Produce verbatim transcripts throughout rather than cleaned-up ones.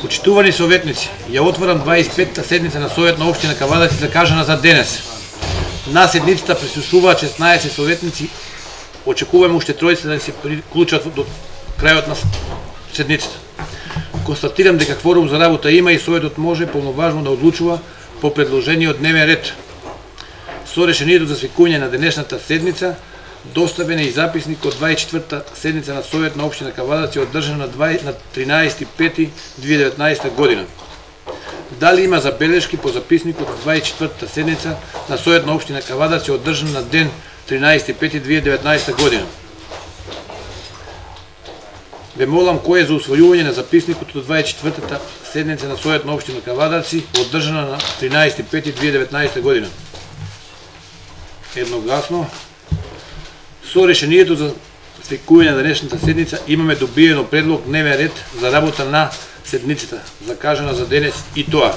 Почитувани советници, ја отворам дваесет и петта седница на Совет на општина Кавадаци закажана за денес. На седницата присуствуваат шеснаесет советници. Очекуваме уште тројца да се приклучат до крајот на седницата. Констатирам дека кворум за работа има и Советот може полноважно да одлучува по предложениот дневен ред. Со решението за свикување на денешната седница доставен е и записник од дваесет и четвртта седница на Совет на општина Кавадаци одржана на тринаесети пети две илјади и деветнаесета година. Дали има забелешки по записникот од дваесет и четвртта седница на Совет на општина Кавадаци одржан на ден тринаесети пети две илјади и деветнаесета година? Ве молам кој е за усвојување на записникот од дваесет и четвртата седница на Совет на општина Кавадаци одржана на тринаесети пети две илјади и деветнаесета година. Едногласно. Со решението за свикување на денешната седница имаме добиено предлог дневен ред за работа на седницата, закажана за денес, и тоа.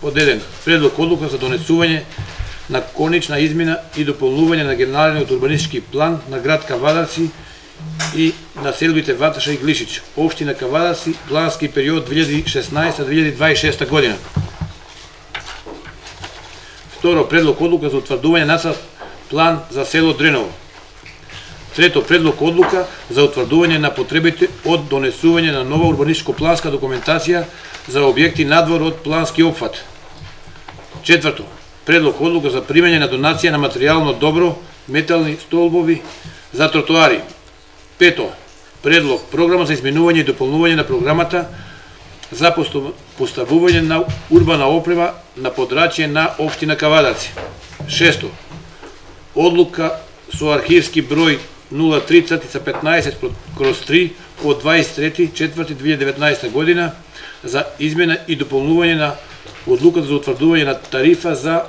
Под еден, предлог одлука за донесување на конечна измена и дополнување на генералниот урбанистички план на град Кавадаци и населбите Ваташа и Глишич, општина Кавадаци, плански период две илјади и шеснаесета до две илјади и дваесет и шеста година. Второ, предлог одлука за утврдување нацрт план за село Дреново. Трето, предлог одлука за утврдување на потребите од донесување на нова урбанистичко-планска документација за објекти надвор од плански опфат. Четврто, предлог одлука за примање на донација на материјално добро, метални столбови за тротоари. Пето, предлог програма за изменување и дополнување на програмата за поставување на урбана опрема на подрачје на општина Кавадаци. Шесто, одлука со архивски број нула три петнаесет кроз три од дваесет и трети четврти две илјади и деветнаесета година за измена и дополнување на одлуката за утврдување на тарифа за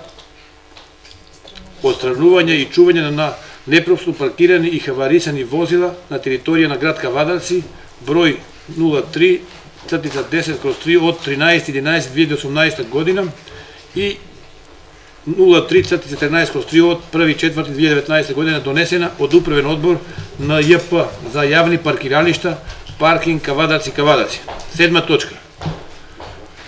отстранување и чување на непропусно паркирани и хаварисани возила на територија на град Кавадаци, број нула три десет кроз три од тринаесети единаесети две илјади и осумнаесета година и нула три четрнаесет кроз три од први четврти две илјади и деветнаесета година, донесена од управен одбор на Ј П за јавни паркиралишта, паркинг Кавадаци Кавадаци. Седма точка.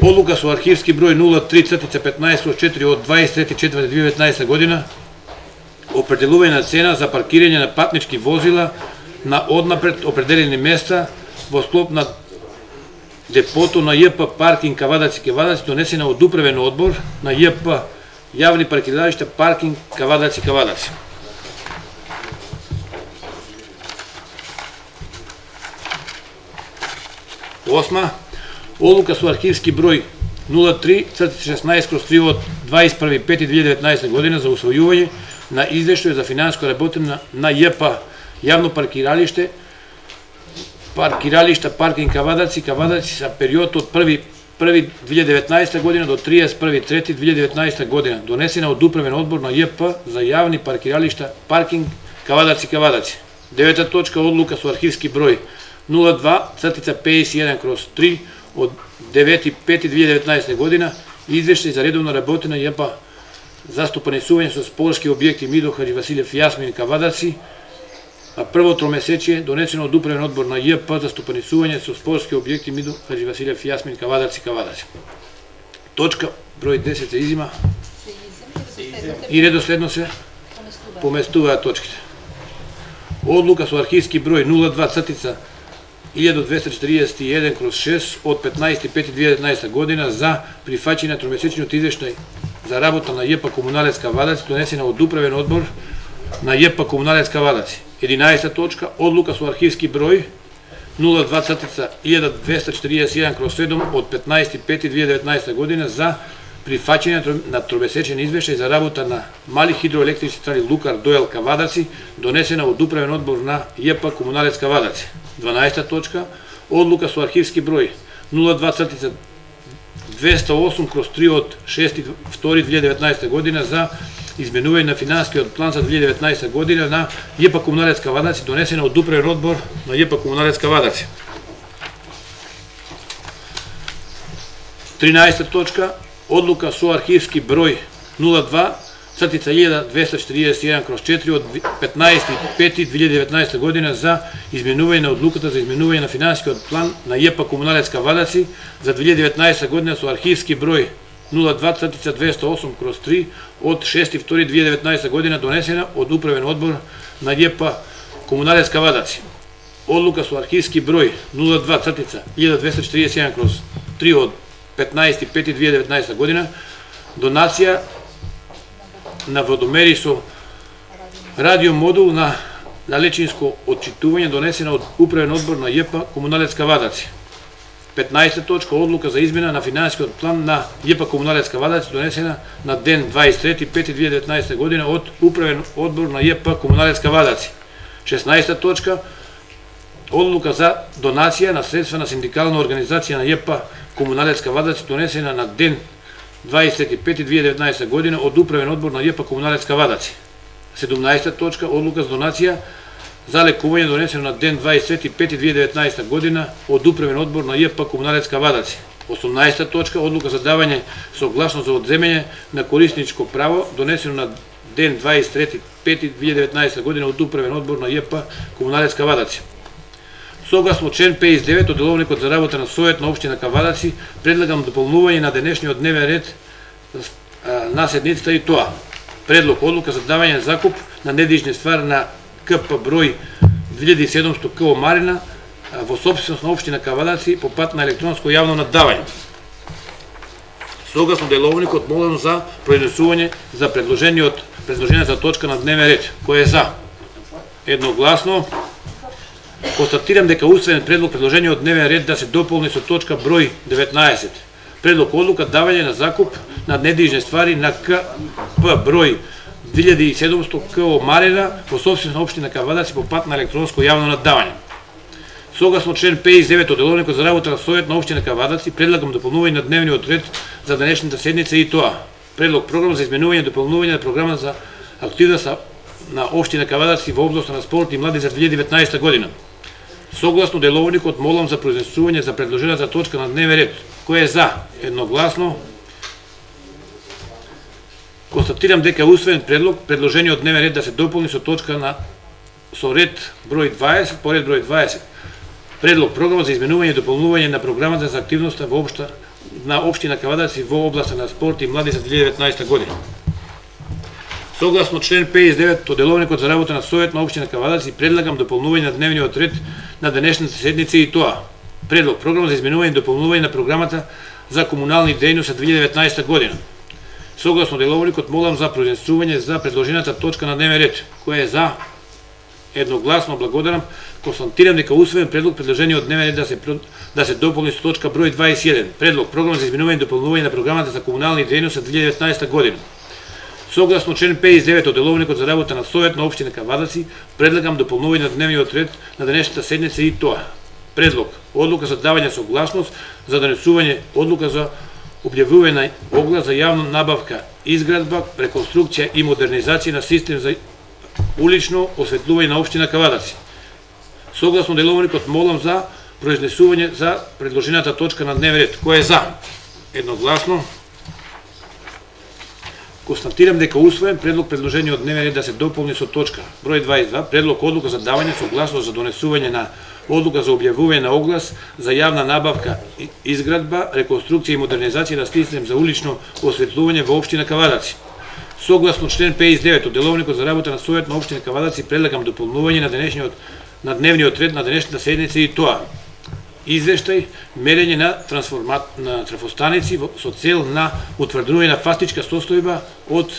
Одлука со архивски број нула три петнаесет кроз четири од дваесет и трети четврти две илјади и деветнаесета година, определување на цена за паркирање на патнички возила на однапред определени места во склоп на депото на Ј П паркинг Кавадаци Кавадаци, донесена од управен одбор на Ј П јавни паркиралишта, паркинг Кавадаци Кавадаци. Осма, одлука со архивски број нула три шеснаесет кроз три од дваесет и први пети две илјади и деветнаесета година за усвојување на извештај за финансиска работа на, на Ј П јавно паркиралиште, паркиралишта, паркинг Кавадаци Кавадаци за период од први први две илјади и деветнаесета година до триесет и први трети две илјади и деветнаесета година, донесена од управен одбор на Ј П за јавни паркиралишта, паркинг Кавадаци Кавадаци. Девета точка, одлука со архивски број нула два пеесет и еден кроз три од девети пети две илјади и деветнаесета година, извештај за редовно работа на Ј П за стопанисување со спорски објекти Мидо Хаджи Василев Јасмин Кавадаци, а прво тромесечие донесено од управен одбор на Ј П за стопанисување со спорски објекти Мидо Хаджи Василев Јасмин Кавадаци Кавадаци. Точка број десет се изима и редоследно се поместуваат точките. Одлука со архивски број нула два илјада двеста четиридесет и еден кроз шест од петнаесети пети две илјади и деветнаесета година за прифаќање на тромесечниот извештај за работа на Ј П Комуналец Кавадаци, донесена од управен одбор на Ј П Комуналец Кавадаци. единаесета точка, одлука со архивски број нула два илјада двеста четиридесет и еден кроз седум од петнаесети пети две илјади и деветнаесета година за прифаќање на тромесечен извештај за работа на мали хидроелектрични централи Лукар Доел Кавадаци, донесена од управен одбор на Ј П Комуналец Кавадаци. дванаесета точка, одлука со архивски број нула два двеста и осум кроз три од шести втори две илјади и деветнаесета година за изменување на финансискиот план за две илјади и деветнаесета година на Ј П Комуналец Кавадаци, донесена од управен одбор на Ј П Комуналец Кавадаци. тринаесета точка, одлука со архивски број нула два цртица илјада двесте четиридесет и еден кроз четири од петнаесети пети две илјади и деветнаесета година за изменување на одлуката за изменување на финансискиот план на ЈП Комуналец Кавадаци за две илјади и деветнаесета година со архивски број нула два цртица двесте и осум кроз три од шести втори две илјади и деветнаесета година, донесена од управен одбор на ЈП Комуналец Кавадаци. Одлука со архивски број нула два цртица илјада двесте четиридесет и еден кроз три од петнаесети пети две илјади и деветнаесета година, донација на водомери со радиомодул на далечинско отчитување, донесена од управен одбор на ЈП Комуналец Кавадаци. петнаесета точка одлука за измена на финансискиот план на ЈП Комуналец Кавадаци, донесена на ден дваесет и трети пети две илјади и деветнаесета година од управен одбор на ЈП Комуналец Кавадаци. шеснаесета точка одлука за донација на средства на синдикална организација на ЈП Комуналец Кавадаци, донесена на ден дваесет и трети пети две илјади и деветнаесета година од управен одбор на ЈП Комуналец Кавадаци. седумнаесета точка одлука за донација за лекување, донесено на ден дваесет и трети пети две илјади и деветнаесета година од управен одбор на ЈП Комуналец Кавадаци. осумнаесета точка одлука за давање согласност за одземање на корисничко право, донесено на ден дваесет и трети пети две илјади и деветнаесета година од управен одбор на ЈП Комуналец Кавадаци. Согласно член пеесет и девет од Деловникот за работа на Совет на општина Кавадаци, предлагам дополнување на денешниот дневен ред на седницата и тоа: предлог одлука за давање закуп на недвижни ствари на КП број две илјади и седумсто КО Марина во сопственост на општина Кавадаци по пат на електронско јавно наддавање. Согласно Деловникот молам за произнесување за предложениот предложената точка на дневен ред. Кој е за? Едногласно. Констатирам дека усвоен предлог предложение од дневен ред да се дополни со точка број деветнаесет. Предлог одлука давање на закуп на недвижни ствари на КП број две илјади и седумсто КО Марина во сопственост на општина Кавадаци по пат на електронско јавно наддавање. Согласно член пеесет и девет од Деловникот за работа на Совет на општина Кавадаци, предлагам дополнување на дневниот ред за денешната седница и тоа: предлог програм за изменување и дополнување на програма за активност на општина Кавадаци во област на спорт и млади за две илјади и деветнаесета година. Согласно Деловникот молам за произнесување за предложената точка на дневен ред. Кој е за? Едногласно. Констатирам дека е усвоен предлог предложение од дневен ред да се дополни со точка на со ред број дваесет, по ред број дваесет. Предлог програма за изменување и дополнување на програмата за активноста во општа на општина Кавадаци во областа на спорт и млади за две илјади и деветнаесета година. Согласно член пеесет и девет од Деловникот за работа на Совет на општина Кавадаци, предлагам дополнување на дневниот ред на денешната седница и тоа: предлог програма за изменување и дополнување на програмата за комунални дејности за две илјади и деветнаесета година. Согласно Деловникот молам за произнесување за предложената точка на дневен ред. Кој е за? Едногласно благодарам. Констатирам дека усвоен предлог предложение од дневен ред да се да се дополни со точка број дваесет и еден. Предлог програма за изменување и дополнување на програмата за комунални дејности за две илјади и деветнаесета година. Согласно член пеесет и девет од Деловникот за работа на Совет на општина Кавадаци, предлагам дополнување на дневниот ред на денешната седница и тоа: предлог одлука за давање согласност за донесување одлука за објавување на оглас за јавна набавка, изградба, реконструкција и модернизација на систем за улично осветлување на општина Кавадаци. Согласно Деловникот молам за произнесување за предложената точка на дневен ред. Кој е за? Едногласно. Констатирам дека усвоен предлог предложение од дневен ред да се дополни со точка број дваесет и два, предлог одлука за давање согласност за донесување на одлука за објавување на оглас за јавна набавка, изградба, реконструкција и модернизација на систем за улично осветлување во општина Кавадаци. Согласно член пеесет и девет од Деловникот за работа на Совет на општина Кавадаци, предлагам дополнување на денешниот на дневниот ред на денешната седница и тоа: извештај мерење на трансформат на трафостаници со цел на утврдување на фактичка состојба од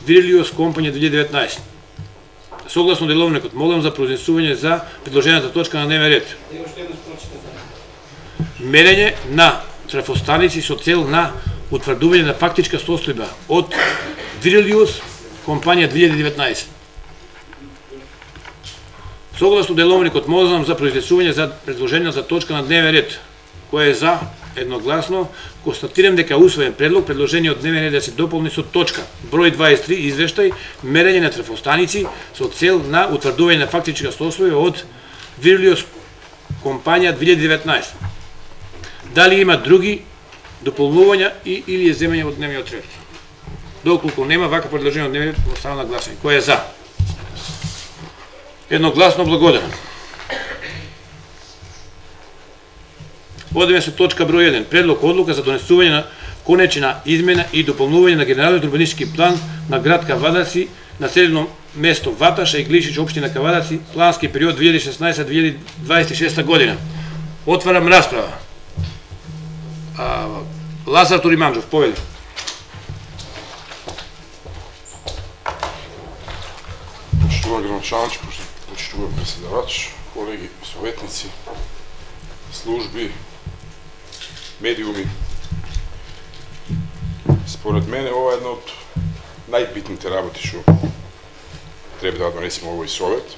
Вирилиус компанија две илјади и деветнаесета. Согласно Деловникот молам за произнесување за предложената точка на дневен ред. Мерење на трафостаници со цел на утврдување на фактичка состојба од Вирилиус компанија две илјади и деветнаесета. Согласно Деловникот молам за произнесување за предложената точка на дневен ред. Кој е за? Едногласно. Констатирам дека усвоен предлог предложение од дневен ред да се дополни со точка број дваесет и три, извештај мерење на трафостаници со цел на утврдување на фактичка состојба од Вирилиус компанија две илјади и деветнаесета. Дали има други дополнувања и или земање од дневниот ред? Доколку нема, вака предложение од дневниот ред остава на гласање. Кој е за? Едногласно благодарам. Одиме со точка број еден. Предлог одлука за донесување на конечна измена и дополнување на генералниот урбанистички план на град Кавадарци, населено место Ваташа и Глишич, општина Кавадарци, плански период две илјади и шеснаесета - две илјади дваесет и шеста година. Отварам расправа. А, Лазар Туриманџов, повели. Почитуван градоначалник, почитуван председавач, колеги, советници, служби, медиуми. Според мене ова е една од најбитните работи што треба да донесеме овој совет.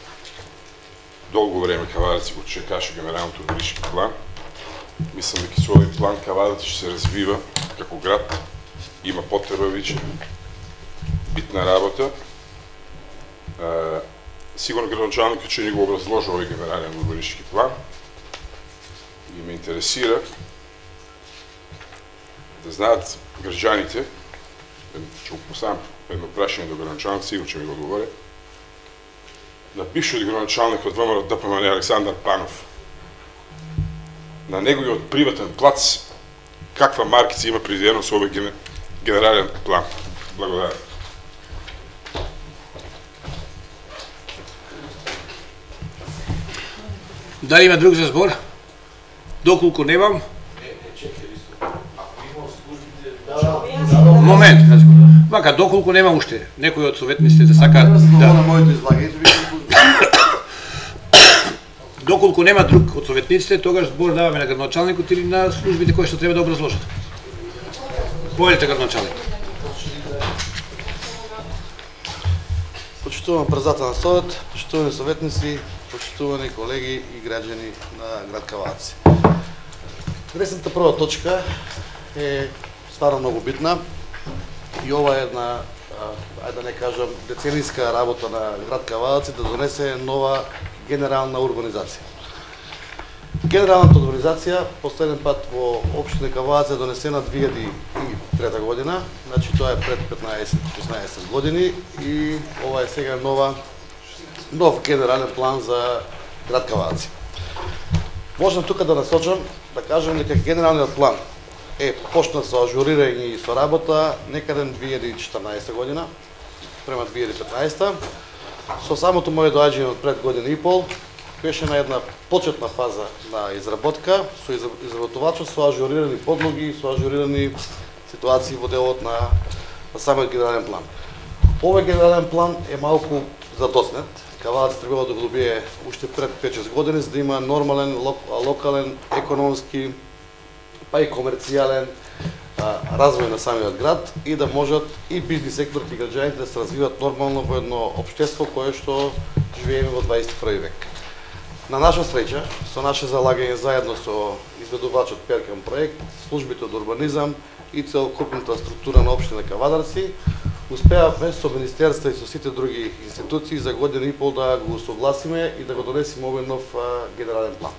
Долго време Кавадарци го чекаше генералниот урбанистички план. Мислам дека со овој план Кавадарци ќе се развива како град, има потреба веќе, битна работа. Uh, сигурно градоначалникот ќе ни го образложи овој генерален урбанистички план и ме интересира да знаат граѓаните, ќе го поставам едно прашање до градоначалник, сигурно ќе ми го одговори. Напише од градоначалникот ВМРО ДПМН Александар Панов на неговиот приватен плац каква маркица има предвидено со овој генерален план. Благодарам. Дали има друг за збор? Доколку немам... Момент, вака, доколку нема уште некој од советниците да сака да... Доколку нема друг од советниците, тогаш збор даваме на градоначалникот или на службите кои што треба да образложат. Повелите, градоначалник. Почитуван председател на совет, почитувани советници, почитувани колеги и граѓани на град Кавадарци. Днесната прва точка е стварно многу битна и ова е една, ајде да не кажам, деценијска работа на град Кавадарци да донесе нова генерална урбанизација. Генералната урбанизација последен пат во општина Кавадарци е донесена две илјади и трета година, значи тоа е пред петнаесет-шеснаесет години и ова е сега нова нов генерален план за град Кавадарци. Можам тука да насочам, да кажам дека генералниот план е почна со ажурирање и со работа некаде две илјади и четрнаесета година, према две илјади и петнаесета. Со самото моје доаѓање од пред година и пол, беше на една почетна фаза на изработка, со изработувачот, со ажурирани подлоги, со ажурирани ситуации во делот на, на самиот генерален план. Овој генерален план е малку задоснет. Кавадарци требало да го добие уште пред пет-шест години, за да има нормален, лок, локален, економски, па и комерцијален а, развој на самиот град и да можат и бизнис секторот и граѓаните да се развиват нормално во едно општество кое што живееме во дваесет и први век. На наша среќа, со наше залагање заедно со изведувачот Перкам проект, службите од урбанизам и целокупната структура на општина Кавадарци, успеавме со министерства и со сите други институции за година и пол да го согласиме и да го донесеме овој нов а, генерален план.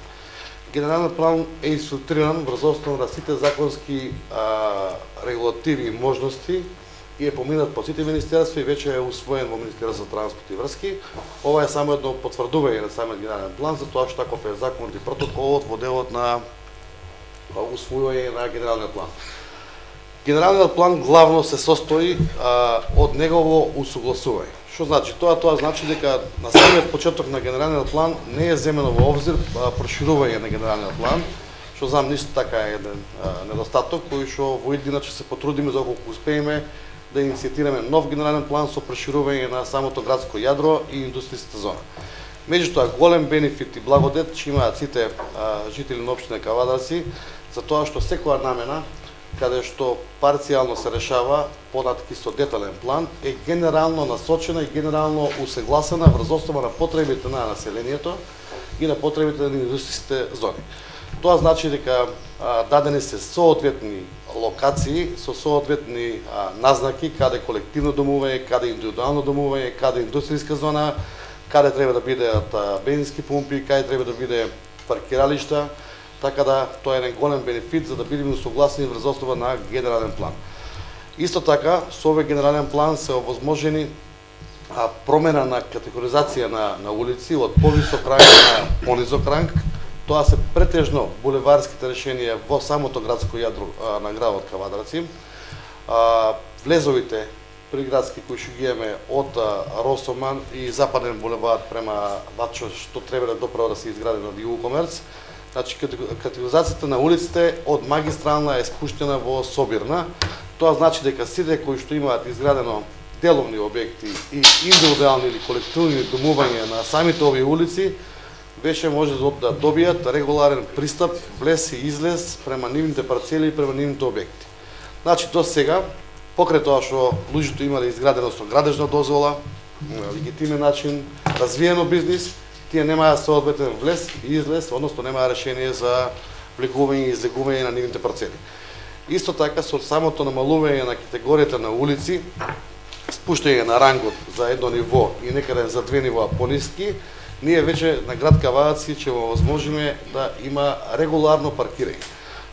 Генерален план е инструктуриран врз основа на сите законски а, регулативи и можности и е поминат по сите министерства и веќе е усвоен во Министерството за транспорт и врски. Ова е само едно потврдување на самиот генерален план за тоа што таков е законот и протоколот во делот на усвојување на генералниот план. Генералниот план главно се состои а, од негово усогласување. Што значи тоа? Тоа значи дека на самиот почеток на генералниот план не е земено во обзир а, проширување на генералниот план, што знам ништо така е еден а, недостаток кој што во иднина ќе се потрудиме доколку успееме да иницијатираме нов генерален план со проширување на самото градско јадро и индустријската зона. Меѓутоа, голем бенефит и благодет ќе имаат сите а, жители на општина Кавадарци за тоа што секоја намена каде што парцијално се решава податки со детален план е генерално насочена и генерално усегласена врз основа на потребите на населението и на потребите на индустријските зони. Тоа значи дека а, дадени се соодветни локации со соодветни а, назнаки каде колективно домување, каде индивидуално домување, каде индустријска зона, каде треба да бидеат а, бензински пумпи, каде треба да биде паркиралишта, така да тоа е еден голем бенефит за да бидеме согласни врз основа на генерален план. Исто така, со овој генерален план се овозможени а, промена на категоризација на, на улици од повисок ранг на понизок ранг. Тоа се претежно булеварските решенија во самото градско јадро а, на градот Кавадарци. А, влезовите приградски кои што ги имаме од а, Росоман и Западен булевар према Вачо, што треба да доправо да се изгради на Југокомерц. Значи, категоризацијата на улиците од магистрална е спуштена во собирна. Тоа значи дека сите кои што имаат изградено деловни објекти и индивидуални или колективни домувања на самите овие улици, веќе може да добијат регуларен пристап, влез и излез према нивните парцели и према нивните објекти. Значи, до сега, покрај тоа што луѓето имале изградено со градежна дозвола, легитимен начин, развиено бизнис, тие немаа соодветен влез и излез, односно немаа решение за влегување и излегување на нивните парцели. Исто така, со самото намалување на категоријата на улици, спуштање на рангот за едно ниво и некаде за две нивоа пониски, ние веќе на град Кавадаци ќе го возможиме да има регуларно паркирање.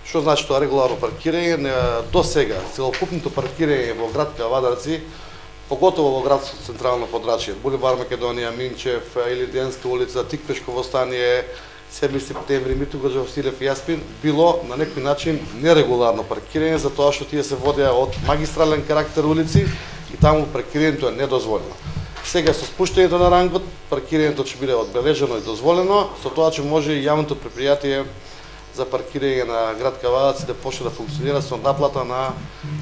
Што значи тоа регуларно паркирање? До сега, целокупното паркирање во град Кавадарци, поготово во градско централно подрачје, булевар Македонија, Минчев, Илиденска улица, Тиквешково стание, седми септември, Митроглав Василев и Јаспин, било на некој начин нерегуларно паркирање, затоа што тие се водеа од магистрален карактер улици и таму паркирањето е недозволено. Сега со спуштањето на рангот, паркирањето ќе биде одбележено и дозволено, со тоа ќе може и јавното предпријатие за паркирање на град Кавадаци да почне да функционира со наплата на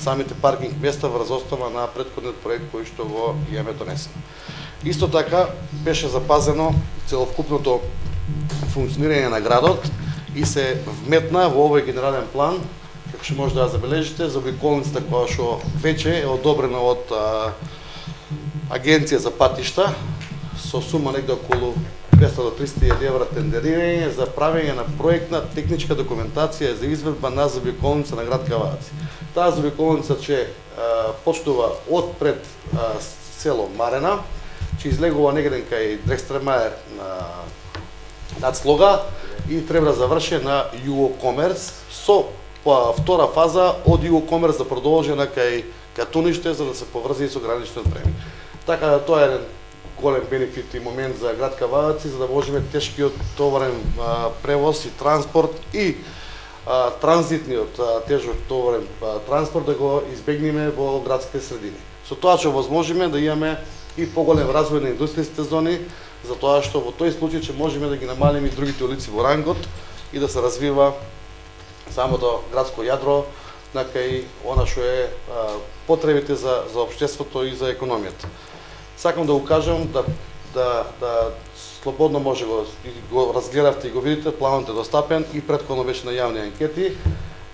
самите паркинг места врз основа на претходниот проект кој што го имаме донесено. Исто така беше запазено целокупното функционирање на градот и се вметна во овој генерален план, како што може да ја забележите, за обиколницата која што веќе е одобрена од а, Агенција за патишта со сума негде околу двеста до триста илјади евра тендерирање за правење на проектна техничка документација за изведба на заобиколница на град Кавадаци. Таа заобиколница ќе а, почнува од пред а, село Марена, ќе излегува негде кај Дрекстремаер на над Слога и треба да заврши на Југокомерц со па, втора фаза од Југокомерц да продолжи на кај Катуниште за да се поврзи со граничниот премин. Така да тоа е еден голем бенефит и момент за град Кавадаци за да можеме тешкиот товарен а, превоз и транспорт и а, транзитниот а, тежок товарен а, транспорт да го избегнеме во градските средини. Со тоа ќе возможиме да имаме и поголем развој на индустријските зони, затоа што во тој случај ќе можеме да ги намалиме и другите улици во рангот и да се развива самото градско јадро на кај она што е а, потребите за за општеството и за економијата. Сакам да го кажам да да да слободно може го го разгледавте и го видите, планот е достапен и претходно беше на јавни анкети.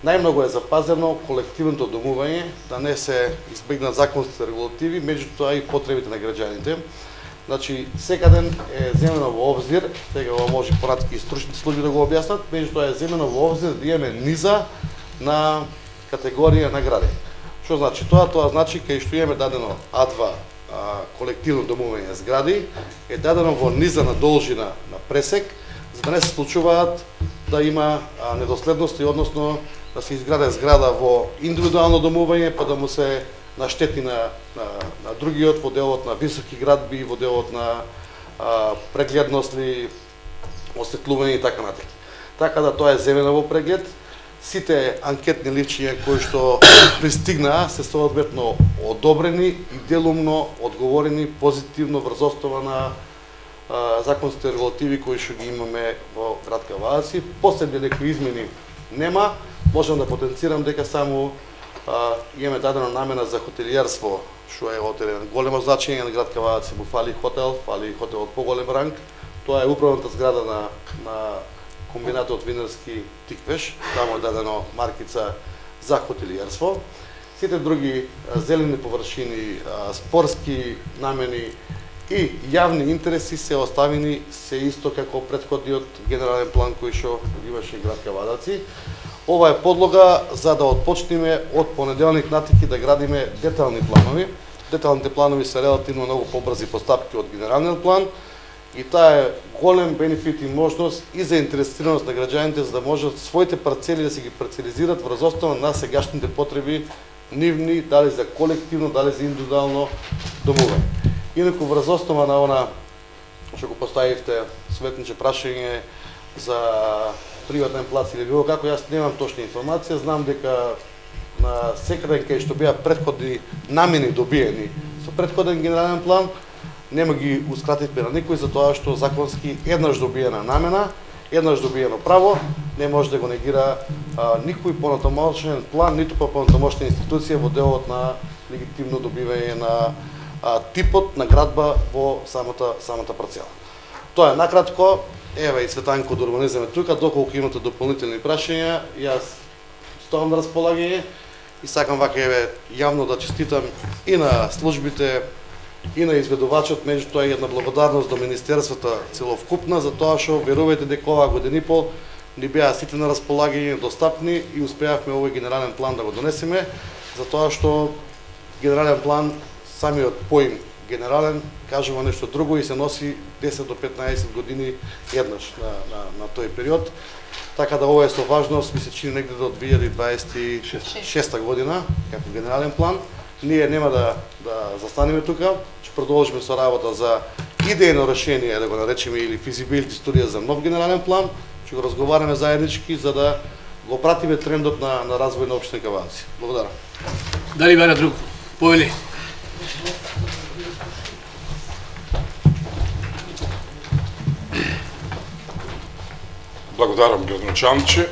Најмногу е запазено колективното домување, да не се избегнат законските регулативи, меѓутоа и потребите на граѓаните. Значи, секаден е земено во обзир, сега ова може понатака и стручните служби да го објаснат, меѓутоа е земено во обзир да имаме низа на категорија на гради. Што значи тоа? Тоа значи кај што имаме дадено А два а, колективно домување згради, е дадено во низа на должина на пресек, за да не се случуваат да има а, недоследности, односно да се изграде зграда во индивидуално домување, па да му се наштети на, на, на другиот во делот на високи градби, во делот на а, прегледност ли, осветлување и така натаму. Така да тоа е земено во преглед. Сите анкетни личија кои што пристигнаа се соодветно одобрени и делумно одговорени позитивно врз основа на а, законските регулативи кои што ги имаме во град Кавадаци. Посебни некои измени нема. Можам да потенцирам дека само а, имаме дадена намена за хотелиерство, што е од еден големо значење на град Кавадаци. Му фали хотел, фали хотел од поголем ранг. Тоа е управната зграда на, на комбинатот винарски Тиквеш, таму е дадено маркица за хотелиерство. Сите други а, зелени површини, а, спорски намени и јавни интереси се оставени се исто како претходниот генерален план кој што имаше град Кавадаци. Ова е подлога за да отпочнеме од понеделник натаму да градиме детални планови. Деталните планови се релативно многу побрзи постапки од генералниот план и таа е голем бенефит и можност и за интересираност на граѓаните за да можат своите парцели да се ги парцелизират врз основа на сегашните потреби нивни, дали за колективно, дали за индивидуално домување. Инаку врз основа на она што го поставивте советниче прашање за приватен плац или било како, јас немам точна информација, знам дека на секаде кај што беа претходни намени добиени со претходен генерален план, нема ги ускративме на никој, затоа што законски еднаш добиена намена, еднаш добиено право, не може да го негира а, никој понатамошен план, ниту па понатамошна институција во делот на легитимно добивање на а, типот на градба во самата самата парцела. Тоа е накратко. Еве и Цветанко од урбанизам е тука, доколку имате дополнителни прашања, јас стоам на располагање и сакам вака еве јавно да честитам и на службите и на изведувачот, меѓутоа и една благодарност до министерството целовкупна за тоа што верувајте дека оваа година и пол ни беа сите на располагање, достапни и успеавме овој генерален план да го донесеме, затоа што генерален план, самиот поим генерален, кажува нешто друго и се носи десет до петнаесет години еднаш на, на, на тој период. Така да ова е со важност, ми се чини негде до две илјади дваесет и шеста година, како генерален план. Ние нема да, да застанеме тука, ќе продолжиме со работа за идејно решение, да го наречеме, или физибилити студија за нов генерален план, ќе го разговараме заеднички за да го пратиме трендот на, на развој на општина Кавадарци. Благодарам. Дали бара друг? Повели. Благодарам, градоначалниче.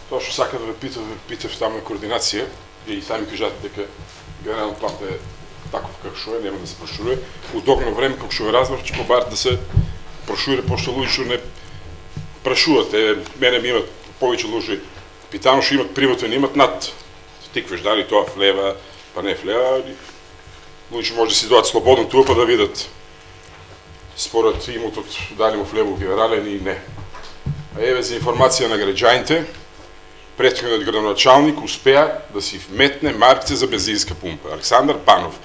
Тоа што сака да ве питав, ве питав таму е координација и сами кажате дека генерален план е таков како што е, нема да се проширува. У догно време, како што ве разбрав, ќе побарат да се проширува, пошто луѓе што не прашуват. Е, мене ми имат повеќе луѓе питано што имат приватен, имат над тиквеш, дали тоа влева, па не влева. Луѓе може да си дојдат слободно туа па да видат според имотот дали му влева генерален и не. А еве за информација на граѓаните, претходниот градоначалник успеа да си вметне маркица за бензинска пумпа. Александар Панов.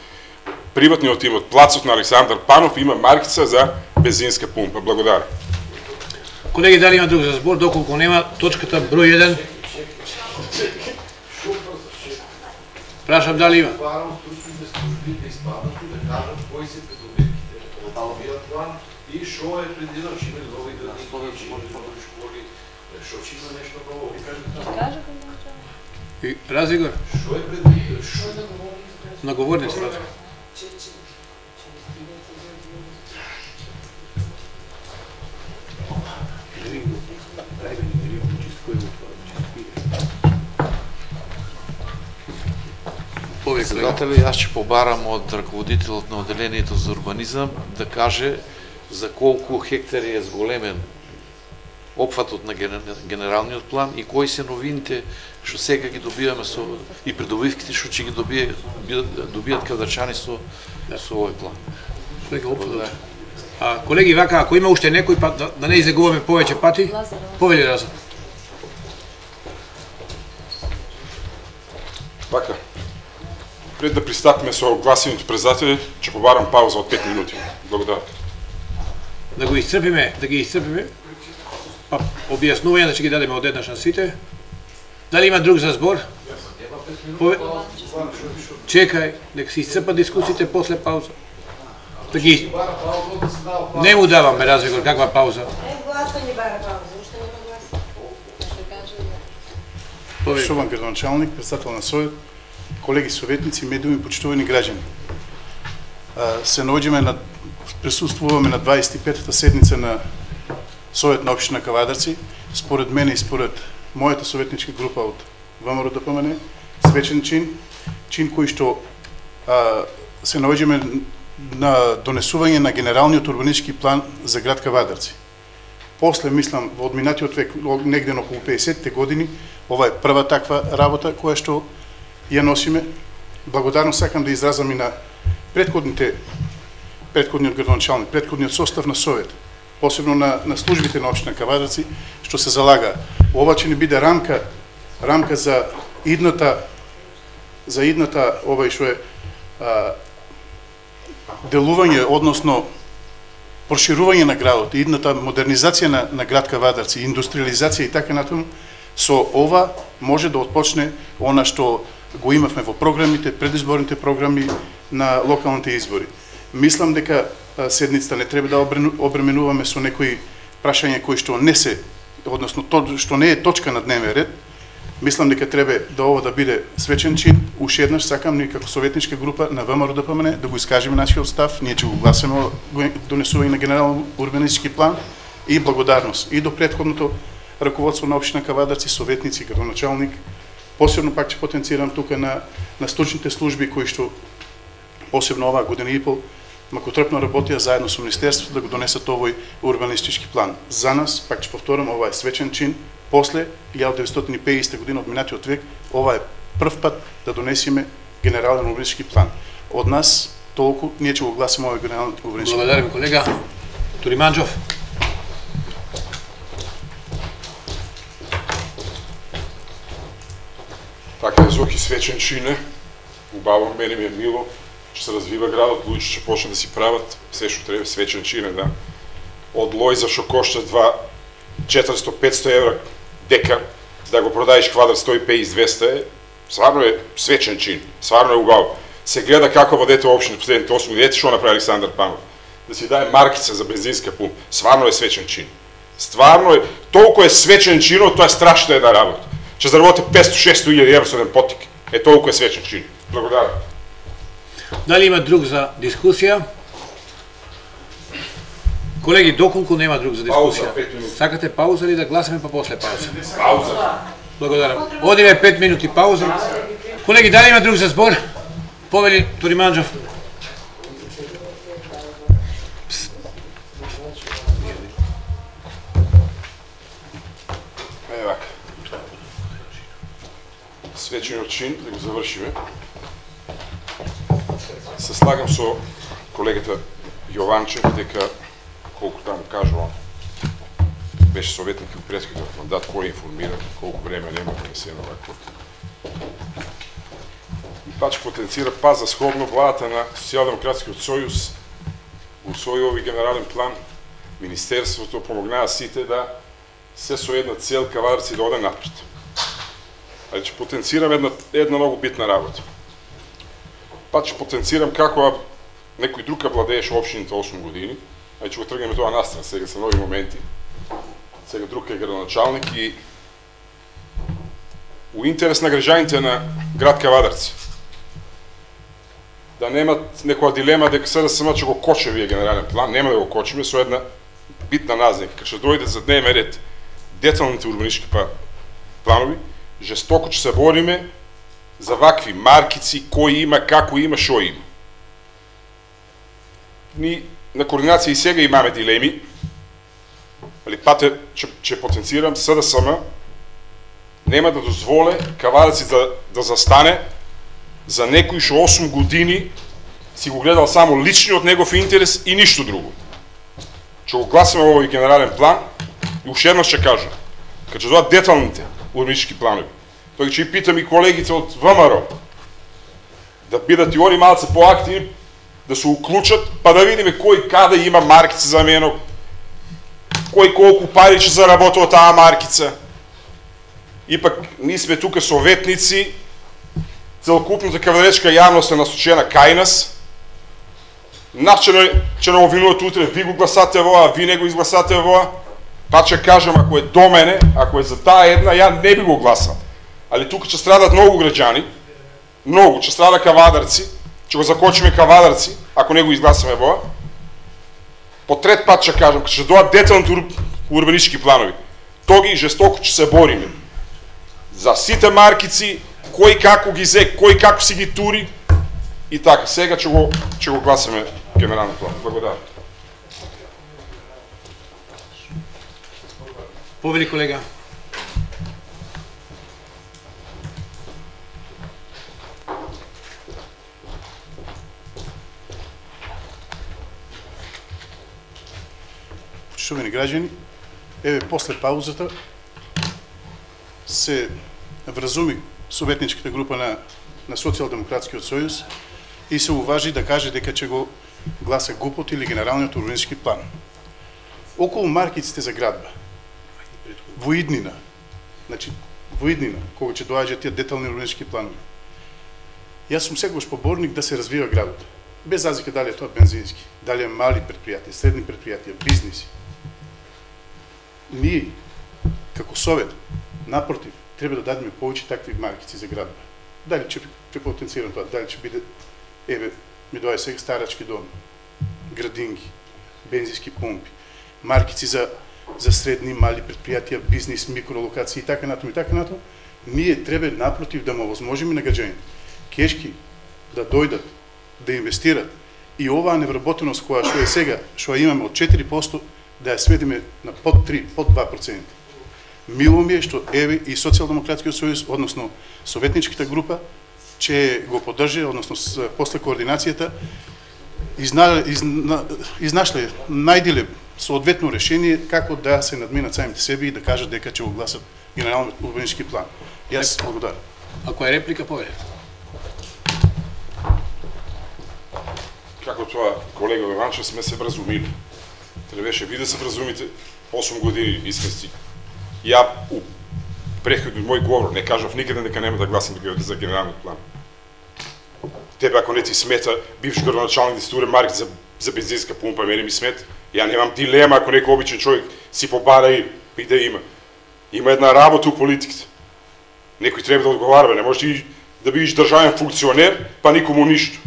Приватниот имот, плацот на Александар Панов има маркица за бензинска пумпа. Благодарам. Колеги, дали има друг за збор? Доколку нема, точката број еден. Прашам дали има. И шо е предвидено, че има нови градини, нови школи, шо че има нешто ново, ви кажете? И Разигор? Шо е предвидено? Шо е да говори? Наговорни се, Разигор. Председатели, аз ќе побарам од раководителот на одделението за урбанизам да каже за колку хектари е зголемен опфатот на генералниот план и кои се новините што сега ги добиваме со и придобивките што ќе ги добијат добијат кавдарчани со со овој план. Колеги, опфатот. А колеги, вака, ако има уште некој па да, да не излегуваме повеќе пати, повели Лазар. Така. Пред да пристапиме со гласењето председатели, ќе побарам пауза од пет минути. Благодарам. Да го исцрпиме, да ги исцрпиме. Па објаснување да ќе ги дадеме одеднаш на сите. Дали има друг за збор? Пове... Чекај, нека се исцрпат дискусиите после пауза. Да ги... Не му даваме Разигор, каква пауза? Е, гласање бара пауза, уште нема гласа. Поштован градоначалник, председател на Совет, колеги советници, медиуми, почитувани граѓани. Се наоѓаме на присуствуваме на дваесет и петата седница на Совет на општина Кавадарци. Според мене и според мојата советничка група од ВМРО Д П М Н, свечен чин, чин кој што а, се наоѓаме на донесување на генералниот урбанистички план за град Кавадарци. После, мислам, во одминатиот век, негде на околу педесетте години, ова е прва таква работа која што ја носиме. Благодарно сакам да изразам и на предходните, предходниот градоначалник, предходниот состав на Совет, посебно на, на службите на општина Кавадарци, што се залага. Ова ќе ни биде рамка, рамка за идната, за идната, ова што е а, делување, односно проширување на градот, идната модернизација на, на град Кавадарци, индустриализација и така натаму. Со ова може да отпочне она што го имавме во програмите, предизборните програми на локалните избори. Мислам дека седницата не треба да обременуваме со некои прашања кои што не се, односно то што не е точка на дневен ред. Мислам дека треба да ова да биде свечен чин. Уште еднаш сакам ние како советничка група на ВМРО Д П М Н да го искажеме нашиот став. Ние ќе го гласаме донесување на генерален урбанистички план и благодарност и до претходното раководство на општина Кавадарци, советници, градоначалник. Посебно пак ќе потенцирам тука на на стручните служби кои што посебно оваа година и пол макотрпно работија заедно со Министерството да го донесат овој урбанистички план. За нас, пак ќе повторам, ова е свечен чин. После илјада деветстотини и педесета година од минатиот век, ова е прв пат да донесиме генерален урбанистички план. Од нас толку ние ќе го гласаме овој генерален урбанистички план. Благодарам, колега. Туриманџов. Така е, Зоки, свечен чин е. Убаво, мене ми е мило, че се развива градот, луѓе ќе почне да си прават се што треба, свечен чин е, да. Од Лојза што кошта два четиристо до петсто евра декар, да го продаеш квадрат сто и педесет до двесте е, сварно е свечен чин, сварно е убаво. Се гледа како водете општина последните осум години, ете што направи Александар Панов. Да си даде маркица за бензинска пумпа, сварно е свечен чин. Стварно е, толку е свечен чинот, тоа е страшна една работа. Ќе заработи петсто до шесто илјади евра со еден потик. Е, толку е свечен чин. Благодарам. Дали има друг за дискусија? Колеги, доколку нема друг за дискусија? Сакате пауза или да гласаме па после пауза? Пауза. Благодарам. Одиме пет минути пауза. Колеги, дали има друг за збор? Повели Туриманџов. Е, вака. Свечениот чин, да го завршиме. Се слагам со колегата Јованчев дека колку таму кажува, беше советник од претходниот мандат, кој информира, колку време нема да се на вако. И пач потенцира па за сходно владата на Социјалдемократскиот сојуз усвои овој генерален план. Министерството помогнаа сите да се со една цел Кавадарци да оде напред. Али ќе потенцирам една, една многу битна работа. Па ќе потенцирам како некој друг владееше општините осум години, а ќе го тргнеме тоа настрана, сега се нови моменти. Сега друг е градоначалник и у интерес на граѓаните на град Кавадарци. Да немат некоја дилема дека С D S M ќе го коче вие генерален план, нема да го кочиме со една битна назнак. Кога ќе дојде за дневен ред деталните урбанистички планови, жестоко ќе се бориме за вакви маркици, кој има, како има, шо има. Ни на координација и сега имаме дилеми, али пате ќе потенцирам, С D S M нема да дозволе Кавадарци да, да застане за некој што осум години си го гледал само личниот негов интерес и ништо друго. Ќе го гласаме овој генерален план и уште еднаш ќе кажам, кога ќе дојдат деталните урбанистички планови, тој ќе и питам и колегите од В M R да бидат и они малце поактивни, да се уклучат, па да видиме кој каде има маркица за мене, кој колку пари ќе заработи од таа маркица. Ипак, ние сме тука советници, целокупната кавадаречка јавност е насочена кај нас. Нас ќе не обвинуват утре, ви го гласате воа, ви не го изгласате воа. Па ќе кажам, ако е до мене, ако е за таа една, ја не би го гласал. Али тука ќе страдат многу граѓани, многу, ќе страда Кавадарци, ќе го закочиме Кавадарци, ако не го изгласаме воа. По трет пат ќе кажам, ќе дојдат деталните урбанистички планови. Тоги жестоко ќе се бориме за сите маркици, кој како ги зе, кој како си ги тури и така. Сега ќе го ќе го гласаме генерален план. Благодарам. Повели колега. Почитувани граѓани, еве после паузата се вразуми советничката група на на Социјалдемократскиот сојуз и се уважи да каже дека ќе го гласа ГУП-от или генералниот урбанистички план. Околу маркиците за градба, во иднина, значи во иднина, кога ќе доаѓаат тие детални урбанистички планови, Јас сум секогаш поборник да се развива градот. Без разлика дали е тоа бензински, дали е мали предпријатија, средни предпријатија, бизниси. Ние, како совет, напротив, треба да дадеме повеќе такви маркици за градове. Дали ќе препотенцирам тоа, дали ќе биде, еве, ми доаѓа сега старачки дом, градинки, бензински пумпи, маркици за за средни мали предпријатија, бизнис, микролокации и така натаму и така натаму, ние треба напротив да му овозможиме на граѓаните кешки да дојдат, да инвестират и оваа невработеност која што е сега, што ја имаме од четири проценти, да ја сведеме на под три, под два проценти. Мило ми е што еве и Социјалдемократскиот сојуз, односно советничката група, ќе го поддржи, односно после координацијата, изна, изна, изнашле, најдиле соодветно решение како да се надминат самите себе и да кажат дека ќе го гласат генералниот урбанистички план. Јас благодарам. Ако е реплика, повеќе. Како тоа, колега Јованчев, сме се вразумили. Требаше ви да се вразумите, осум години и сме си. Ја у претходниот мој говор не кажав никаде дека нема да гласам за генералниот план. Тебе ако не ти смета, бивш градоначалник да си туре марки за, за бензинска пумпа, мене ми смета. Ја немам дилема ако некој обичен човек си побара и, и да има. Има една работа у политиката. Некој треба да одговарва, не можеш ти да бидеш државен функционер, па никому ништо.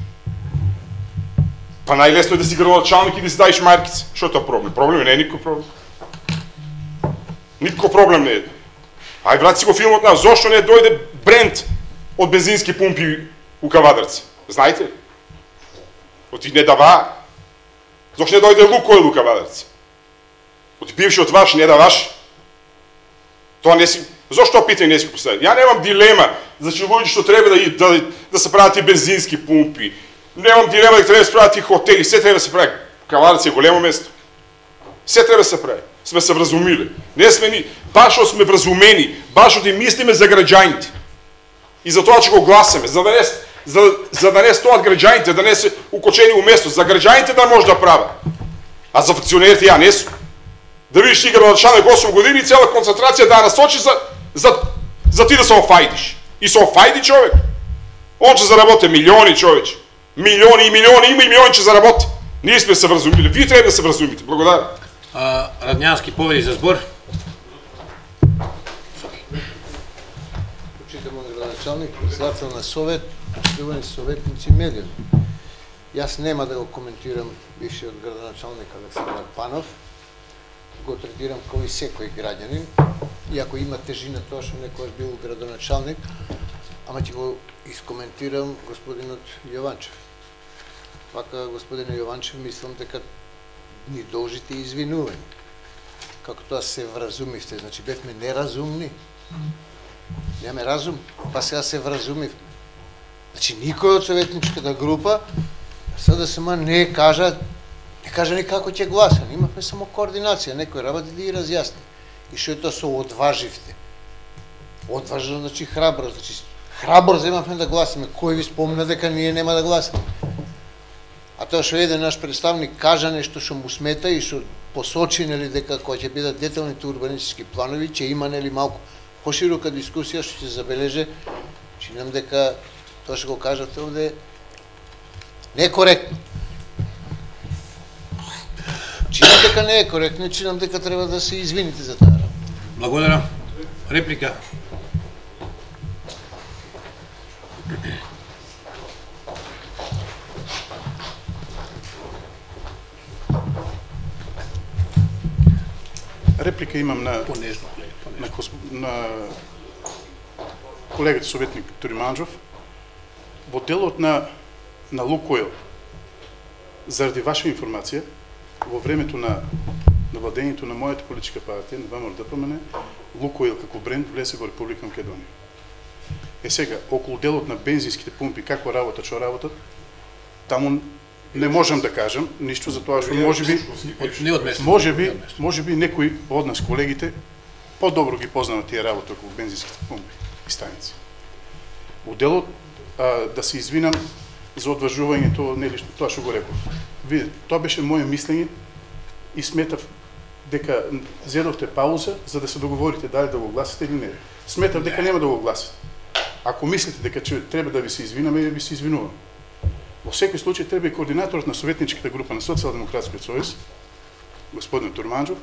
Па најлесно е да си градоначалник и да си даеш маркица. Што е тоа проблем? Проблем не е никој проблем. Никој проблем не е. Ај врати си го филмот на зошто не дојде бренд од бензински пумпи у Кавадарци. Знаете ли? Оти не дава. Зошто не дојде Лукойл у Кавадарци? Оти бившиот ваш не даваш. Тоа не си. Зошто питање не си го постави? Ја немам дилема за луѓе што треба да, да, да се прават и бензински пумпи. Немам дилема дека треба да се прават и хотели, се треба да се прави. Кавадарци е големо место. Се треба да се прави. Сме се вразумиле. Не сме ни, баш што сме вразумени, баш што и мислиме за граѓаните. И за тоа ќе го гласаме, за да не за, за да не стоат граѓаните, да не се укочени у место, за граѓаните да може да прават. А за функционерите ја не сум. Да видиш ти градоначалник осум години и цела концентрација да насочи за за за ти да се офајдиш. И се офајди човек. Он ќе заработи милиони човече. Милиони и милиони, има и милиони ќе заработи. Ние сме се вразумили. Вие треба да се вразумите. Благодарам. А, Радњански поведи за збор. Почитамо градоначалник, председател на совет, почитувани советници медијни. Јас нема да го коментирам бившиот градоначалник Александар Панов. Го третирам како и секој граѓанин, иако има тежина тоа што некојаш бил градоначалник, ама ќе го искоментирам господинот Јованчев. Вака, господине Јованчев, мислам дека ни должите извинување. Како тоа се вразумивте, значи бевме неразумни. Немаме разум, па сега се вразумив. Значи никој од советничката група СДСМ не кажа, не кажа ни како ќе гласа. Имавме само координација, некои работи да ги разјасни. И што е тоа со одваживте? Одважно значи храбро, значи храбро земавме да гласаме. Кој ви спомна дека ние нема да гласаме? А тоа што еден наш представник кажа нешто што му смета и што посочи нели дека кои ќе бидат деталните урбанистички планови, ќе има нели малку поширока дискусија што ќе забележе, чинам дека тоа што го кажате овде не е коректно. Чинам дека не е коректно, чинам дека треба да се извините за таа работа. Благодарам. Реплика. Реплика имам на Понежно. на, на колегата советник Туриманџов. Во делот на на Лукойл, заради ваша информација, во времето на на владењето на мојата политичка партија, на ВМРО-ДПМН, Лукойл како бренд влезе во Република Македонија. Е сега, околу делот на бензинските пумпи, како работат, што работат, таму не можам да кажам ништо за тоа што можеби Не одместно. можеби можеби некои од нас колегите подобро ги познават тие работи околу бензинските пумпи и станици. Во делот а, да се извинам за одважувањето, нели што тоа што го реков. Видите, тоа беше моје мислење и сметав дека зедовте пауза за да се договорите дали да го гласите или не. Сметав дека нема да го гласите. Ако мислите дека че треба да ви се извинаме, ви се извинувам. Во секој случај треба и координаторот на советничката група на Социјалдемократскиот сојуз, господин Турманџов,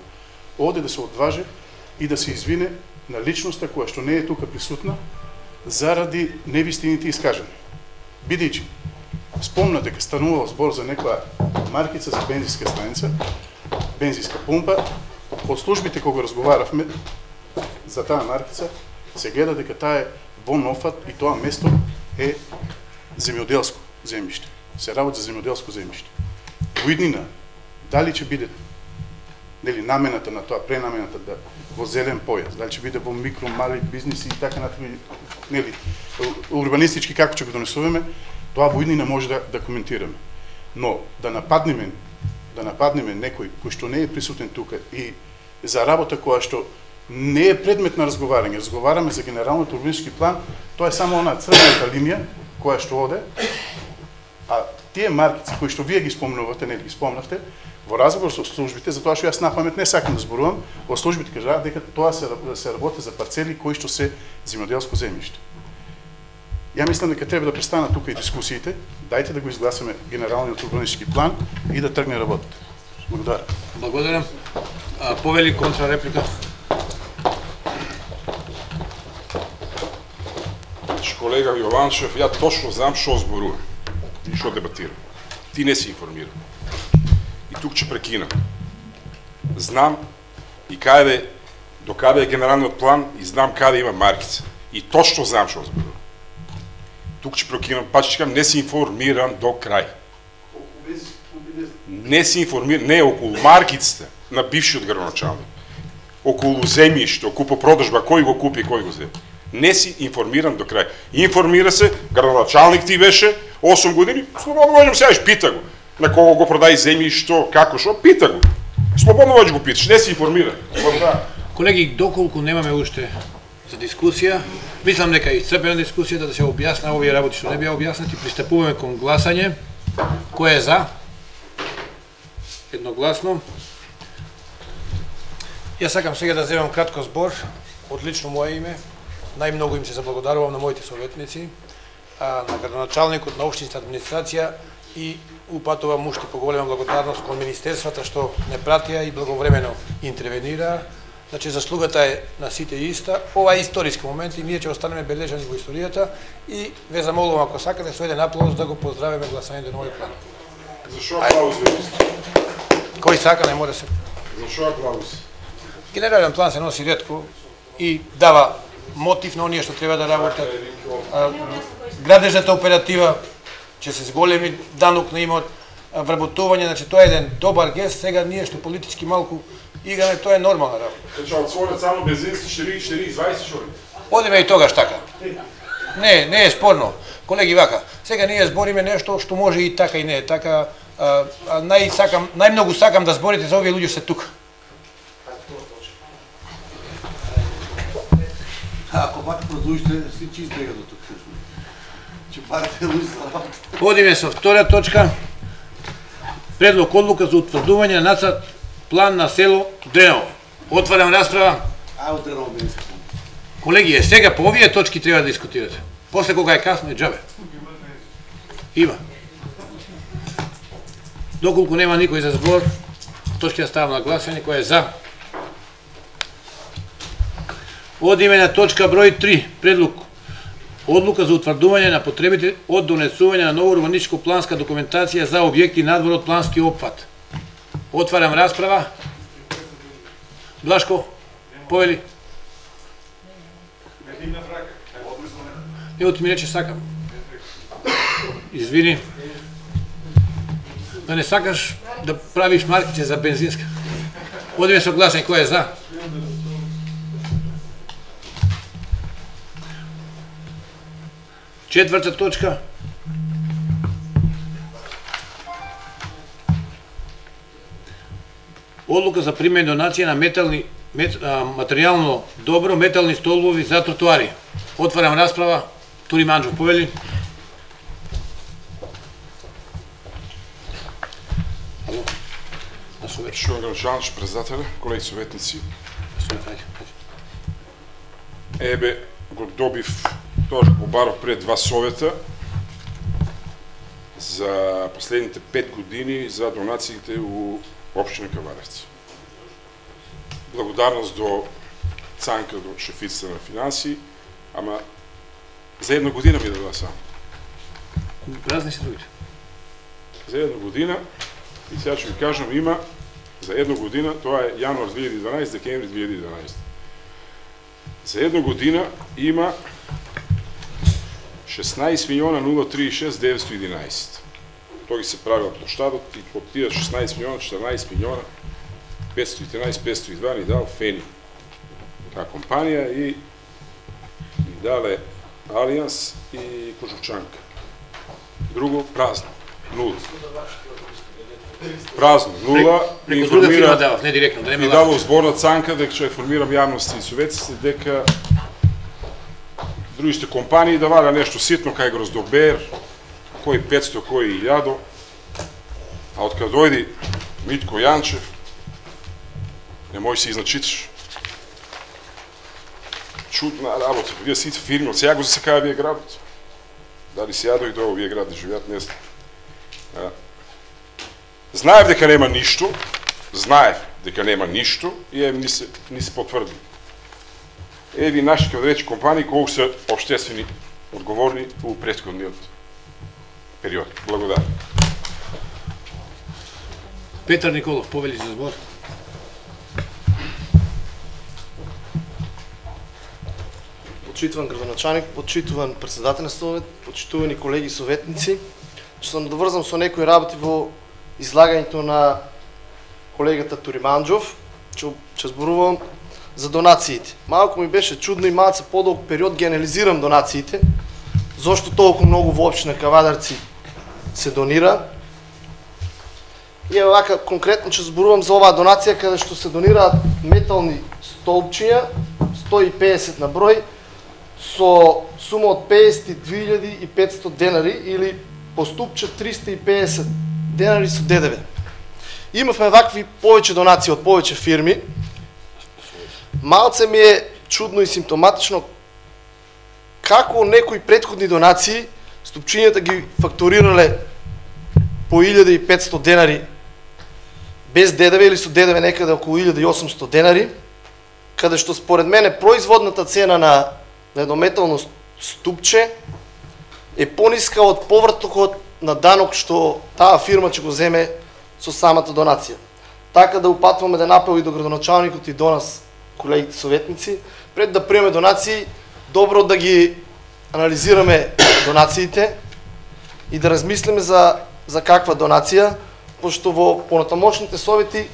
оде да се одваже и да се извине на личноста која што не е тука присутна заради невистините искажани. Бидејќи спомна дека станувал збор за некоја маркица за бензинска станица, бензинска пумпа, од службите кога разговаравме за таа маркица, се гледа дека таа е во Нофат и тоа место е земјоделско земјиште. Се работи за земјоделско земјиште. Во иднина, дали ќе биде нели намената на тоа, пренамената да во зелен појас, дали ќе биде во микро, мали бизниси и така натаму, нели урбанистички како ќе го донесуваме, тоа во иднина може да да коментираме. Но да нападнеме, да нападнеме некој кој што не е присутен тука и за работа која што не е предмет на разговарање, разговараме за генералниот урбанистички план, тоа е само она црвената линија која што оде, а тие маркици кои што вие ги спомнувате, нели ги спомнавте, во разговор со службите, затоа што јас на памет не сакам да зборувам, во службите кажаа дека тоа се се работи за парцели кои што се земјоделско земјиште. Ја мислам дека треба да престанат тука и дискусиите, дајте да го изгласаме генералниот урбанистички план и да тргне работата. Благодарам. Благодарам. А, повели контра реплика. Колега Јованшев, ја точно знам што зборувам и што дебатирам. Ти не си информиран. И тук ќе прекинам. Знам и каде, до каде е генералниот план и знам каде има маркица. И точно знам што зборувам. Тук ќе прекинам, па ќе кажам, не си информиран до крај. Не си информиран, не околу маркиците на бившиот градоначалник. Околу земјиште, околу продажба, кој го купи и кој го земи. Не си информиран до крај. Информира се, градоначалник ти беше осум години, слободно можеш сега пита го. На кого го продај земјишто, како што, пита го. Слободно можеш го питаш, не си информиран. Колеги, доколку немаме уште за дискусија, мислам дека е исцрпена дискусијата да се објасна овие работи што не беа објаснати, пристапуваме кон гласање. Кој е за? Едногласно. Јас сакам сега да земам кратко збор од лично моје име. Најмногу им се заблагодарувам на моите советници, а, на градоначалникот, на општинската администрација и упатувам уште поголема благодарност кон министерствата што не пратија и благовремено интервенира. Значи заслугата е на сите иста. Ова е историски момент и ние ќе останеме бележани во историјата и ве замолувам ако сакате со еден аплауз да го поздравиме гласањето на овој план. Зашо аплауз ве? Кој сака не може се. Зашо аплауз? Генерален план се носи ретко и дава мотив на оние што треба да работат. Градежната оператива ќе се зголеми данок на имот, вработување, значи тоа е еден добар гест, сега ние што политички малку играме, тоа е нормална работа. Значи отворат само бензински четири четири дваесет што ли? Одиме и тогаш така. Не, не е спорно. Колеги, вака, сега ние збориме нешто што може и така и не е така. А, а нај сакам, најмногу сакам да зборите за овие луѓе се тука. Ако пак продолжите, си чист бега до тук. Че парите луѓе за работа. Одиме со втора точка. Предлог одлука за утврдување на нацрт план на село Дреново. Отварам расправа. А, од Дреново Бенска. Колеги, е сега по овие точки треба да дискутирате. После кога е касно е џабе. Има. Доколку нема никој за збор, точки ја ставам на гласање, кој е за. Одиме на точка број три, предлог одлука за утврдување на потребите од донесување на нова урбанистичко планска документација за објекти надвор од плански опфат. Отварам расправа. Блашко, повели. Ево ти ми рече сакам. Извини. Да не сакаш да правиш марките за бензинска. Одиме со гласање, кој е за? Четврта точка. Одлука за примање донација на метални мет, а, материјално добро, метални столбови за тротоари. Отварам расправа. Турманџов, повели. Ало. На совет. Шо градоначалник, председателе, колеги советници. На совет, ајде. Ебе, го добив тоа што побарав пред два совета за последните пет години за донациите у општина Кавадарци. Благодарност до Цанка, до шефицата на финанси, ама за една година ми дадува само. Празни се другите. За една година, и сега ќе ви кажам, има за една година, тоа е јануар две илјади и дванаесет, декември две илјади и дванаесет. За една година има шеснаесет милиона нула триесет и шест деветстотини и единаесет. Тоа ги се правил площадот и од тие шеснаесет милиона, четрнаесет милиона, петстотини и единаесет, петстотини и два ни дал Фени, таа компанија, и ни дале Алијанс и Кожухчанка. Друго празно, нула. Празно, нула. Преку друга фирма давав, не директно, да не ме и дава зборна Цанка дека ќе информирам јавноста и советците дека другите компании да валя нешто ситно кај Гроздобер, кој петсто, кој илјадо, а од кога дојди Митко Јанчев, не може се изначитиш. Чудна работа, вие сите фирми, од сега го засекава вие градот. Дали сега дојде до овие град да живеат, не знам. Знаев дека нема ништо, знаев дека нема ништо и е, ни се, ни се потврди. Еви наши, како да рече, компании колку се обштествени одговорни у претходниот период. Благодарам. Петар Николов, повели за збор. Почитуван градоначалник, почитуван председател на совет, почитувани колеги советници, ќе се надоврзам со некои работи во излагањето на колегата Туриманџов, ќе ќе зборувам за донациите. Малку ми беше чудно и малце подолг период ги анализирам донациите, зошто толку многу во општина Кавадарци се донира. И вака конкретно ќе зборувам за оваа донација каде што се донираат метални столпчиња, сто и педесет на број, со сума од педесет и две илјади и петстотини денари или по ступче триста и педесет денари со ДДВ. Имавме вакви повеќе донации од повеќе фирми. Малце ми е чудно и симптоматично како некои претходни донации ступчињата ги фактурирале по илјада и петстотини денари без ДДВ или со ДДВ некаде околу илјада и осумстотини денари, каде што според мене производната цена на еднометално ступче е пониска од повртокот на данок што таа фирма ќе го земе со самата донација. Така да упатваме да напел и до градоначалникот и до нас, колегите советници, пред да приеме донации, добро да ги анализираме донациите и да размислиме за, за каква донација, пошто во понатамошните совети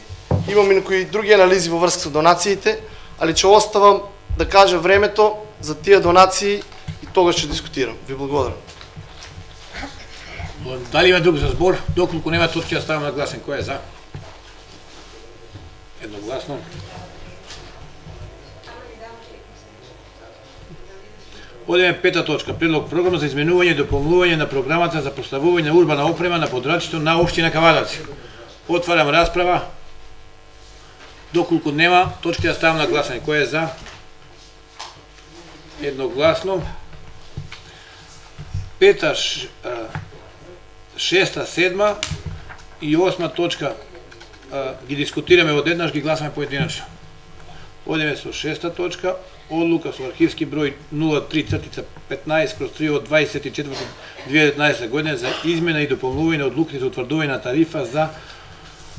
имаме некои други анализи во врска со донациите, али ќе оставам да кажа времето за тие донации и тогаш ќе дискутирам. Ви благодарам. Дали има друг за збор? Доколку нема, тоа ќе ставам на гласен. Кој е за? Едногласно. Одеме пета точка. Предлог програма за изменување и дополнување на програмата за поставување на урбана опрема на подрачјето на општина Кавадарци. Отварам расправа. Доколку нема, точка ја ставам на гласање. Кој е за? Едногласно. Пета, шеста, седма и осма точка ги дискутираме одеднаш, ги гласаме поединачно. Одеме со шеста точка. Одлука со архивски број нула три петнаесет кроз три од дваесет и четврти две илјади и деветнаесета година за измена и дополнување на одлуките за утврдување на тарифа за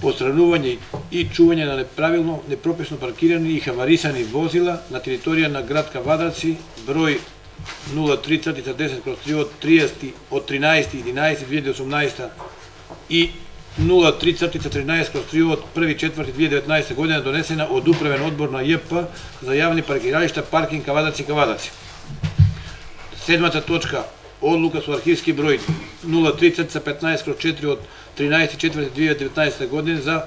постранување и чување на неправилно, непрописно паркирани и хаварисани возила на територија на град Кавадарци, број нула три десет кроз три од триесети од тринаесети единаесети две илјади и осумнаесета и нула три тринаесет кроз три од први четврти две илјади и деветнаесета година, донесена од управен одбор на ЈП за јавни паркиралишта паркинг Кавадарци Кавадарци. Седмата точка. Одлука со архивски број нула три петнаесет кроз четири од тринаесети четврти две илјади и деветнаесета година за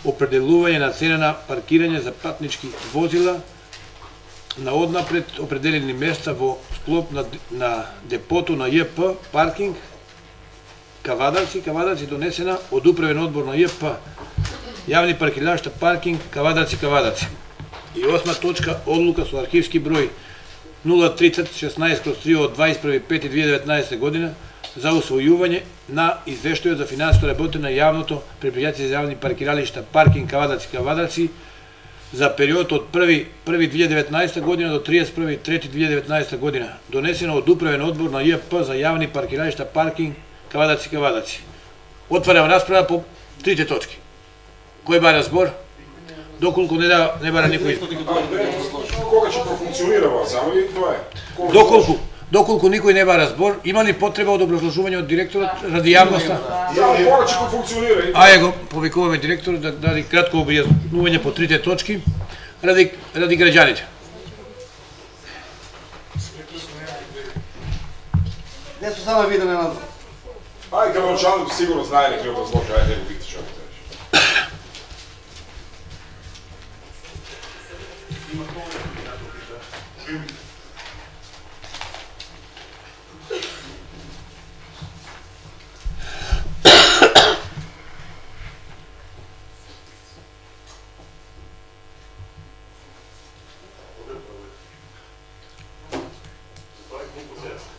определување на цена на паркирање за патнички возила на однапред определени места во склоп на, на депото на ЈП паркинг Кавадарци, Кавадарци, донесена од управен одбор на ЈП јавни паркиралишта паркинг Кавадарци, Кавадарци. И осма точка. Одлука со архивски број нула тридесет шеснаесет кроз три од дваесет и први пети две илјади и деветнаесета година за усвојување на извештајот за финансиска работа на јавното предпријатие за јавни паркиралишта паркинг Кавадарци Кавадарци за период од први први две илјади и деветнаесета година до триесет и први трети две илјади и деветнаесета година, донесено од управен одбор на ЈП за јавни паркиралишта паркинг Кавадарци Кавадарци. Отварам расправа по трите точки. Кој бара збор? Доколку не, да, не бара никој. Кога ќе профункционира ова, само и тоа е. Доколку доколку никој не бара збор, има ли потреба од образложување од директорот ради јавноста? Само кога ќе профункционира? Ајде го повикуваме директорот да даде кратко објаснување по трите точки ради ради граѓаните. Не су само видеме на Ај, градоначалник сигурно знае некој образложи, ајде го викте што ќе кажеш.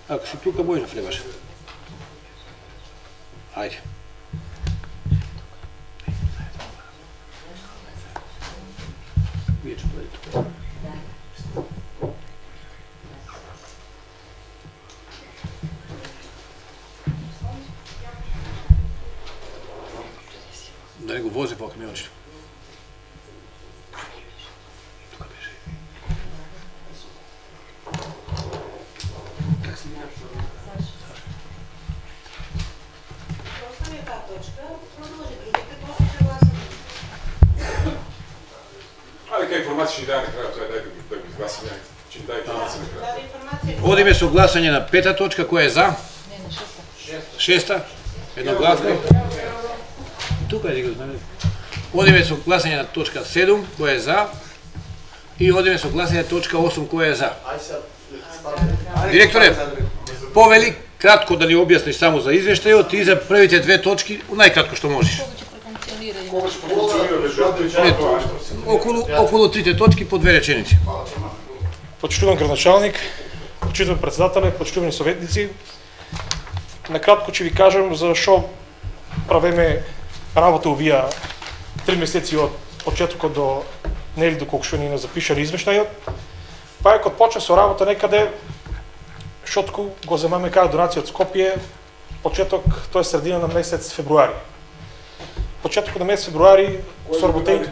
Ако си тука, може да влебаш. Ајде. Вие ќе бъде тука. Да не го вози по камиончето. Информација ќе даде на крајот, тоа е дај да ги гласаме, ќе дај информација на крајот. Одиме со гласање на пета точка, која е за? Не, на шеста. Шеста? Едногласно. Тука е да го знаме. Одиме со гласање на точка седум, која е за? И одиме со гласање на точка осум, која е за? Директоре, повели кратко да ни објасниш само за извештајот и за првите две точки, најкратко што можеш. Кога ќе профункционира? Околу, околу трите точки по две реченици. Почитуван градоначалник, почитуван председателе, почитувани советници, накратко ќе ви кажам за што правиме работа овие три месеци од почетокот до нели доколку што ни не запишали извештајот. Паекот почна со работа некаде шотку го земаме кај донација од Скопје, почеток, тоа е средина на месец февруари. Почетокот на месец февруари со работење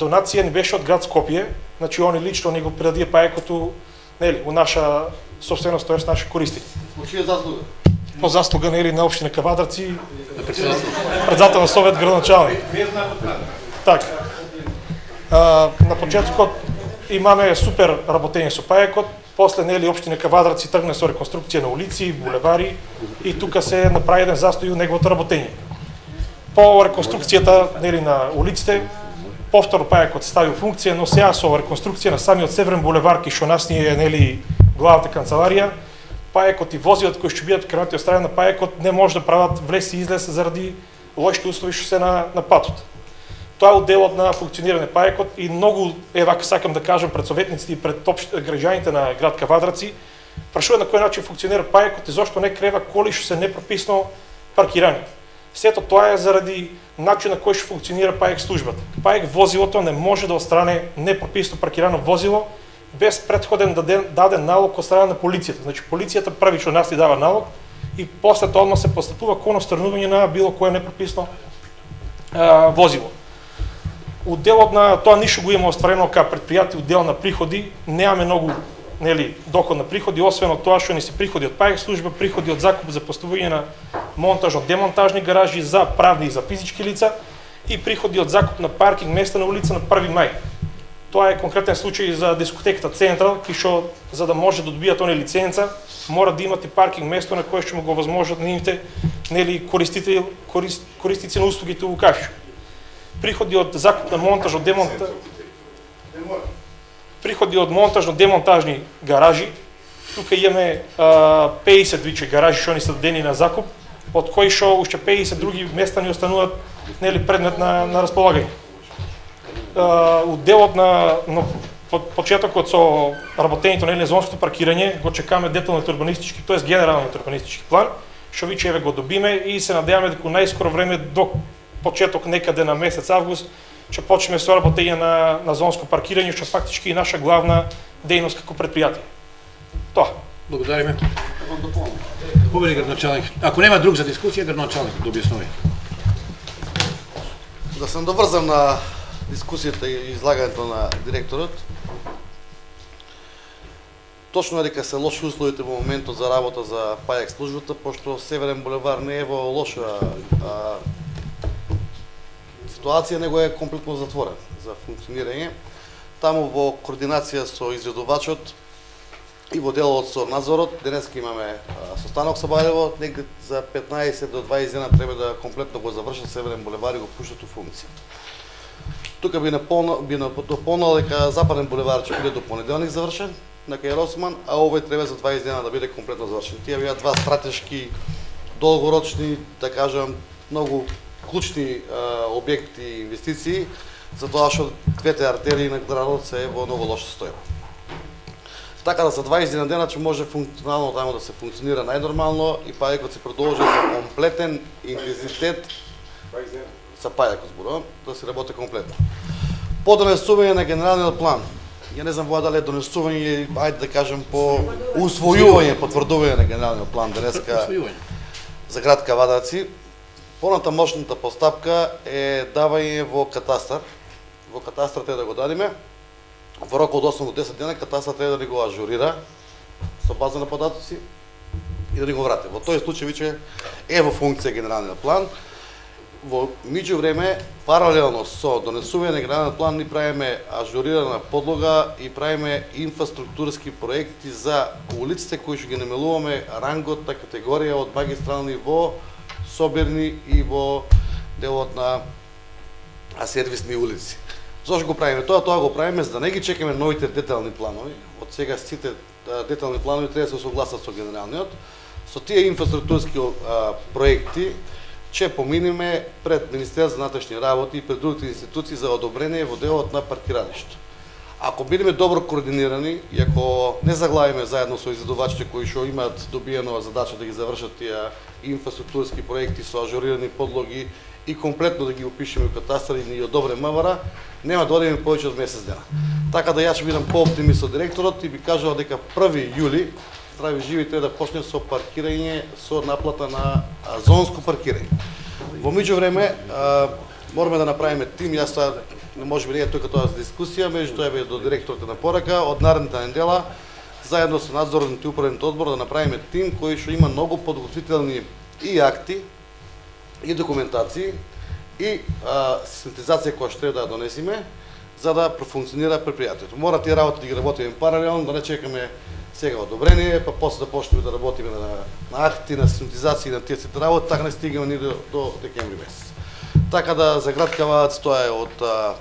донација ни беше од град Скопје, значи они лично ни го предадија паекото, нели, у наша собственост, тоест наши користи. По чија заслуга? По заслуга нели на општина Кавадарци, председател на совет градоначалник. Така. А, на почетокот имаме супер работење со паекот, после нели општина Кавадарци тргна со реконструкција на улици, булевари и тука се направи еден застој у неговото работење. По реконструкцијата нели на улиците, повторно паекот стави у функција, но сега со реконструкција на самиот Северен булевар, кој што нас ни е нели главната канцеларија, паекот и возилата кои ќе бидат кrenати од страна на паекот не може да прават влез и излез заради лошите услови што се на, на патот. Тоа е одделот на функционирање паекот и многу, евако сакам да кажам пред советниците и пред граѓаните на град Кавадарци, прашува на кој начин функционира паекот и зошто не крева коли што се непрописно паркирани. Сето тоа е заради начинот на кој што функционира паек службата. Паек возилото не може да отстране непрописно паркирано возило без претходен даден, даден налог од страна на полицијата. Значи полицијата првично нас ни дава налог и после тоа одма се постапува кон отстранување на било кое непрописно а, возило. Уделот на тоа ништо го има остварено кај предпријатие, удел на приходи, немаме многу нели доход на приходи, освен од тоа што ни се приходи од паек служба, приходи од закуп за поставување на монтажно-демонтажни гаражи за правни и за физички лица и приходи од закуп на паркинг места на улица на први мај. Тоа е конкретен случај за дискотеката Централ, кој што за да може да добијат они лиценца, мора да имате паркинг место на кое што му го возможат нивните нели користители корист, користици на услугите у кафишу. Приходи од закуп на монтажно-демонтаж приходи од монтажно-демонтажни гаражи. Тука имаме а, пеесет виче гаражи што ни се дадени на закуп, од кои што уште пеесет други места ни остануваат нели предмет на, на располагање. Uh, Уделот на, на почетокот со работењето на зонското паркирање го чекаме деталниот урбанистички, тоест генералниот урбанистички план, што виче еве го добиме и се надеваме дека најскоро време до почеток некаде на месец август ќе почнеме со работење на на зонско паркирање, што фактички е наша главна дејност како предпријатие. Тоа. Благодариме. Победи градоначалник. Ако нема друг за дискусија, градоначалник да објаснови. Да се доврзам на дискусијата и излагањето на директорот. Точно е дека се лоши условите во моментот за работа за ПАЕК службата, пошто Северен булевар не е во лоша а, ситуација, него е комплетно затворен за функционирање. Таму во координација со изведувачот и во делот со надзорот, денеска имаме а, состанок со Бајлево, негде за петнаесет до дваесет дена треба да комплетно го завршат Северен булевар и го пуштат у функција. Тука би наполнал, би дополнал дека Западен булевар ќе биде до понеделник завршен на кај Росман, а овој треба за дваесет дена да биде комплетно завршен. Тие беа два стратешки, долгорочни, да кажам, многу клучни а, објекти и инвестиции, затоа што двете артерии на градот се во многу лоша состојба. Така да за дваесет дена ќе може функционално таму да се функционира најнормално и ПАЕКот се продолжи за комплетен интензитет за ПАЕКот зборувам, да се работи комплетно. По донесување на генералниот план, ја не знам воа дали е донесување или ајде да кажем по усвојување, потврдување на генералниот план денеска за град Кавадарци. Поната мощната постапка е давање во катастар. Во катастар треба да го дадиме. Во рок од осум до десет дена катастар треба да ни го ажурира со база на податоци и да ни го врати. Во тој случај веќе е во функција генералниот план. Во меѓувреме, паралелно со донесување на генералниот план, ни правиме ажурирана подлога и правиме инфраструктурски проекти за улиците кои што ги намалуваме рангот на категорија од магистрални во собирни и во делот на сервисни улици. Зошто го правиме тоа? Тоа го правиме за да не ги чекаме новите детални планови. Од сега сите детални планови треба да се согласат со генералниот. Со тие инфраструктурски а, проекти ќе поминеме пред Министерството за внатрешни работи и пред другите институции за одобрение во делот на паркиралишто. Ако бидеме добро координирани и ако не заглавиме заедно со изведувачите кои што имаат добиено задача да ги завршат тие инфраструктурски проекти со ажурирани подлоги и комплетно да ги опишеме во катастар и ни одобре МВР, нема да одиме повеќе од месец дена. Така да јас ќе бидам пооптимист со директорот и би кажал дека први јули здрави живи треба да почне со паркирање, со наплата на а, зонско паркирање. Во меѓувреме мораме да направиме тим, јас тоа не може би не е тука тоа за дискусија, меѓу тоа е до директорот на порака, од наредната недела заедно со надзорниот и управниот одбор да направиме тим кој што има многу подготвителни и акти и документации и а, систематизација која што треба да донесиме за да профункционира предпријатието. Мора тие работи да ги работиме паралелно, да не чекаме сега одобрение, па после да почнеме да работиме на, на акти, на систематизација на тие сите работи, така не стигаме ни до, до декември месец. Така да за град Кавадац тоа е од а,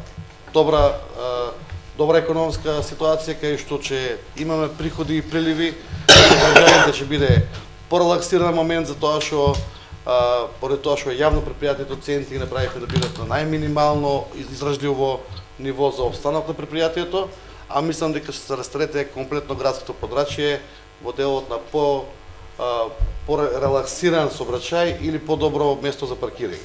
добра а, добра економска ситуација кај што ќе имаме приходи и приливи, граѓаните ќе биде порелаксиран момент за тоа што а, поред тоа што е јавно предпријатието центи ги направивме да бидат на најминимално издржливо ниво за обстанок на предпријатието, а мислам дека ќе се растерете комплетно градското подрачје во делот на по а, по-релаксиран сообраќај или по-добро место за паркирање.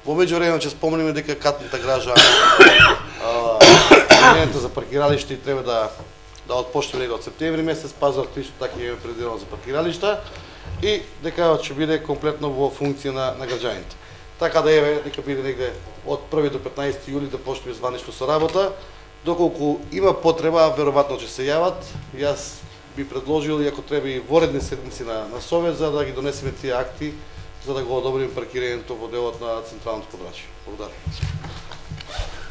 Во меѓувреме ќе спомнеме дека катната гража а, за паркиралишта треба да да отпочне негде од септември месец, пазарот исто така е предвидено за паркиралишта и дека ќе биде комплетно во функција на, на граѓаните. Така да еве дека биде негде од први до петнаесети јули да почнеме званично со работа. Доколку има потреба, веројатно ќе се јават. Јас би предложил и ако треба и воредни седмици на, на совет за да ги донесеме тие акти за да го одобриме паркирањето во делот на централното подрачје. Благодарам.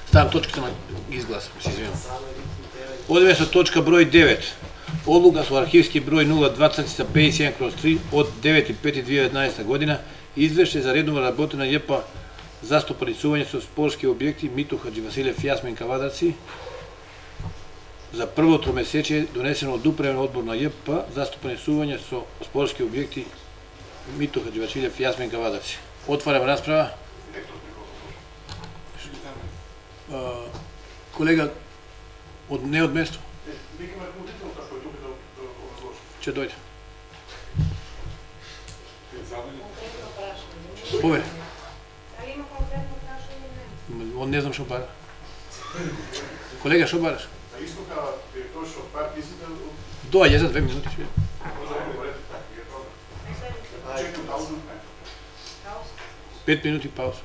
Ставам точката на изглас, се извинувам. Одиме со точка број девет. Одлука со архивски број нула дваесет петдесет и седум кроз три од девети пети две илјади и еднаесетта година извеште за редовна работа на ЈП за стопанисување со спортски објекти Мито Хаджи Василев Јасмин Кавадарци за прво тромесечие донесено од управен одбор на ЈП за стопанисување со спортски објекти Мито Хаджи Василев Јасмин Кавадарци. Отварам расправа. Колега, Од не од место. Викаме ръководителот кој тука да да образложи. Ќе дојде. Конкретно прашање. Повеќе. Дали има конкретно прашање? Он не знам што бара. Колега, што бараш? На истока директор што партија изида Доаѓе за две минути. Ще. Пет минути пауза.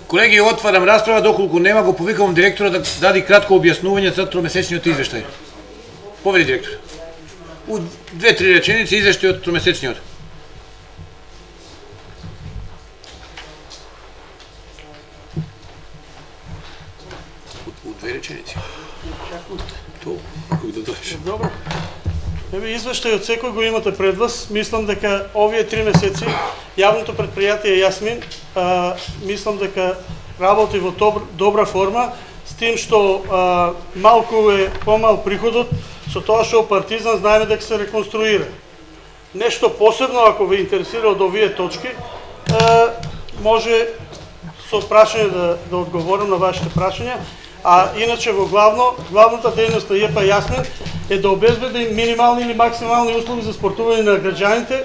Колеги, отварам расправа, доколку нема го повикувам директора да даде кратко објаснување за тромесечниот извештај. Повели директор. У две-три реченици извештајот тромесечниот. У две реченици. То, како да дојдеш. Добро. Еве извештајот секој го имате пред вас. Мислам дека овие три месеци јавното претпријатие Јасмин, а, мислам дека работи во добра, добра форма, с тим што а, малку е помал приходот, со тоа што Партизан знаеме дека се реконструира. Нешто посебно, ако ве интересира од овие точки, а, може со прашање да, да одговорам на вашите прашања. А иначе во главно, главната дејност на ЈП Јасмин е да обезбеди минимални или максимални услови за спортување на граѓаните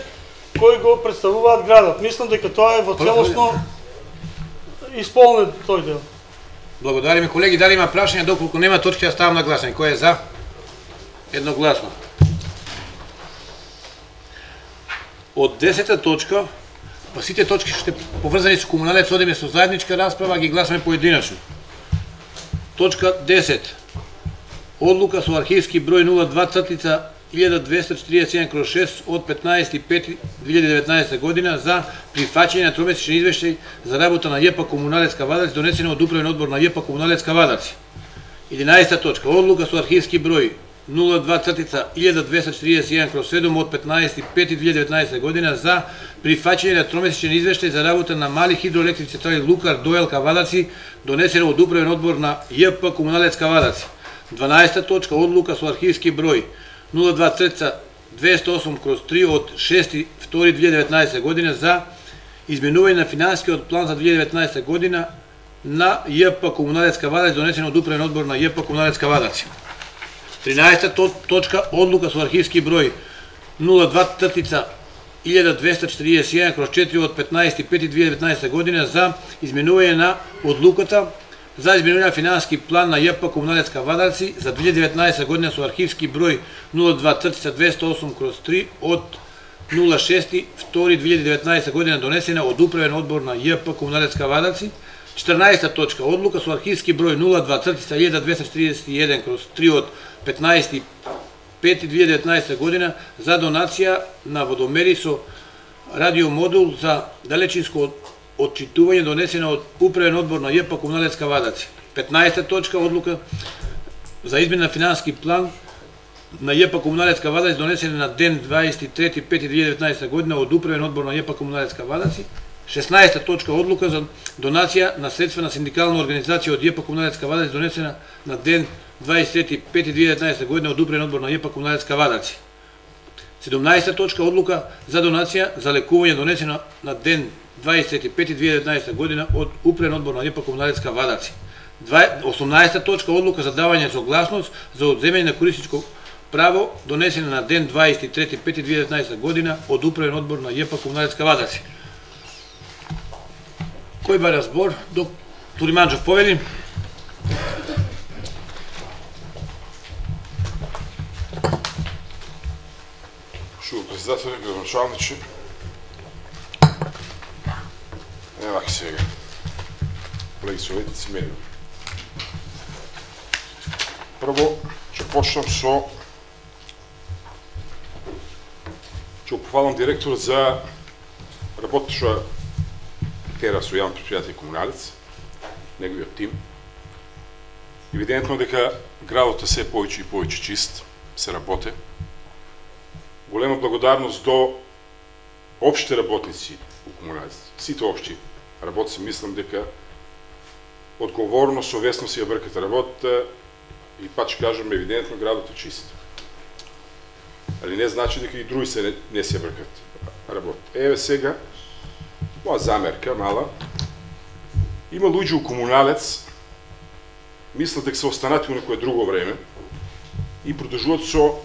кои го представуваат градот. Мислам дека тоа е во целосно исполнет тој дел. Благодариме, колеги. Дали има прашања? Доколку нема точки, ја ставам на гласање. Кој е за? Едногласно. Од десета точка, па сите точки што поврзани со комуналец одиме со заедничка расправа, ги гласаме поединачно. Точка десет. Одлука со архивски број нула два илјада двесте четиридесет и еден кроз шест од петнаесети пети две илјади и деветнаесета година за прифаќање на тромесечен извештај за работа на ЈП Комуналец Кавадарци, донесена од управен одбор на ЈП Комуналец Кавадарци. единаесета точка. Одлука со архивски број нула два илјада двесте четиридесет и еден кроз седум од петнаесети пети две илјади и деветнаесета година за прифаќање на тромесечен извештај за работа на мали хидроелектрични централи Лукар Доел Кавадарци, донесена од управен одбор на ЈП Комуналец Кавадарци. дванаесета точка. Одлука со архивски број нула два двесте и осум кроз три од шести втори две илјади и деветнаесета година за изменување на финансискиот план за две илјади и деветнаесета година на ЈП Комуналец Кавадарци, донесен од управен одбор на ЈП Комуналец Кавадарци. тринаесета точка. Одлука со архивски број нула два илјада двесте четиридесет и еден кроз четири од петнаесети пети две илјади и деветнаесета година за изменување на одлуката за изменување на финансиски план на ЈП Комуналец Кавадарци за две илјади и деветнаесета година со архивски број нула два двесте и осум кроз три од нула шести втори две илјади и деветнаесета година, донесена од управен одбор на ЈП Комуналец Кавадарци. четрнаесета точка. Одлука со архивски број нула два илјада двесте четиридесет и еден кроз три од петнаесети пети две илјади и деветнаесета година за донација на водомери со радиомодул за далечинско отчитување, донесена од управен одбор на ЈП Комуналец Кавадарци. петнаесета точка. Одлука за измена на финансиски план на ЈП Комуналец Кавадарци, донесена на ден дваесет и трети пети две илјади и деветнаесета година од управен одбор на ЈП Комуналец Кавадарци. шеснаесета точка. Одлука за донација на средства на синдикална организација од ЈП Комуналец Кавадарци, донесена на ден дваесет и трети пети две илјади и деветнаесета година од управен одбор на ЈП Комуналец Кавадарци. седумнаесета точка. Одлука за донација за лекување, донесена на ден дваесет и трети пети две илјади и деветнаесета година од управен одбор на ЈП Комуналец Кавадарци. осумнаесета точка. Одлука за давање согласност за одземање на користичко право, донесена на ден дваесет и трети пети две илјади и деветнаесета година од управен одбор на ЈП Комуналец Кавадарци. Кој бара збор? Доктор Иманџов повели. Шо, председател, градоначалниче. Ева сега. Колеги советници, медиуми. Прво, ќе почнам со ќе похвалам директорот за работата што тера со јавно претпријатие Комуналец, неговиот тим. Евидентно дека градот е се повеќе и повеќе чист, се работе. Голема благодарност до општи работници у Комуналец. Сите општи работници, мислам дека одговорно, совесно си ја бркате работата и пак ќе кажам, евидентно градот е чист. Али не значи дека и други се не, не си ја бркат работата. Еве сега, моја замерка мала, има луѓе у Комуналец мислат дека се останати у некое друго време и продолжуваат со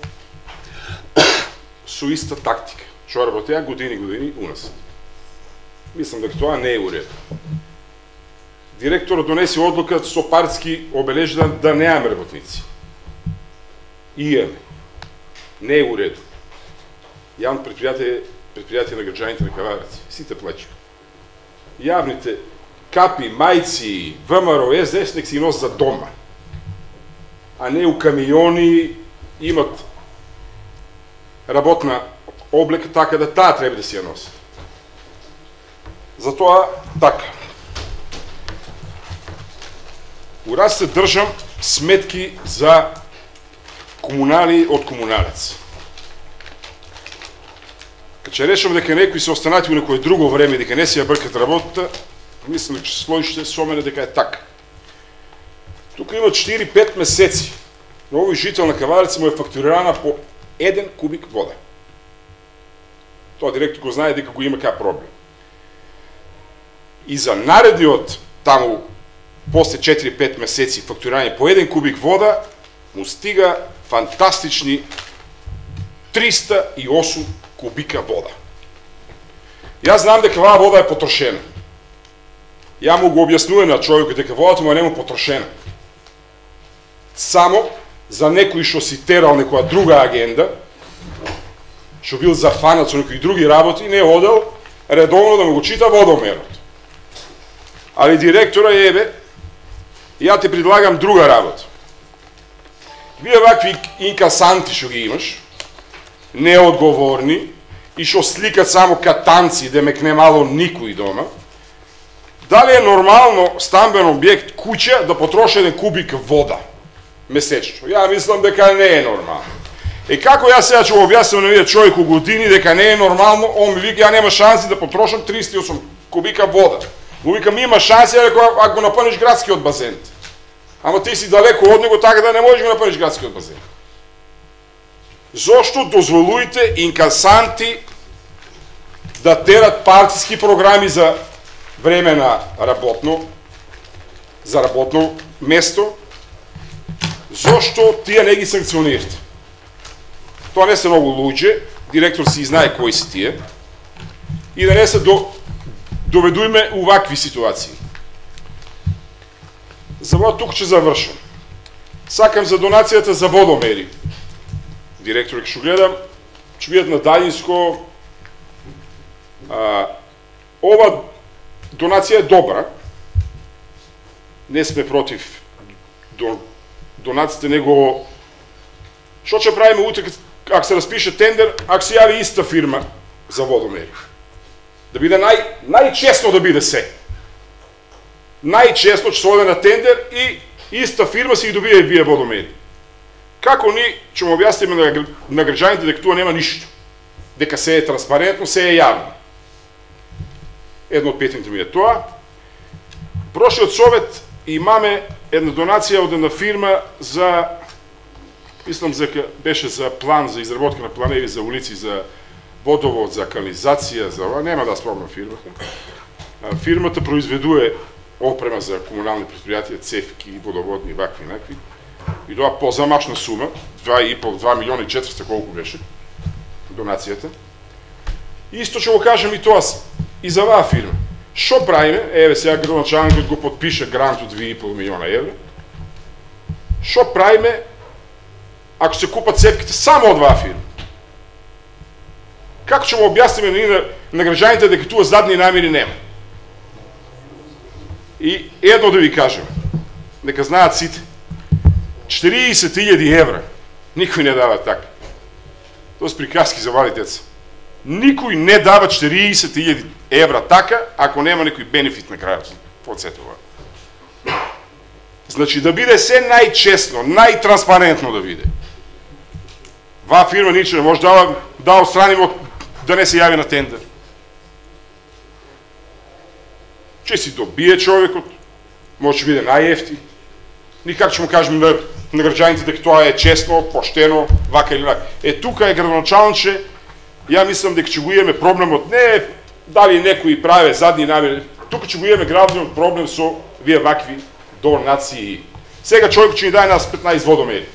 со иста тактика, што работеа години години у нас. Мислам дека тоа не е у ред. Директорот донесе одлука со партски обележи да, да немаме работници. И имаме. Не е у ред. Јавно предпријатие предпријатие на граѓаните на Кавадарци. Сите плачеа. Јавните капи, мајци, ВМРО, Ес Де Ес нек си носат за дома. А не у камиони имат работна облека така да таа треба да си ја носат. Затоа така. У раз се држам сметки за комунали од комуналец. Кога решам дека некои се останати у некое друго време, дека не си ја бркат работата, мислам дека сложите со мене дека е така. Тука има четири-пет месеци на овој жител на Кавадарци му е фактурирана по еден кубик вода. Тоа директор го знае дека го има кај проблем. И за наредниот таму после четири-пет месеци фактурирање по еден кубик вода му стига фантастични триста и осум кубика вода. Јас знам дека оваа вода е потрошена. Ја му го објаснувам на човекот дека водата му е нему потрошена. Само за некој што си терал некоја друга агенда, што бил зафанат со некои други работи, не одел редовно да му го чита водомерот. Али директора ебе, ја те предлагам друга работа. Вие вакви инкасанти што ги имаш, неодговорни и што сликат само катанци, демек не мало никој дома, дали е нормално стамбен објект куќа да потроши еден кубик вода месечно? Ја мислам дека не е нормално. Е како јас сега ќе го објаснам на овие човеку години дека не е нормално, он ми вика ја нема шанси да потрошам триста и осум кубика вода. Му викам има шанси ако го напълниш градскиот базен. Ама ти си далеко од него така да не можеш го напълниш градскиот базен. Зошто дозволуете инкасанти да терат партиски програми за време на работно, за работно место? Зошто тие не ги санкционирате? Тоа не се многу луѓе, директор си знае кои си тие, и да не се до, доведуеме у вакви ситуации. За во тук ќе завршам. Сакам за донацијата за водомери. Директор ќе гледам, ќе видат на Далинско. А, ова донација е добра. Не сме против до, донациите, него што ќе правиме утре ако се распише тендер, ако се јави иста фирма за водомери? Да биде нај, најчестно да биде се. Најчестно ќе се оде на тендер и иста фирма си ги добие вие водомери. Како ни ќе му објасниме на, на граѓаните дека тоа нема ништо? Дека се е транспарентно, се е јавно. Едно од петните ми е тоа. Прошлиот совет имаме една донација од една фирма за, мислам дека беше за план, за изработка на планеви за улици, за водовод, за канализација, за ова, нема да спомнам фирмата. Фирмата произведува опрема за комунални предпријатија, цевки, водоводни, вакви и накви. И тоа позамашна сума, два и пол, два милиона и четириста колку беше донацијата. Исто ќе го кажем и тоа и за оваа фирма. Што правиме? Еве сега градоначалникот го подпише грант од два и пол милиона евра. Што правиме ако се купат цевките само од оваа фирма? Како ќе му објасниме на, на граѓаните дека туа задни намери нема? И едно да ви кажем, нека знаат сите, четириесет илјади евра никој не дава така. Тоа се приказки за мали деца. Никој не дава четириесет илјади евра така, ако нема некој бенефит на крајот од сето ова. Значи да биде се најчестно, најтранспарентно да биде. Ваа фирма ниче не може да, да отстранимо да не се јави на тендер. Че си добие човекот, може да биде најефтин. Никак ќе му кажем на, на граѓаните дека тоа е честно, поштено, вака или вака. Е, тука е градоначалниче, ја мислам дека ќе го имаме проблемот, не дали некои праве задни намери, тука ќе го имаме главниот проблем со вие вакви донации. Сега човек ќе ни даде нас петнаесет водомери.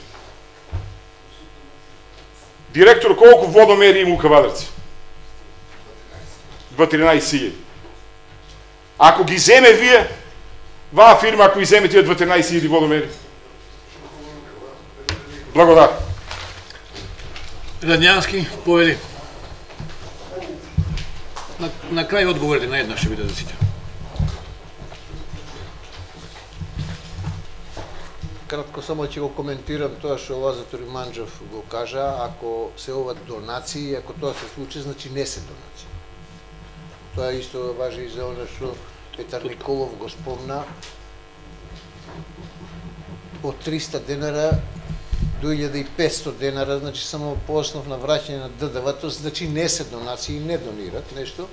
Директор, колку водомери има у Кавадарци? дванаесет илјади. Ако ги земе вие, ваа фирма, ако ги земе тие дванаесет илјади водомери. Благодар. Радњански, повели. На, на крај одговорите на една ще биде за сите. Кратко само ќе го коментирам тоа што Лазар Манџов го кажа, ако се ова донации, ако тоа се случи, значи не се донации. Тоа исто важи и за оно што Петар Николов го спомна. Од триста денара до илјада и петстотини денара, значи само по основ на враќање на Д Д В, значи не се донации, не донират нешто.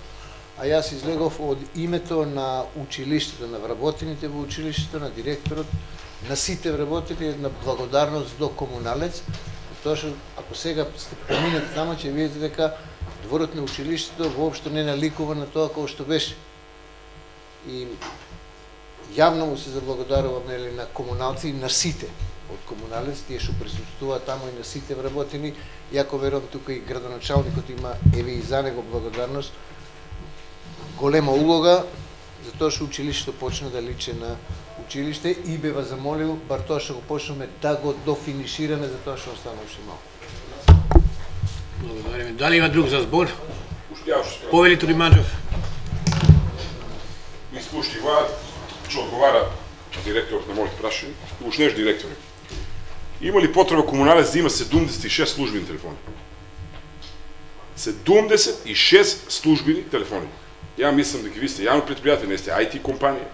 А јас излегов од името на училиштето, на вработените во училиштето, на директорот, на сите вработени, една благодарност до Комуналец, тоа што ако сега сте поминати тамо, ќе видите дека дворот на училиштето воопшто не наликува на тоа кој што беше. И јавно му се заблагодарувам нели на комуналци и на сите од Комуналец, тие што присуствуваат тамо и на сите вработени. Јако верувам тука и градоначалникот има, еве и за него благодарност, голема улога за тоа што училиштето почна да личи на училиште и бе вас замолил бар тоа што го почнеме да го дофинишираме за тоа што остана уште малку. Благодариме. Дали има друг за збор? Повели Риманџов. Ми спушти владат, што одговара директорот на моите прашања, уж неш директор. Има ли потреба Комуналец да има седумдесет и шест службени телефони? седумдесет и шест службени телефони. Ја мислам дека ви сте јавно предпријатие, не сте ай ти компанија.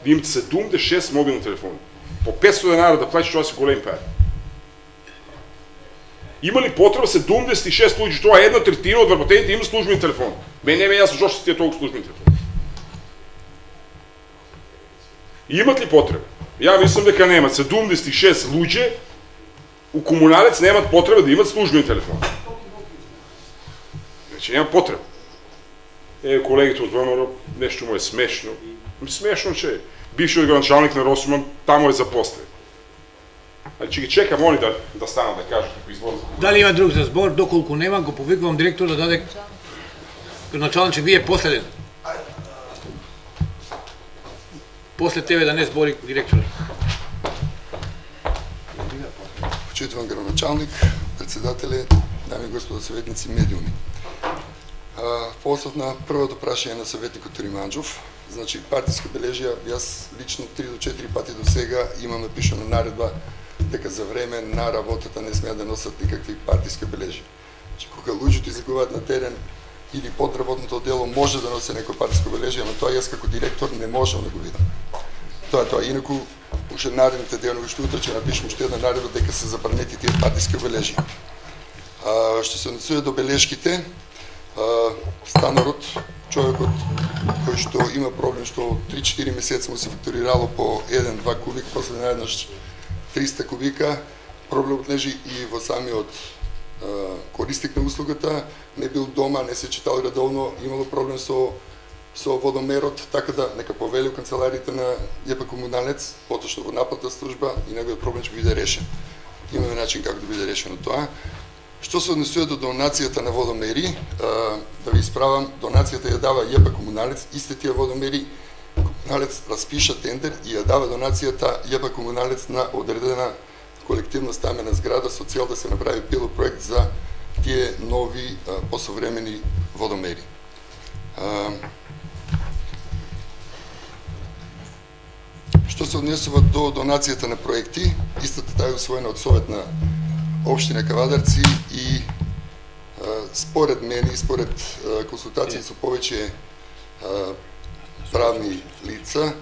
Да имате седумдесет и шест мобилни телефони. По петстотини денара да платиш, тоа се голем пари. Има ли потреба седумдесет и шест луѓе, тоа е една третина од вработените има службени телефони. Мене не ме јасно зошто сте толку службени телефони. Имат ли потреба? Ја мислам дека немат. седумдесет и шест луѓе у Комуналец немат потреба да имат службени телефони. Значи нема потреба. Е, колегите од ВМРО, нешто му е смешно. Смешно, че бившиот градоначалник на Росуман тамо е запослен. Значи ги чекам они да, да станат да кажат како извоз. Дали има друг за збор? Доколку нема, го повикувам директор да даде градоначалник, че вие последен. После тебе да не збори директорот. Почитуван градоначалник, председателе, дами и господа советници, медиуми. По основ на првото прашање на советникот Риманџов, значи партиска бележија, јас лично три до четири пати до сега имаме пишана наредба дека за време на работата не смеат да носат никакви партиска бележија. Значи кога луѓето излегуваат на терен или под работното дело може да носи некој партиска бележија, но тоа јас како директор не можам да го видам. Тоа тоа инаку уште наредните денови што утре ќе напишем уште една наредба дека се забранети тие партиски бележија. А што се однесува до белешките, станарот, човекот кој што има проблем што три-четири месеца му се фактурирало по еден-два кубик, после наеднаш триста кубика, проблемот лежи и во самиот корисник на услугата, не бил дома, не се читал редовно, имало проблем со со водомерот, така да нека повели у канцелариите на ЈП Комуналец, поточно во наплатна служба и неговиот проблем ќе биде решен. Имаме начин како да биде решено тоа. Што се однесува до донацијата на водомери, да ви исправам, донацијата ја дава ЈП Комуналец, исти тие водомери Комуналец распиша тендер и ја дава донацијата ЈП Комуналец на одредена колективна стамена зграда со цел да се направи пилот проект за тие нови посовремени водомери. Што се однесува до донацијата на проекти, истата таа е усвоена од Совет на Општина Кавадарци и според мене и според консултации со повеќе правни лица,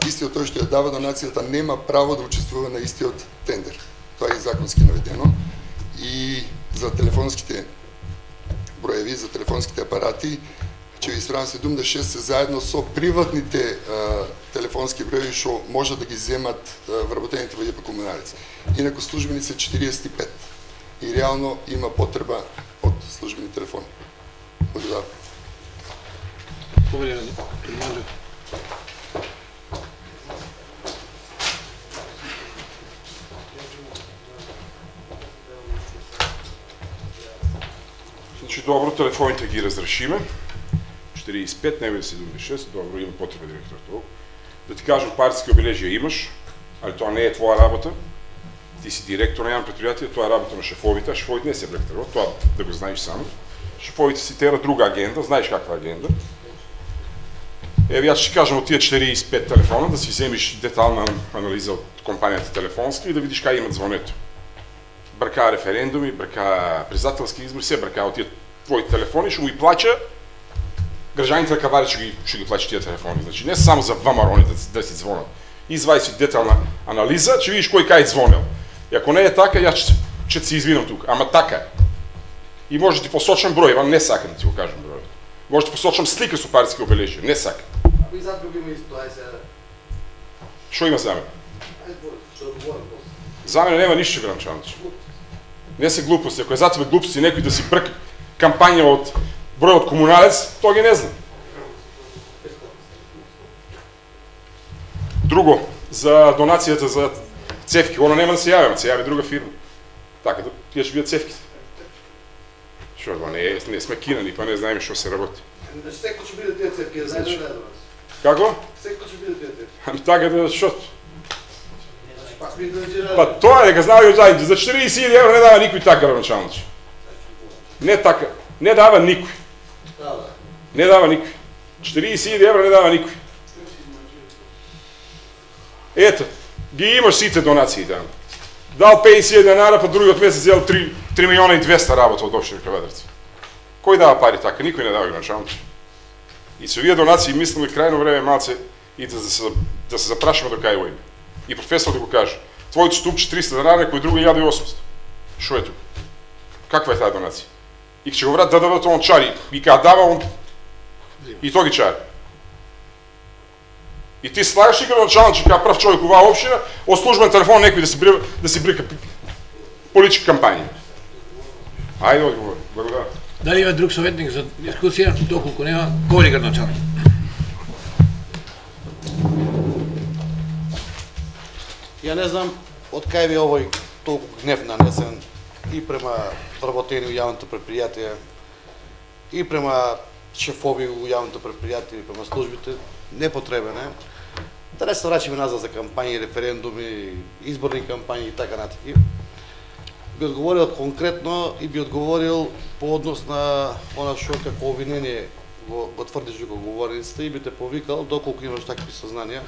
истиот тој што ја дава донацијата нема право да учествува на истиот тендер. Тоа е законски наведено. И за телефонските броеви, за телефонските апарати, ќе ви исправам седумдесет и шест се заедно со приватните а, телефонски броеви што може да ги земат а, вработените во ЈП Комуналец. Инаку службени се четириесет и пет. И реално има потреба од службени телефони. Благодарам. Значи, добро, телефоните ги разрешиме. четириесет и пет, не бе седумдесет и шест, добро, има потреба директор толку. Да ти кажам, партиски обележија имаш, али тоа не е твоја работа. Ти си директор на јавно предпријатие, тоа е работа на шефовите, а шефовите не се блектерот, тоа да го знаеш само. Шефовите си тера друга агенда, знаеш каква агенда. Еве, јас ќе кажам од тие четириесет и пет телефона, да си земиш детална анализа од компанијата телефонска и да видиш кај имат звонето. Бркаа референдуми, бркаа председателски избори, се бркаа од тие твои телефони, што му и плача граѓаните на Кавадар ќе ги ќе ги плачат тие телефони. Значи не само за вамарони да, да си звонат. Извај си детална анализа, ќе видиш кој кај звонел. И ако не е така, јас ќе се извинам тука. Ама така е. И може да ти посочам број, ама не сакам да ти го кажам број. Може да ти посочам слика со партиски обележја, не сакам. Ако и зад други има исто, ај се. Што има за мене? Ај што говорам после. За мене нема ништо, Гранчанич. Не се глупости. Ако е за тебе глупости некој да си брка кампања од број од комуналец, тоа ги не знам. Друго, за донацијата за цевки, оно нема да се јавиме, се јави друга фирма. Така, тие ќе бидат цевките. Што, тоа не, не сме кинани, па не знаеме што се работи. Значи секој ќе биде тие цевки, знаеш да е до нас. Како? Секој ќе биде тие цевки. Ами така да што? Пак би да Па тоа е дека знае ја заедно, за четириесет илјади евра не дава никој така, Гранчанич. Не така, не дава никој. Не дава никој. четириесет илјади евра не дава никој. Ето, ги имаш сите донации таму. Дал петдесет илјади денара, па другиот месец зел три милиона и двесте работа од општина Кавадарци. Кој дава пари така? Никој не дава, Гранчанич. И со овие донации мислам и крајно време малце и да се да се запрашаме до кај оиме. И професор да го каже, твојот ступче триста денари, кој друго илјада и осумстотини. Шо е тука? Каква е таа донација? И ќе го врат да дадат он чари, и кога дава он и тоа ги чари. И ти слагаш и Гранчанич како прв човек во оваа општина, од службен телефон некој да си брика, да си брика политички кампањи. Ајде одговор. Благодарам. Дали има друг советник за дискусија? Доколку нема, говори Гранчанич. Ја не знам од кај ви овој толку гнев нанесен и према вработени у јавното предпријатие, и према шефови у јавното предпријатие, и према службите, непотребен е. Да не се врачиме назад за кампањи, референдуми, изборни кампањи и така натаки. Би одговорил конкретно и би одговорил по однос на она што како обвинение го, го тврдиш во говорницата и би те повикал доколку имаш такви сознанија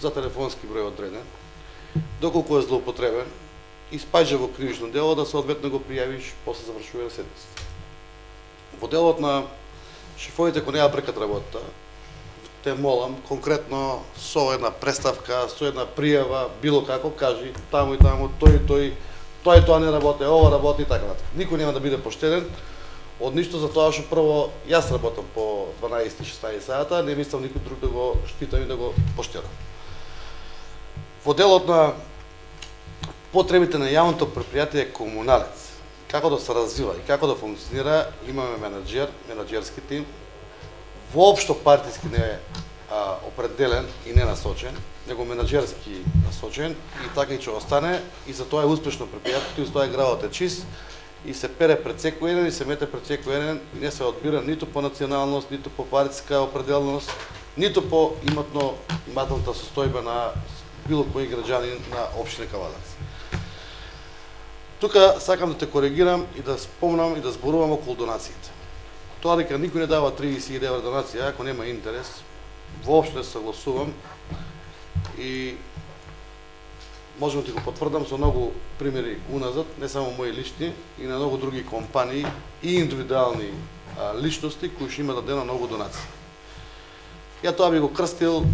за телефонски број одреден, доколку е злоупотребен, испаѓа во кривично дело, да соодветно го пријавиш после завршување на седмицата. Во делот на шефовите кои неа бркат работата, те молам конкретно со една представка, со една пријава, било како кажи таму и таму, тој и тој, тој тоа не работи, ова работи и така натаму. Никој нема да биде поштеден од ништо за тоа што прво јас работам по дванаесет до шеснаесет сата, не мислам никој друг да го штитам и да го поштедам. Во делот на потребите на јавното предпријатие комуналец, како да се развива и како да функционира, имаме менаџер, менаџерски тим, воопшто партиски не е а, определен и не насочен, него менаџерски насочен и така и ќе остане и за тоа е успешно предпријатието и за тоа е градот е чист и се пере пред секој еден и се мете пред секој еден и не се одбира ниту по националност, ниту по партиска определеност, ниту по иматно имателната состојба на било кој граѓанин на општина Кавадарци. Тука сакам да те коригирам и да спомнам и да зборувам околу донациите. Тоа дека никој не дава триесет илјади евра донација, ако нема интерес, воопшто не се согласувам и можам да ти го потврдам со многу примери уназад, не само мои лични, и на многу други компании и индивидуални а, личности кои што имаат дадена многу донации. Ја тоа би го крстил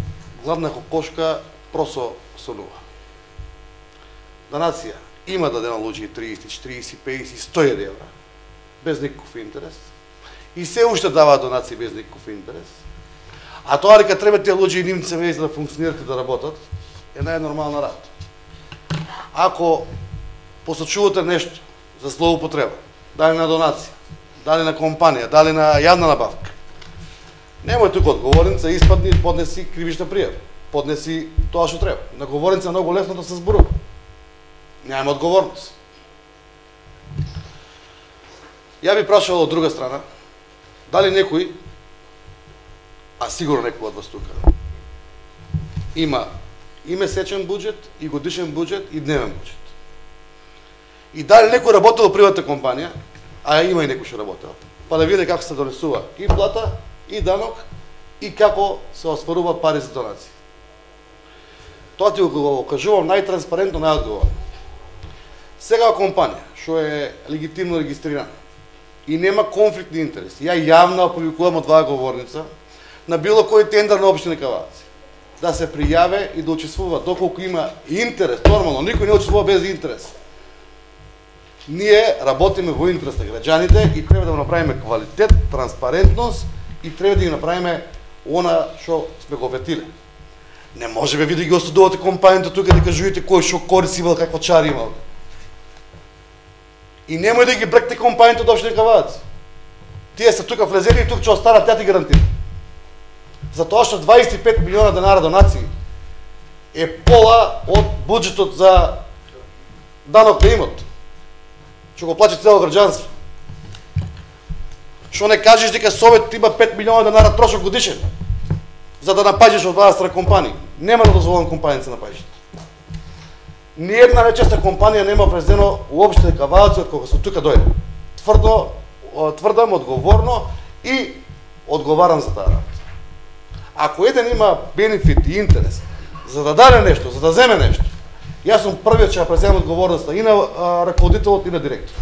гладна кокошка просо сонува. Донација има дадена луѓе триесет, четириесет, петдесет, сто евра без никаков интерес и се уште даваат донации без никаков интерес. А тоа дека треба тие луѓе и нивните семејства да функционират и да работат е најнормална работа. Ако посочувате нешто за злоупотреба, дали на донација, дали на компанија, дали на јавна набавка, немој тука одговорница, испадни и поднеси кривична пријава. Поднеси тоа што треба. На говорница многу лесно да се зборува. Немаме одговорност. Ја би прашал од друга страна, дали некој, а сигурно некој од вас тука, има и месечен буџет, и годишен буџет, и дневен буџет. И дали некој работел во приватна компанија, а има и некој што работел, па да види како се донесува и плата, и данок, и како се осварува пари за донации. Тоа ти го кажувам најтранспарентно, најодговорно. Сега компанија, што е легитимно регистрирана и нема конфликт на интереси, ја јавно опубликувам од оваа говорница на било кој тендер на општина Каварци да се пријаве и да учествува доколку има интерес. Нормално, никој не учествува без интерес. Ние работиме во интерес на граѓаните и треба да го направиме квалитет, транспарентност и треба да ги направиме она што сме го ветиле. Не може бе ви да ги осудувате компанијата тука да кажувате кој што корист имал, какво чари имал. И немој да ги бректе компанијата од општина Каварци. Тие се тука влезени и тука ќе останат, ја ти гарантира. Затоа што дваесет и пет милиона денара донации е пола од буџетот за данок на имот. Што го плаче цело граѓанство. Што не кажеш дека Совет има пет милиона денара трошок годишен за да напаѓаш од власта на компанија. Нема да дозволам компанијата да се напаѓаш. Ни една речеста компанија нема влезено уопште Каварци од кога се тука дојде. Тврдо, тврдам, одговорно и одговарам за таа работа. Ако еден има бенефит и интерес за да даде нешто, за да земе нешто, јас сум првиот ќе ја преземам одговорноста и на а, раководителот и на директор.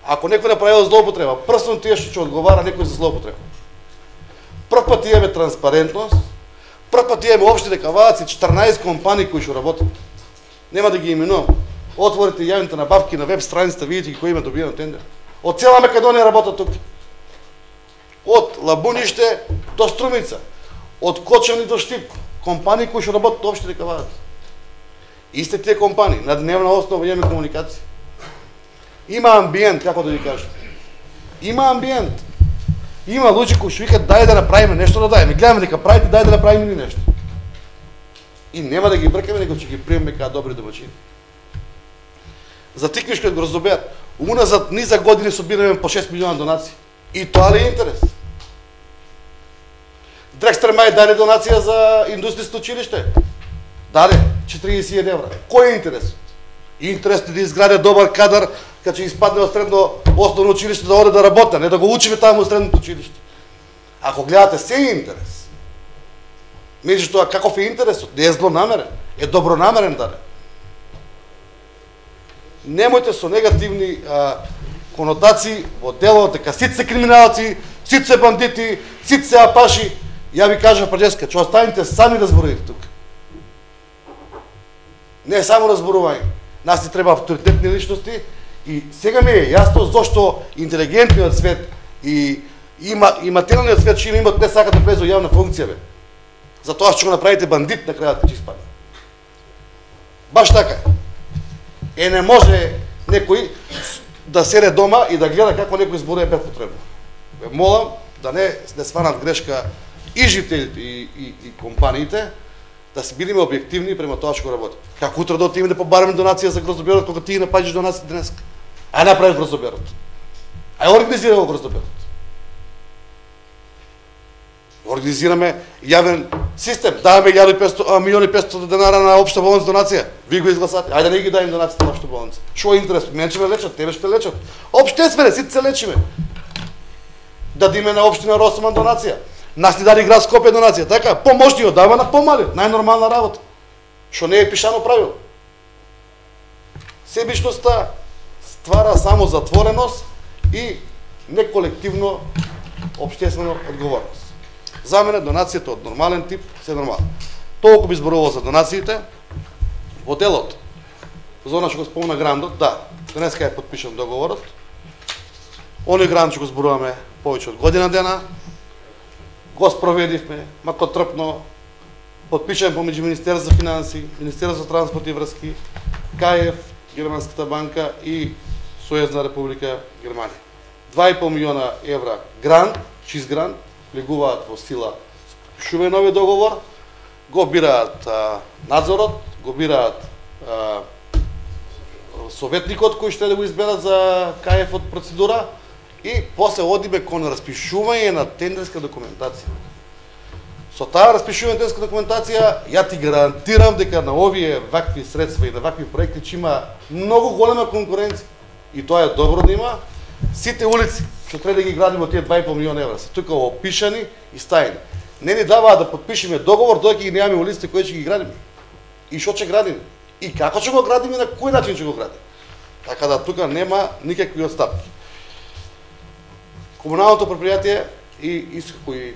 Ако некој направил злоупотреба, прв сум тие што ќе одговара некој за злоупотреба. Прв пат имаме транспарентност, прв пат имаме општина Каварци, четрнаесет компании кои што работат. Нема да ги именувам. Отворите јавните набавки на веб страницата, видите ги кои има добиено тендер. Од цела Македонија работат тука. Од Лабуниште до Струмица, од Кочани до Штип, компании кои што работат во општина Каварци. Исти тие компании, на дневна основа имаме комуникација. Има амбиент, како да ви кажам. Има амбиент. Има луѓе кои што викаат дај да направиме нешто, да дајме. Гледаме дека правите, дај да направиме ни нешто. И нема да ги бркаме, него ќе ги приемеме како добри домаќини. За Тиквишкиот гроздобер, уназад низа години собираме по шест милиона донации. И тоа ли е интерес? Дрекстер Мај даде донација за индустријско училиште. Даде четириесет евра. Кој е интересот? Интересот е да изгради добар кадар, кога ќе испадне од средно основно училиште да оде да работи, не да го учиме таму во средното училиште. Ако гледате се е интерес. Меѓутоа каков е интересот? Не е злонамерен, е добронамерен даде. Немојте со негативни а, конотации во делот дека сите се криминалци, сите се бандити, сите се апаши. Ја ви кажав преска, че останете сами да зборувате тука. Не само да зборување. Нас ни треба авторитетни личности и сега ми е јасно зошто интелигентниот свет и има и материјалниот свет што имаат не сакат да влезу во јавна функција бе. Затоа што го направите бандит на крајот ќе испадне. Баш така е. Е не може некој да седе дома и да гледа како некој зборува без потребно. Ве молам да не не сванат грешка и жителите и, и, и компаниите, да се бидеме објективни према тоа што го работи. Како утре да отидеме да побараме донација за гроздоберот кога ти напаѓаш донација денес? А направи гроздоберот. А организира го гроздоберот. Организираме јавен систем, даваме милиони и петстотини денара на општа болница донација. Ви го изгласате. Ајде да не ги дајме донација на општа болница. Што е интерес? Мене ќе ме лечат, тебе ще лечат. Општествене, сите се лечиме. Дадиме на општина Росоман донација. Нас ни даде град Скопје донација, така? Помошни ја дава на помали, најнормална работа. Што не е пишано правило. Себичноста ствара само затвореност и неколективно општествена одговорност. За мене донацијата од нормален тип се нормална. Толку би зборувал за донациите во делот. За она што го спомна грандот, да, денеска е подпишан договорот. Оној гранд што го зборуваме повеќе од година дена, го спроведивме, мако трпно, подпишан помеѓу Министерство за финансии, Министерство за транспорт и врски, КаЕФ, Германската банка и Сојузна република Германија. два и пол милиона евра грант, чист грант, влегуваат во сила шуве нови договор, го бираат а, надзорот, го бираат а, советникот кој ще да го изберат за К Ф од процедура и после одиме кон распишување на тендерска документација. Со таа распишување на тендерска документација, ја ти гарантирам дека на овие вакви средства и на вакви проекти ќе има многу голема конкуренција. И тоа е добро да има. Сите улици што треба да ги градиме од тие два и пол милиона евра се тука опишани и стајани. Не ни даваат да подпишеме договор додека ги немаме улиците кои ќе ги градиме. И што ќе градиме? И како ќе го градиме и на кој начин ќе го градиме? Така да тука нема никакви отстапки. Комуналното предпријатие и исто кој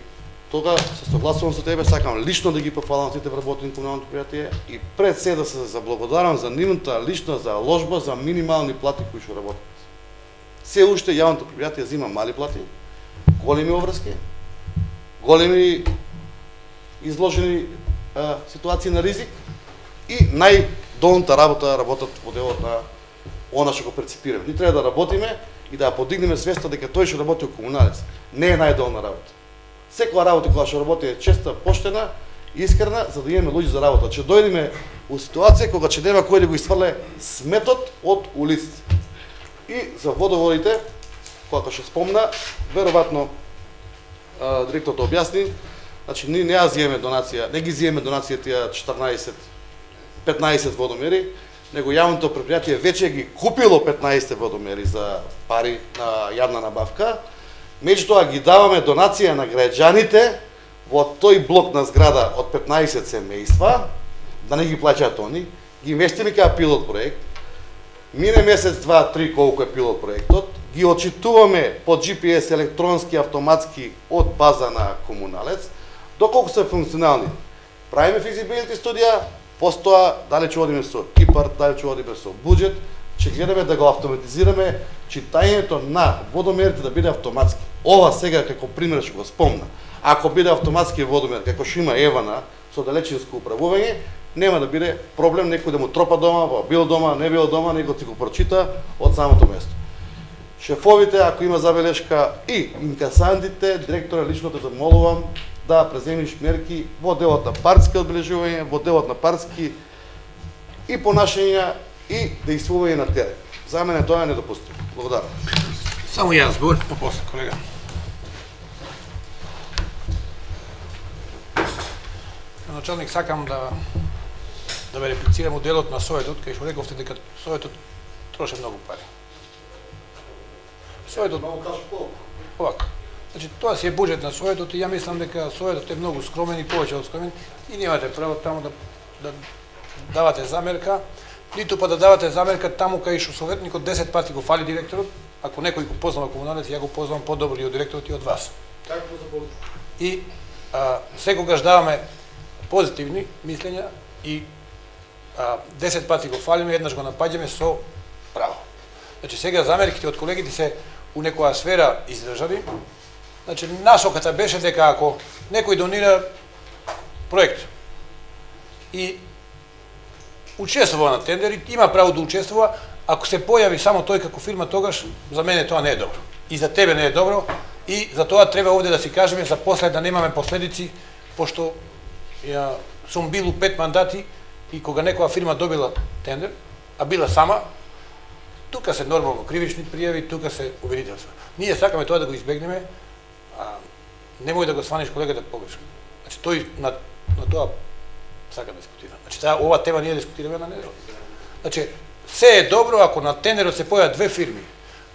тога се согласувам со тебе, сакам лично да ги пофалам сите вработени на комуналното предпријатие и пред се да се заблагодарам за нивната лична заложба за минимални плати кои што работат. Се уште јавното предпријатие зима мали плати, големи обврски, големи изложени а, ситуации на ризик и најдолната работа работат во делот на она што го перципираме. Ни треба да работиме и да подигнеме свеста дека тој што работи во комуналец не е најдолна работа. Секоја работа која што работи е честа, поштена, искрена, за да имаме луѓе за работа. Че дојдеме у ситуација кога ќе нема кој да го исфрле сметот од улиците. И за водоводите, кога што спомна, веројатно директорот објасни, значи ние не ја зиеме донација, не ги зиеме донација тие четрнаесет петнаесет водомери, него јавното предпријатие веќе ги купило петнаесет водомери за пари на јавна набавка. Меѓутоа ги даваме донација на граѓаните во тој блок на зграда од петнаесет семејства, да не ги плаќаат они, ги местиме кај пилот проект. Мине месец, два, три колку е пилот проектот, ги отчитуваме по Джи Пи Ес електронски, автоматски од база на комуналец, доколку се функционални. Правиме физибилити студија, постоа дали ќе одиме со ИПАР, дали ќе одиме со буџет, ќе гледаме да го автоматизираме читањето на водомерите да биде автоматски. Ова сега како пример што го спомна. Ако биде автоматски водомер, како што има Евана со далечинско управување, нема да биде проблем некој да му тропа дома, во бил дома, не бил дома, него ќе го прочита од самото место. Шефовите, ако има забелешка, и инкасантите, директора лично те замолувам да преземиш мерки во делот на партски одбележување, во делот на партски и понашања и действување на терен. За мене тоа е недопустимо. Благодарам. Само јас збор, па после колега. Началник, сакам да да ве реплицирам у делот на Советот, кај што рековте дека Советот троше многу пари. Советот овако. Значи тоа си е буџет на Советот и ја мислам дека Советот е многу скромен и повеќе од скромен и немате право таму да да давате замерка, ниту па да давате замерка таму кај што советникот десет пати го фали директорот. Ако некој го познава комуналец, ја го познавам подобро и од директорот и од вас. И а, секогаш даваме позитивни мислења и а, десет пати го фалиме, еднаш го напаѓаме со право. Значи сега замерките од колегите се у некоја сфера издржави. Значи насоката беше дека ако некој донира проект и учествува на тендери, има право да учествува, ако се појави само тој како фирма, тогаш за мене тоа не е добро. И за тебе не е добро и за тоа треба овде да си кажеме за после да немаме последици, пошто ја сум бил у пет мандати и кога некоја фирма добила тендер, а била сама, тука се нормално кривични пријави, тука се обвинителства. Ние сакаме тоа да го избегнеме, а немој да го сваниш колегата погрешно. Значи тој на, на тоа сака да дискутира. Значи таа ова тема ние дискутираме на неделя. Значи се е добро ако на тендерот се појават две фирми.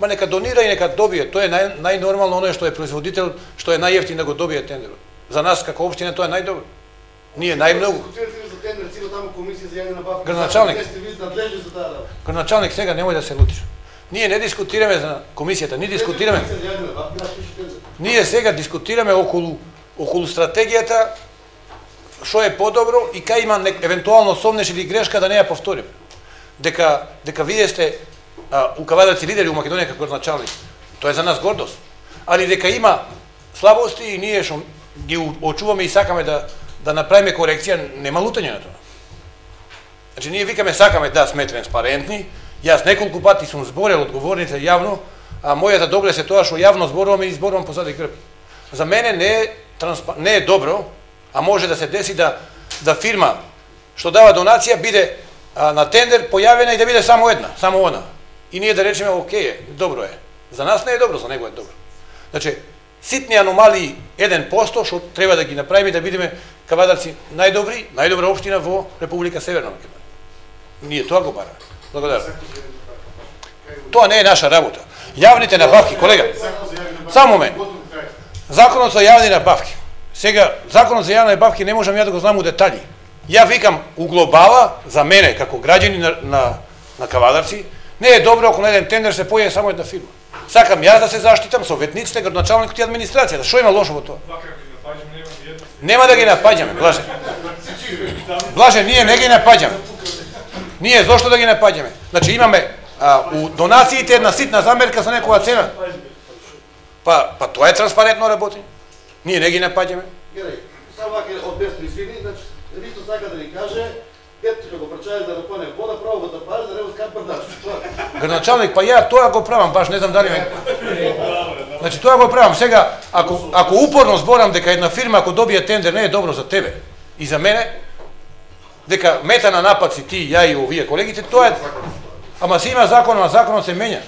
Ма нека донира и нека добие. Тоа е нај, најнормално, оној што е производител, што е најевтин да го добие тендерот. За нас како општина тоа е најдобро. Ние најмногу. Градоначалник. Градоначалник, сега немој да се лутиш. Ние не дискутираме за комисијата, ние дискутираме. Ние сега дискутираме околу околу стратегијата, што е подобро и кај има евентуално сомнеш или грешка да не ја повториме. Дека дека вие сте а, укавадарци лидери у Македонија како градоначалник. Тоа е за нас гордост. Али дека има слабости и ние што ги очуваме и сакаме да да направиме корекција, нема лутање на тоа. Значи ние викаме сакаме да сме транспарентни. Јас неколку пати сум зборел одговорните јавно, а мојата доблест е тоа што јавно зборувам и зборувам позади грб. За мене не е транспа... не е добро, а може да се деси да да фирма што дава донација биде а, на тендер појавена и да биде само една, само она. И ние да речеме окей е, добро е. За нас не е добро, за него е добро. Значи, ситни аномалии еден процент што треба да ги направиме да бидеме кавадарци најдобри, најдобра општина во Република Северна Македонија. Ние тоа го бараме. Благодарам. Тоа не е наша работа. Јавните набавки, колега. Само момент. Законот за јавни набавки. Сега, законот за јавни набавки не можам ја да го знам у детали. Ја викам у глобала, за мене, како граѓани на, на, на кавадарци, не е добро ако на еден тендер се појави само една фирма. Сакам јас да се заштитам, советниците, градоначалникот и администрацијата. Што има лошо во тоа? Нема да ги напаѓаме, Блаже. Блаже, ние не ги напаѓаме. Ние зошто да ги напаѓаме? Значи имаме а, у донациите една ситна замерка за некоја цена. Па, па тоа е транспарентно работење. Ние не ги напаѓаме. Герај, само вака од бесно извини, значи Ристо сака да ни каже Петко ќе го прачаја да напоне вода, право го тапаре, да не го скапа дачи. Градоначалник, па ја тоа го правам, баш не знам дали ме. Значи тоа го правам. Сега, ако ако упорно зборам дека една фирма ако добие тендер не е добро за тебе и за мене, дека мета на напад си ти, ја и овие колегите, тоа е. Ама се има закон, а законот се менја.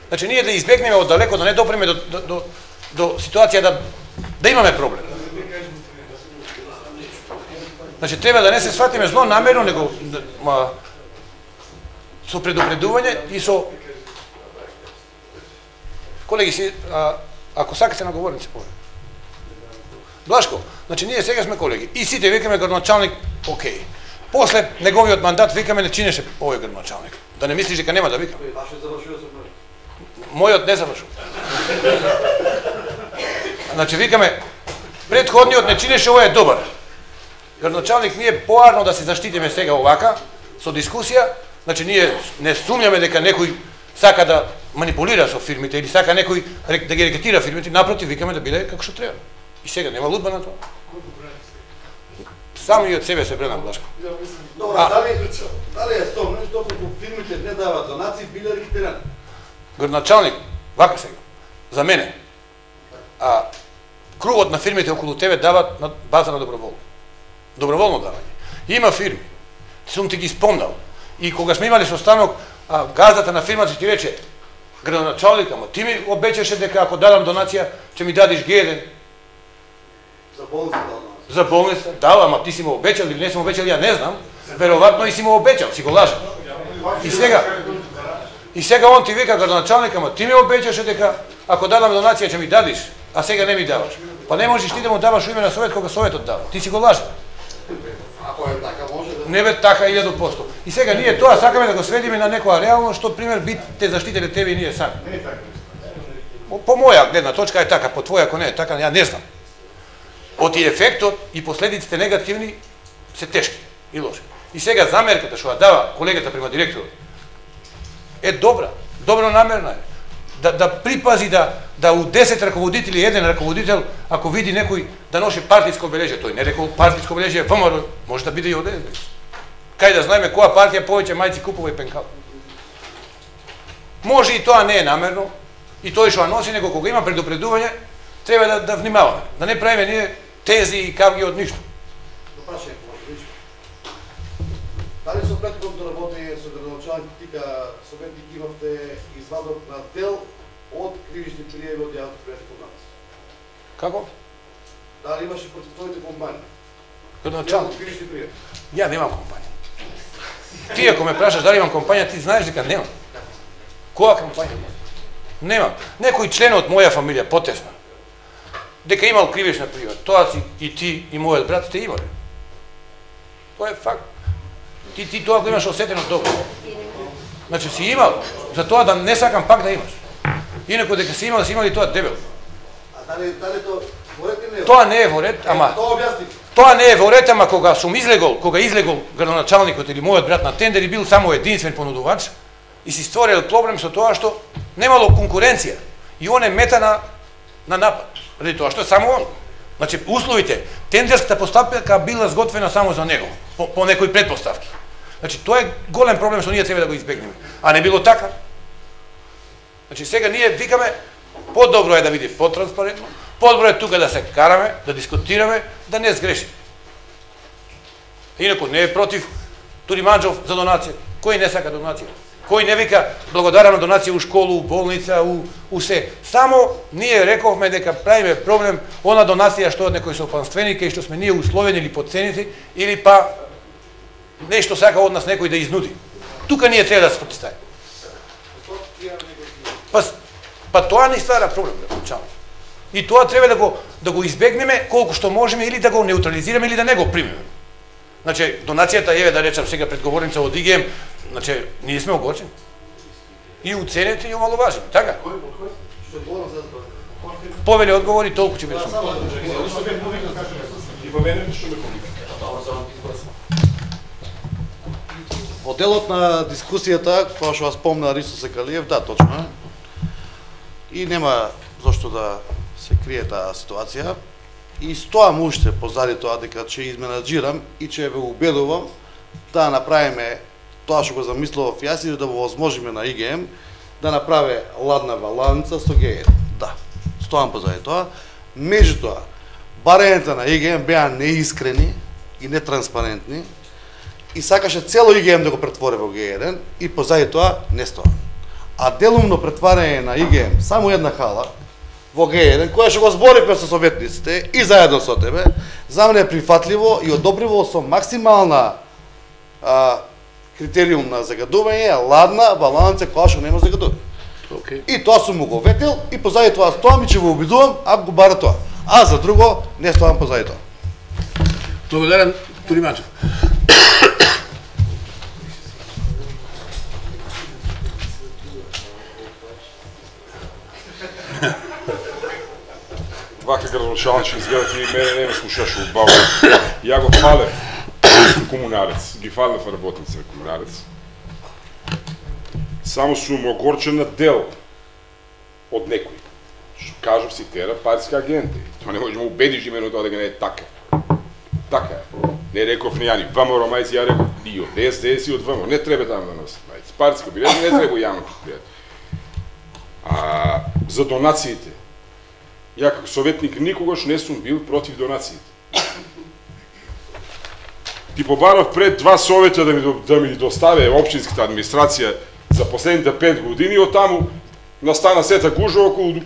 Значи ние да избегнеме од далеко, да не допреме до до до, до ситуација да да имаме проблем. Значи треба да не се сватиме зло намерно, него ма, со предупредување и со колеги си, а, ако сакате на говорници повеќе. Блашко, значи ние сега сме колеги и сите викаме градоначалник, окей. После неговиот мандат викаме не чинеше овој градоначалник. Да не мислиш дека нема да викам. Мојот не завршува. Значи викаме претходниот не чинеше, овој е добар. Градоначалник, ние поарно да се заштитиме сега овака со дискусија, значи ние не сумњаме дека некој сака да манипулира со фирмите или сака некој да ги рекетира фирмите, напротив викаме да биде како што треба. И сега нема лудба на тоа. Само и од себе се бренам, Блашко. Добро, дали дали е стомно што како фирмите не даваат донации, биле рекетирани? Градоначалник, вака сега, за мене, а кругот на фирмите околу тебе дават на база на доброволно. Доброволно давање. Има фирми, сум ти ги спомнал, и кога сме имали состанок, а, газдата на фирмата ти рече, градоначалник, ама ти ми обечеше дека ако дадам донација, ќе ми дадиш Г еден. За болница дал. За болница, дал, ама ти си му обечал или не си му обечал, ја не знам. Веројатно и си му обечал, си го лажа. И сега, и сега он ти вика градоначалник, ама ти ми обечаше дека ако дадам донација ќе ми дадиш, а сега не ми даваш. Па не можеш ти да му даваш у име на совет кога советот дава. Ти си го лажа. Ако е така може да не бе така илјаду проценти. И сега ние тоа сакаме да го сведиме на некоја реално што пример би те заштителе тебе и ние сами. По моја гледна точка е така, по твоја ако не е така, ја не знам. Оти ефектот и последиците негативни се тешки и лоши. И сега замерката што ја дава колегата према директорот е добра, добро намерна е. Да, да припази да да у десет раководители еден раководител ако види некој да носи партиско обележје, тој не рекол партиско обележје ВМРО, може да биде и од еден. Кај да знаеме која партија повеќе мајци купува и пенкал. Може и тоа не е намерно, и тој што носи, него кога има предупредување, треба да, да внимаваме, да не правиме ние тези и кавги од ништо. Допрашање, може дали со претходното работење со градоначалник тика советник имавте извадок на дел од кривични пријави од јавното предпријатие код нас? Како? Дали имаше против твоите компании? Градоначалник? Кривични пријави. Ја немам компанија. Ти ако ме прашаш дали имам компанија, ти знаеш дека немам. Која компанија? Немам. Некој член од моја фамилија, потесна, дека имал кривична пријава, тоа си и ти и мојот брат сте имале. Тоа е факт. Ти, ти тоа го имаш осетено добро. Значи си имал, за тоа да не сакам пак да имаш. Инако дека си имал, си имали тоа дебел. А дали, дали тоа во ред или не? Тоа не е во ред, ама... Тоа објасни. Тоа не е во ред, ама кога сум излегол, кога излегол градоначалникот или мојот брат на тендер и бил само единствен понудувач, и си створил проблем со тоа што немало конкуренција. И он е мета на, на напад. Ради тоа што е само он. Значи, условите, тендерската постапка била сготвена само за него, по, по некои предпоставки. Значи, тоа е голем проблем што ние треба да го избегнеме. А не било така. Значи, сега ние викаме, подобро е да биде потранспарентно, подобро е тука да се караме, да дискутираме, да не сгрешиме. Инако не е против Туриманџов за донација? Кој не сака донација? Кој не вика благодарам на донација у школу, у болница, у, у се? Само ние рековме дека правиме проблем она донација што од некој сопанственик и што сме ние условени или подценети, или па нешто сака од нас некој да изнуди. Тука ние треба да се противставиме. Па, па тоа ни ствара проблем, начално. И тоа треба да го да го избегнеме колку што можеме или да го неутрализираме или да не го примеме. Значи, донацијата, еве да речам сега пред говорница од ИГМ, значи, ние сме огорчени. И уценети и омаловажени, така? Повеле одговори, толку ќе биде само. Во делот на дискусијата, која што вас спомна Ристо Секалиев, да, точно е. И нема зошто да се крие таа ситуација. И стоам уште позади тоа дека ќе изменаџирам и ќе ве убедувам да направиме тоа што го замислував јас и да го возможиме на ИГМ да направи ладна баланца со ГЕ. Да, стоам позади тоа. Меѓутоа, барањата на ИГМ беа неискрени и нетранспарентни и сакаше цело ИГМ да го претвори во Ге еден и позади тоа не стоам. А делумно претварање на ИГМ само една хала во Ге еден, која што го зборивме со советниците и заедно со тебе, за мене е прифатливо и одобриво со максимална а, критериум на загадување, ладна баланца која што нема загадување. Okay. И тоа сум му го ветил и позади тоа стоам и ќе го обидувам, ако го бара тоа. А за друго не стоам позади тоа. Благодарам, Туриманџов. Вака градоначалник изгледате и мене не ме слушаше убаво. Ја го фалев комунарец, ги фалев работници на комунарец. Само сум огорчен на дел од некој. Што кажав си тера партиска агенти. Тоа не може да му убедиш имено тоа дека не е така. Така е. Не реков ни јани, ВМРО мајци, ја реков и од Ес Де Ес и од ВМРО. Не треба таму да носат мајци. Партиска билет не треба јавно предпријатие. А за донациите, ја како советник никогаш не сум бил против донациите. Ти побарав пред два совета да ми, да ми доставе општинската администрација за последните пет години, од таму настана сета гужва околу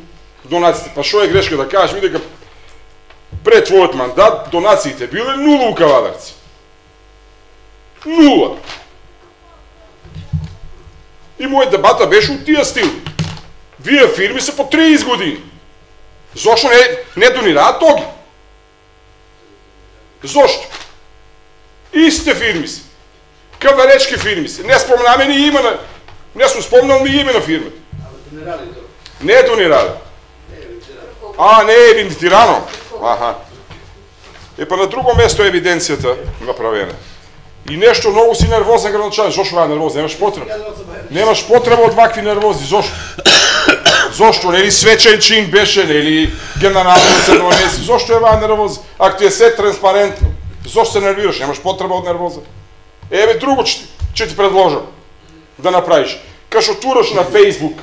донациите. Па шо е грешка да кажеш ми дека пред твојот мандат донациите биле нула у Кавадарци. Нула. И мојот дебата беше у тие стили. Вие фирми се по триесет години. Зошто не, не донираат тоги? Зошто? Истите фирми се. Каваречки фирми се. Не спомнаме ни име на... Не сум спомнал ни име на фирмата. Не е донирали. А, не е евидентирано. Аха. Е, па на друго место е евиденцијата направена. И нешто многу си нервозен градоначалник. Зошто ваа нервозен? Немаш потреба. Немаш потреба од вакви нервози. Зошто? Зошто? Нели свечен чин беше, нели генерално се донеси. Зошто е ваа нервоза? Ако ти е се транспарентно, зошто се нервираш? Немаш потреба од нервоза. Еве друго ќе ти, ти предложам да направиш. Кашо тураш на Фейсбук,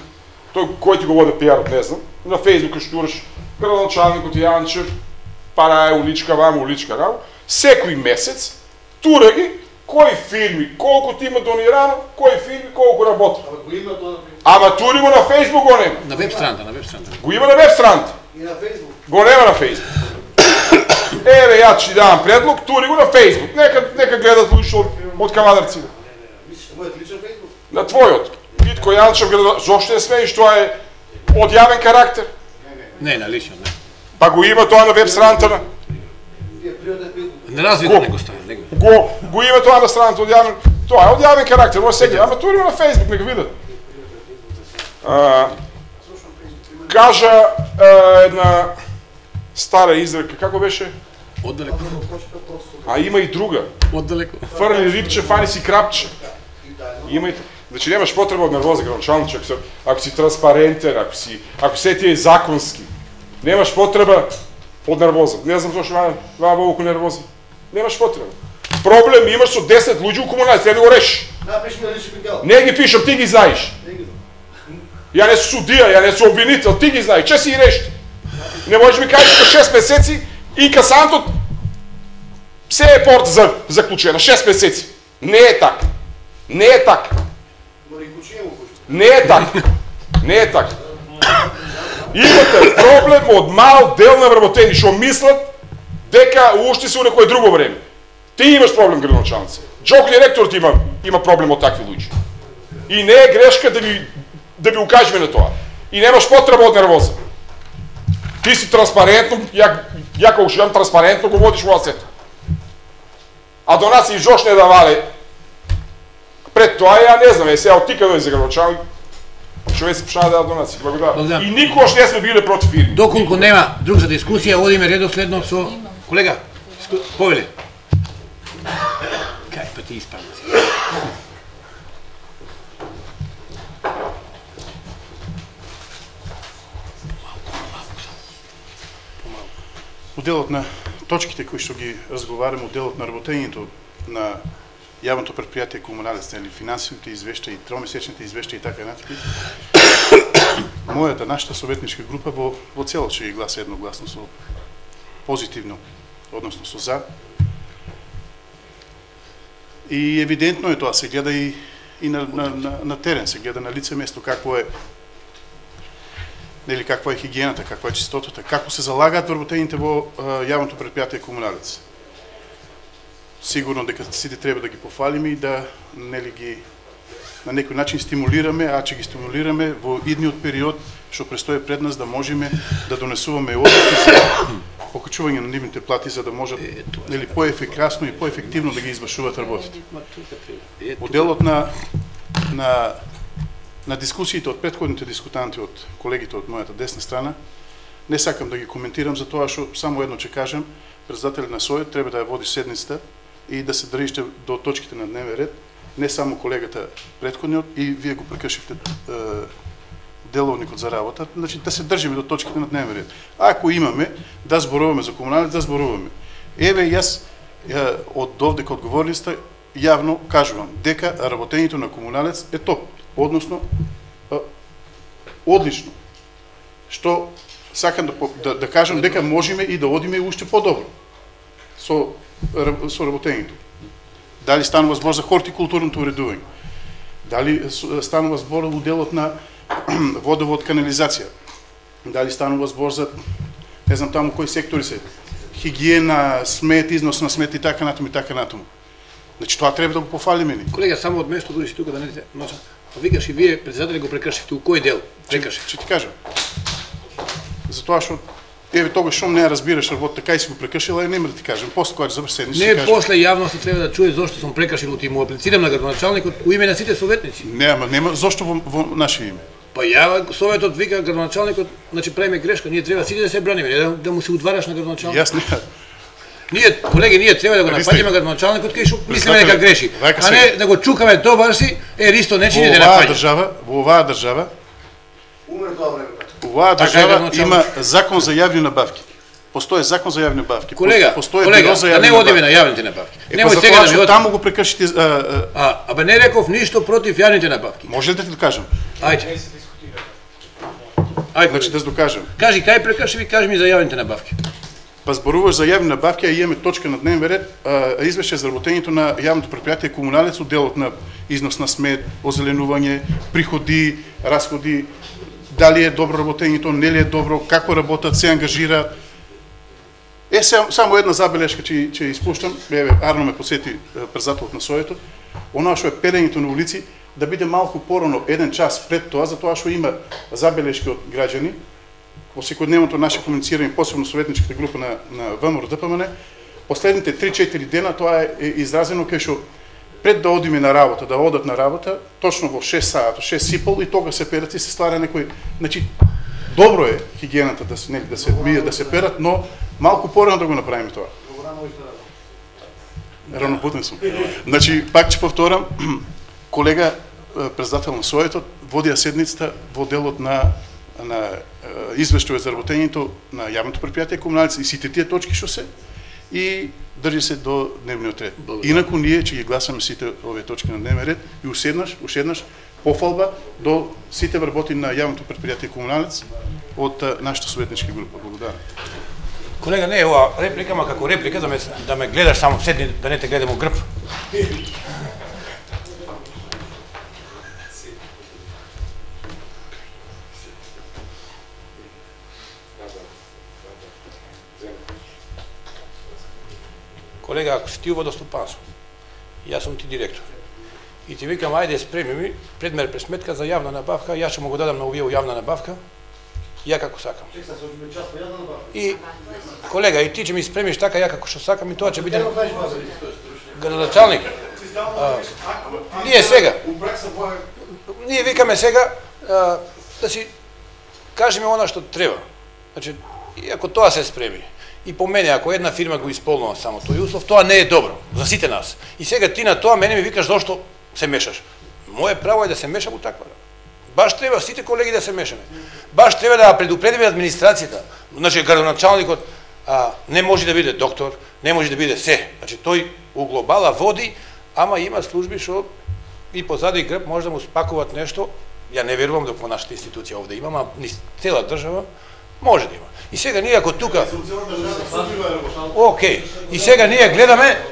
тој кој ти го води пиарот, не знам, на Фейсбук кашо тураш градоначалникот Јанчев, пара е уличка вама, уличка рамо, секој месец тура ги кои фирми, колку ти има донирано, кои фирми, колку работи. Ама тури го на Фейсбук, го нема. На веб страната, на веб страната. Го има на веб страната. И на Фейсбук. Го нема на Фейсбук. Еве, ја ќе давам предлог, тури го на Фейсбук. Нека, нека гледат луѓе од, од Кавадарци. Мислиш, мојот личен Фейсбук? На твојот. Витко Јанчев, зошто не смееш, тоа е од јавен карактер. Не, на лично, не. Па го има тоа на веб страната на... Не развито него става, него. Го, го има тоа на страната од јавен... Тоа е од јавен карактер, може сега, ама тури на Фейсбук, нека видат. А, кажа а, една стара изрека, како беше? Оддалеко. А има и друга. Оддалеко. Фрли рибче, фани си крапче. Има и... Значи немаш потреба од нервоза градоначалник, ако, ако си транспарентен, ако си, ако се ти е законски. Немаш потреба од нервоза. Не знам зашто ваа ваа волку нервоза. Немаш потреба. Проблем имаш со десет луѓе у комунали, треба да го решиш. Напиши ми лични пикал. Не ги пишам, ти ги знаеш. Ја не сум судија, ја не сум обвинител, ти ги знаеш, че си ги реши. Не можеш ми кажеш на шест месеци и касантот се е порта за заклучена, шест месеци. Не е така. Не е така. Не е така. Не е така. Имате проблем од мал дел на вработени што мислат дека уште се у некое друго време. Ти имаш проблем, градоначалници. Джок директорот има има проблем од такви луѓе. И не е грешка да ви да ви укажеме на тоа. И немаш потреба од нервоза. Ти си транспарентно, ја ја кога што транспарентно го водиш во сето. А до нас и Жош не да вале. Пред тоа ја не знам, е сега оттика дојде за градоначалник. Човек се пшна да до нас. Благодарам. И никош не сме биле против фирми. Доколку нема друг за дискусија, одиме редоследно со колега. Повеле. Кај па ти испадна си. Моделот на точките кои што ги разговараме, моделот на работењето на јавното предпријатие Комуналец, или финансовите извештаи, тромесечните извештаи и така натаму. Мојата, нашата советничка група во во целост ќе ги гласа едногласно со позитивно, односно со за. И евидентно е тоа, се гледа и, и на, на, на, на терен, се гледа на лице место какво е нели каква е хигиената, каква е чистотата, како се залагаат вработените во а, јавното предпријатие Комуналец. Сигурно дека сите треба да ги пофалиме и да нели ги на некој начин стимулираме, а че ги стимулираме во идниот период што престои пред нас да можеме да донесуваме одлуки за покачување на нивните плати за да можат нели поефикасно и поефективно да ги извршуваат работите. Моделот на на на дискусиите од претходните дискутанти од колегите од мојата десна страна не сакам да ги коментирам за тоа што само едно ќе кажам, председателот на Совет треба да ја води седницата и да се држите до точките на дневен ред, не само колегата претходниот и вие го прекршивте е, деловникот за работа, значи да се држиме до точките на дневен ред. Ако имаме да зборуваме за Комуналец, да зборуваме. Еве јас е, од овде кога одговорили сте, јавно кажувам дека работењето на Комуналец е топ, односно е, одлично. Што сакам да, да, да кажам дека можеме и да одиме уште по-добро со со работењето. Дали станува збор за хортикултурното уредување? Дали станува збор во делот на водовод, канализација? Дали станува збор за не знам таму кои сектори се? Хигиена, смет, износ на смет и така натаму и така натаму. Значи тоа треба да го пофалиме ни. Колега, само од место дойдеш тука да не те носа. А викаш и вие председатели го прекршивте, у кој дел прекршив? Ќе ти кажам. Затоа што еве тогаш што не разбираш работа, така и си го прекршила, нема да ти кажам. После кога завршени ще кажам. Не, после јавноста треба да чуе зошто сум прекршил, ти му аплицирам на градоначалникот у име на сите советници. Не, ама нема зошто во, во наше име. Па ја советот вика градоначалникот, значи правиме грешка, ние треба сите да се браниме, не да, да му се удвараш на градоначалникот. Јас не. Ние, колеги, ние треба да го напаѓаме градоначалникот кај што мислиме дека греши, а не да го чукаме добар си, е Ристо не чини да напаѓа. Во оваа држава, во оваа држава умре тоа време. Оваа држава има закон за јавни набавки. Постои закон за јавни набавки. Колега, постои колега, да не одиме на јавните набавки. Немој сега да ми таму го прекршите. А, абе не реков ништо против јавните набавки. Може ли да ти докажам? Ајде. Ајде, значи да докажам. Кажи кај прекрши, кажи ми за јавните набавки. Па зборуваш за јавни набавки, а имаме точка на дневен ред, извеќе за работењето на јавното предпријатие Комуналец, делот на износ на смет, озеленување, приходи, расходи, дали е добро работењето, не ли е добро, како работат, се ангажираат. Е, само една забелешка ќе ќе испуштам, еве Арно ме посети председателот на Советот, оноа што е пелењето на улици да биде малку порано, еден час пред тоа, затоа што има забелешки од граѓани во секојдневното наше комуницирање, посебно советничката група на на ВМРО Д П М Н, последните три-четири дена тоа е изразено кај што пред да одиме на работа, да одат на работа, точно во шест саат, шест и пол и тога се перат и се ствара некој, значи добро е хигиената да се нели да се мијат, да се перат, но малку порано да го направиме тоа. Ранобуден сум. Значи пак ќе повторам, колега председател на Советот водија седницата во делот на на извештај за работењето на јавното предпријатие Комуналец и сите тие точки што се и држи се до дневниот ред. Инаку ние ќе ги гласаме сите овие точки на дневен ред и уседнаш, уседнаш пофалба до сите вработи на јавното предпријатие Комуналец од нашата советничка група. Благодарам. Колега, не е ова реплика, ма како реплика да ме да ме гледаш само седни, да не те гледам у грб. колега, ако си ти у водостопанство, јас сум ти директор, и ти викам, ајде спреми ми предмер пресметка за јавна набавка, јас ќе му го дадам на овие јавна набавка, ја како сакам. И, колега, и ти ќе ми спремиш така ја како што сакам, и тоа ќе биде градоначалник. Ние сега, ние викаме сега а, да си кажеме она што треба. Значи, и ако тоа се спреми, и по мене, ако една фирма го исполнува само тој услов, тоа не е добро за сите нас. И сега ти на тоа мене ми викаш зошто се мешаш. Моje право е да се мешам у таква. Баш треба сите колеги да се мешаме. Баш треба да предупредиме администрацијата. Значи, градоначалникот а, не може да биде доктор, не може да биде се. Значи, тој у глобала води, ама има служби што и позади грб може да му спакуваат нешто. Ја не верувам дека во нашата институција овде има, ама ни цела држава може да има. И сега ние ако тука Океј. И сега ние гледаме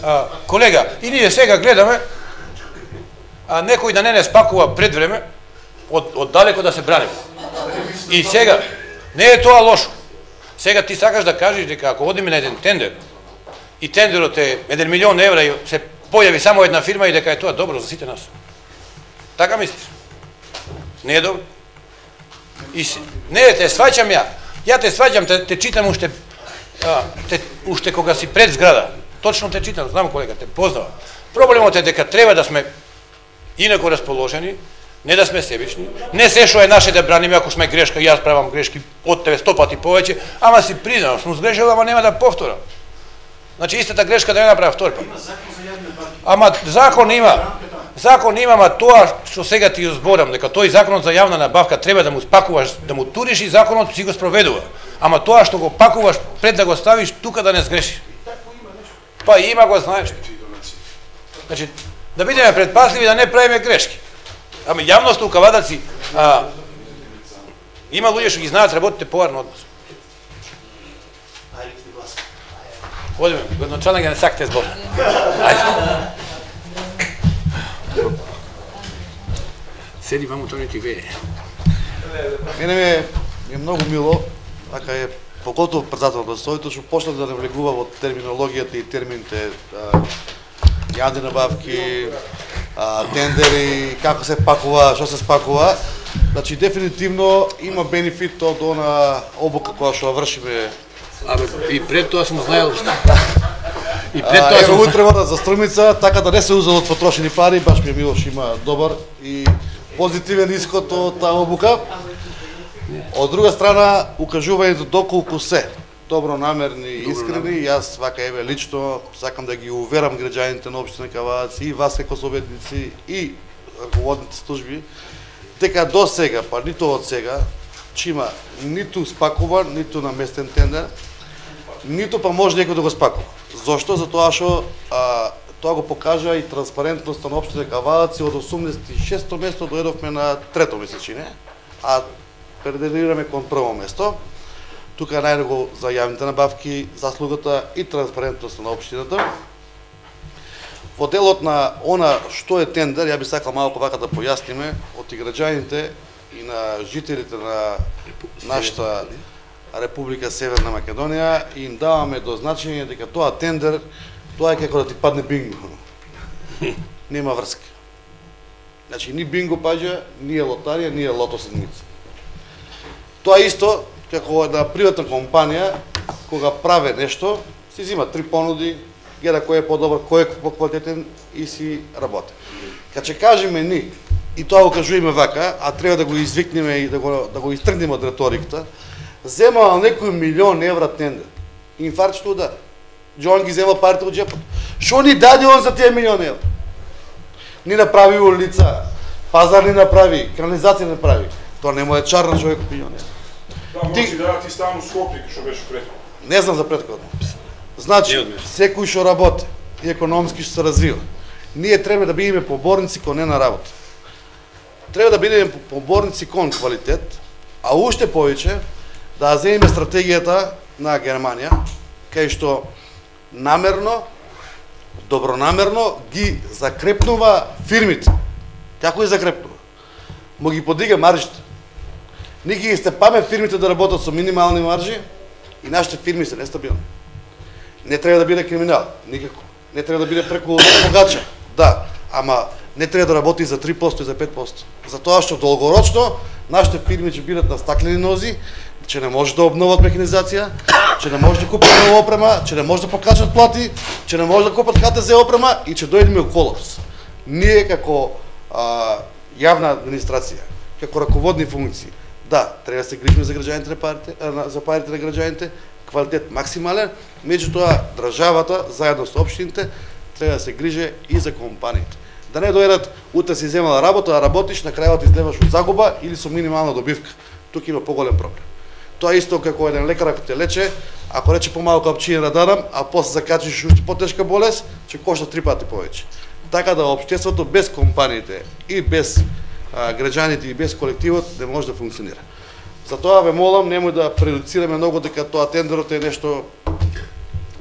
а, колега, и ние сега гледаме а некој да не не спакува пред време од од далеко да се браниме. И сега не е тоа лошо. Сега ти сакаш да кажеш дека ако одиме на еден тендер и тендерот е еден милион евра и се појави само една фирма и дека е тоа добро за сите нас. Така мислиш? Не е добро? И си, не, те сваќам ја. Ја те сваќам, те, те читам уште, а, те, уште кога си пред зграда. Точно те читам, знам колега, те познавам. Проблемот е дека треба да сме инако расположени, не да сме себични, не се што е наше да браниме ако сме грешка, јас правам грешки од тебе сто пати повеќе, ама си признавам, сум сгрешил, ама нема да повторам. Значи истата грешка да не направам втори пат. Ама закон има. Закон има, ама тоа што сега ти ја зборам, дека тој законот за јавна набавка треба да му спакуваш, да му туриш и законот си го спроведува. Ама тоа што го пакуваш пред да го ставиш тука да не сгрешиш. Па има го знаеш. Значи да бидеме предпазливи да не правиме грешки. Ама јавноста у Кавадаци а, има луѓе што ги знаат работите поарно од нас. Одиме, градоначалник да не сакате збор. Ајде. Седи ваму, тоа не ти вее. Мене ми е, ми е многу мило, така е, покотов председател на стојто, што почна да навлегува во терминологијата и термините а, јавни набавки, а, тендери, како се пакува, што се спакува. Значи, дефинитивно има бенефит од она обука која што вршиме. Абе, и пред тоа сум знаел. И пред тоа тоа сум утре вода за струмица, така да не се узел од потрошени пари, баш ми е мило што има добар и позитивен исход од таа обука. Од друга страна, укажувањето доколку се добронамерни и искрени, јас вака еве лично сакам да ги уверам граѓаните на општина Кавадац и вас како советници и раководните служби, дека до сега, па нито од сега, че има ниту спакуван, ниту наместен тендер, ниту па може некој да го спакува. Зошто? Затоа што а, тоа го покажа и транспарентноста на општина Кавадац, од осумдесет и шесто место дојдовме на трето месечине, а претендираме кон прво место. Тука најдого за јавните набавки, заслугата и транспарентноста на општината. Во делот на она што е тендер, ја би сакал малку вака да појасниме од и граѓаните и на жителите на нашата Република Северна Македонија и им даваме до значење дека тоа тендер, тоа е како да ти падне бинго. Нема врска. Значи, ни бинго паѓа, ни е лотарија, ни е лото седмица. Тоа исто, како една приватна компанија, кога праве нешто, си зима три понуди, гледа кој е подобар, кој е поквалитетен и си работи. Кога ќе кажеме ни, и тоа го кажуваме вака, а треба да го извикнеме и да го, да го истргнеме од реториката, земал некој милион евра тендер. Инфаркт што да. Джон ги зема парите од джепот. Што ни даде он за тие милион евра? Ни направи улица, пазар ни направи, канализација не направи. Тоа не му е чар на човек милион евра. Да, може да ти ставам Скопје, што беше претходно. Не знам за претходно. Значи, секој што работи и економски што се развива, ние треба да бидеме поборници кон една работа. Треба да бидеме поборници кон квалитет, а уште повеќе да земеме стратегијата на Германија, кај што намерно, добронамерно ги закрепнува фирмите. Како ги закрепнува? Му ги подига маржите. Ние ги степаме фирмите да работат со минимални маржи и нашите фирми се нестабилни. Не треба да биде криминал, никако. Не треба да биде преку богача. Да, ама не треба да работи за три проценти и за пет проценти. Затоа што долгорочно нашите фирми ќе бидат на стаклени нози, че не може да обноват механизација, че не може да купат нова опрема, че не може да покачат плати, че не може да купат Х Т З опрема и че дојдеме у колапс. Ние како а, јавна администрација, како раководни функции, да, треба да се грижиме за граѓаните на парите, за парите на граѓаните, квалитет максимален, меѓутоа државата заедно со општините треба да се грижи и за компаниите. Да не дојдат утре си земала работа, да работиш, на крајот излеваш од загуба или со минимална добивка. Тука има поголем проблем. Тоа исто како еден лекар ако те лече, ако рече помалку апчиња да дадам, а после закачиш уште потешка болест, ќе кошта три пати повеќе. Така да општеството без компаниите и без а, граѓаните и без колективот не може да функционира. Затоа ве молам, немој да предуцираме многу дека тоа тендерот е нешто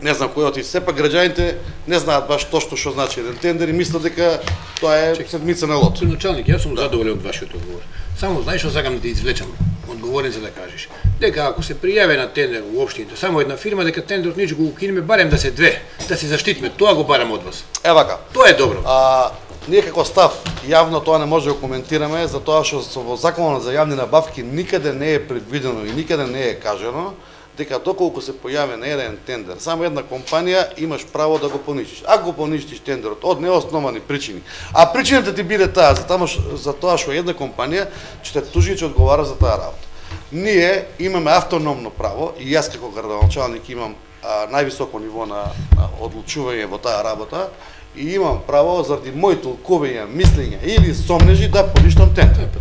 не знам кој оти. Сепак граѓаните не знаат баш точно што значи еден тендер и мислат дека тоа е седмица на лот. Началник, јас сум да. задоволен од вашиот одговор. Само знаеш што сакам да ти извлечам одговорен за да кажеш. Дека ако се пријави на тендер во општините само една фирма, дека тендерот ничего го укинеме, барем да се две, да се заштитиме. Тоа го барам од вас. Е вака. Тоа е добро. А, ние како став јавно тоа не може да го коментираме, затоа што во Законот за јавни набавки никаде не е предвидено и никаде не е кажано дека доколку се појави на еден тендер, само една компанија имаш право да го поничиш. Ако го поничиш тендерот од неосновани причини, а причината ти биде таа, за, тамо, за тоа што една компанија ќе те тужи и ќе одговара за таа работа. Ние имаме автономно право и јас како градоначалник имам а, највисоко ниво на, на одлучување во таа работа и имам право заради мои толкувања, мислења или сомнежи да поништам тендер.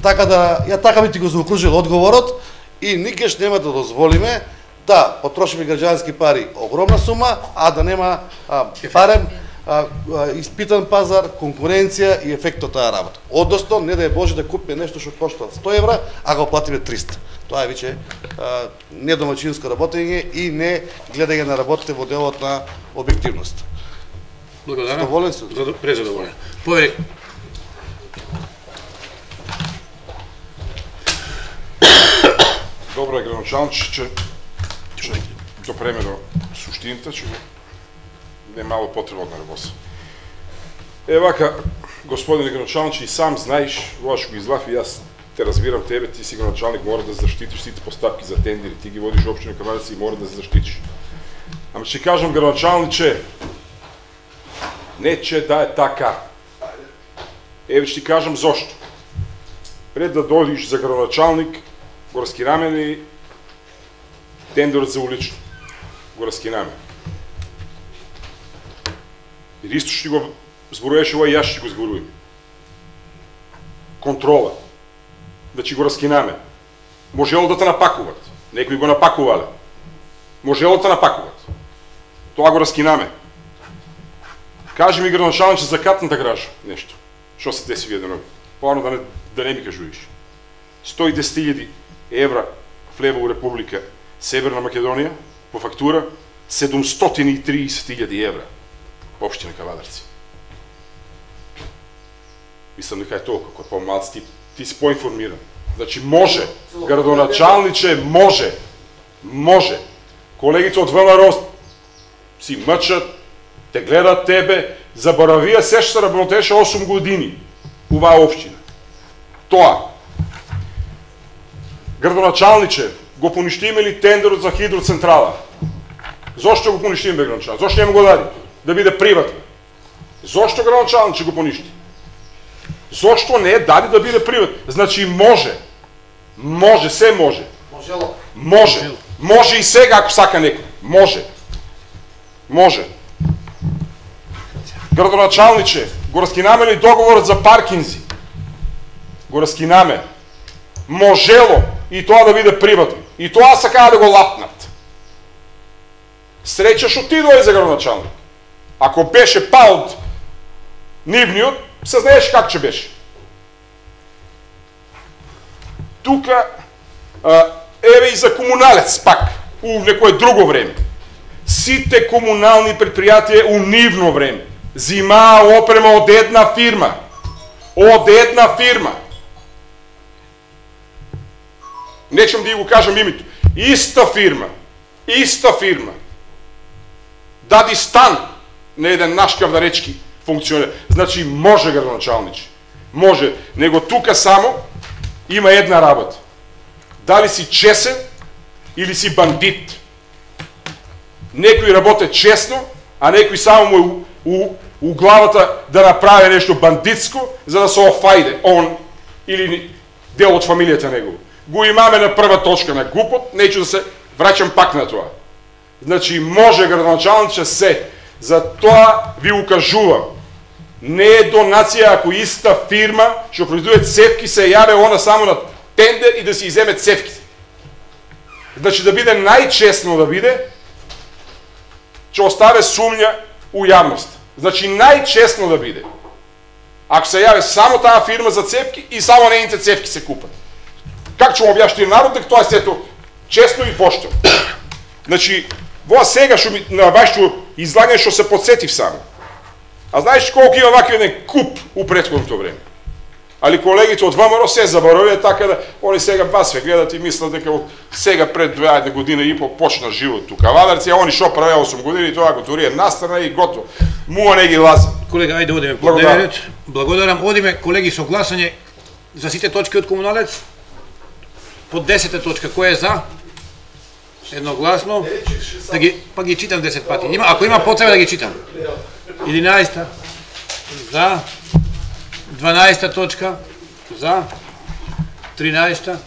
Така да ја така би ти го заокружил одговорот. И никогаш нема да дозволиме да потрошиме граѓански пари огромна сума, а да нема а, барем а, а, испитан пазар, конкуренција и ефект од таа работа. Односно, не да е Боже да купиме нешто што кошта сто евра, а го платиме триста. Тоа е веќе недомачинско работење и не гледање на работите во делот на објективност. Благодарам. Задоволен сум. Презадоволен. Поверик. Добро е градоначалниче, че ќе допреме до суштината, че не е мало потреба од нервоза. Е вака, господине градоначалниче, и сам знаеш, ова што го излав и јас те разбирам тебе, ти си градоначалник, мора да заштитиш сите постапки за тендери, ти ги водиш општина Кавадарци и мора да се заштитиш. Ама ќе кажам градоначалниче, не че да е така. Еве ќе ти кажам зошто. Пред да дојдеш за градоначалник, го раскинаме ли тендерот за улично? Го раскинаме. И исто што го зборуваше ова, јас ќе го зборувам. Контрола. Значи го раскинаме. Можело да те напакуват. Некои го напакувале. Можело да те напакуват. Тоа го раскинаме. Кажи ми градоначалниче за катната гража нешто. Што се деси вие денови? Поано да не, да не ми кажуваш. сто и десет илјади евра влева у Република Северна Македонија по фактура седумстотини и триесет илјади евра општина Кавадарци. Мислам дека е толку, кога помалци ти, ти си поинформиран. Значи може, градоначалниче може, може. Колегите од ВМРО си мъчат, те гледат тебе, заборавија се што се работеше осум години уваа општина. Тоа. Градоначалниче, го поништиме ли тендерот за хидроцентрала? Зошто го поништиме, бе, градоначалниче? Зошто не му го дади? Да биде приватно. Зошто градоначалниче го поништи? Зошто не е дади да биде приватно? Значи може. Може, се може. Можело. Може. Може и сега, ако сака некој. Може. Може. Градоначалниче, го раскинаме ли договорот за паркинзи? Го раскинаме. Можело и тоа да биде приватно. И тоа сакаа да го лапнат. Среќа што ти дојде за градоначалник. Ако беше па од нивниот, се знаеш как ќе беше. Тука, а, еве и за комуналец пак, у некое друго време. Сите комунални предпријатија у нивно време зимаа опрема од една фирма. Од една фирма. Нечем да ја го кажам името. Иста фирма. Иста фирма. дади стан на еден наш кавдаречки функционер. Значи може градоначалниче. Може, него тука само има една работа. Дали си чесен или си бандит. Некој работе честно, а некој само му у, у, у главата да направи нешто бандитско, за да се офајде он или дел од фамилијата негова. Го имаме на прва точка на глупот, неќу да се враќам пак на тоа. Значи може градоначалниче се, за тоа ви укажувам. Не е донација ако иста фирма што произведува цевки се јаве она само на тендер и да се иземе цевките. Значи да биде најчестно да биде, ќе оставе сумња у јавност. Значи најчестно да биде. Ако се јаве само таа фирма за цевки и само нејните цевки се купат. Как ќе му објашни народ дека тоа е сето честно и поштено. Значи, во сега што ми на вашето излагање што се подсетив само. А знаеш колку има вакви еден куп у претходното време. Али колегите од ВМРО се заборавија така да они сега вас ве гледат и мислат дека од сега пред две година и пол почна живот тука. Кавадарци, а они шо правеа осум години и тоа го турија настрана и готово. Муа не ги лази. Колега, ајде одиме по дневниот ред. Благодарам. Одиме колеги со гласање за сите точки од комуналец. По десета точка кој е за? Едногласно. Да ги па ги читам десет пати. Има, ако има потреба да ги читам. единаесета за. дванаесета точка за. тринаесета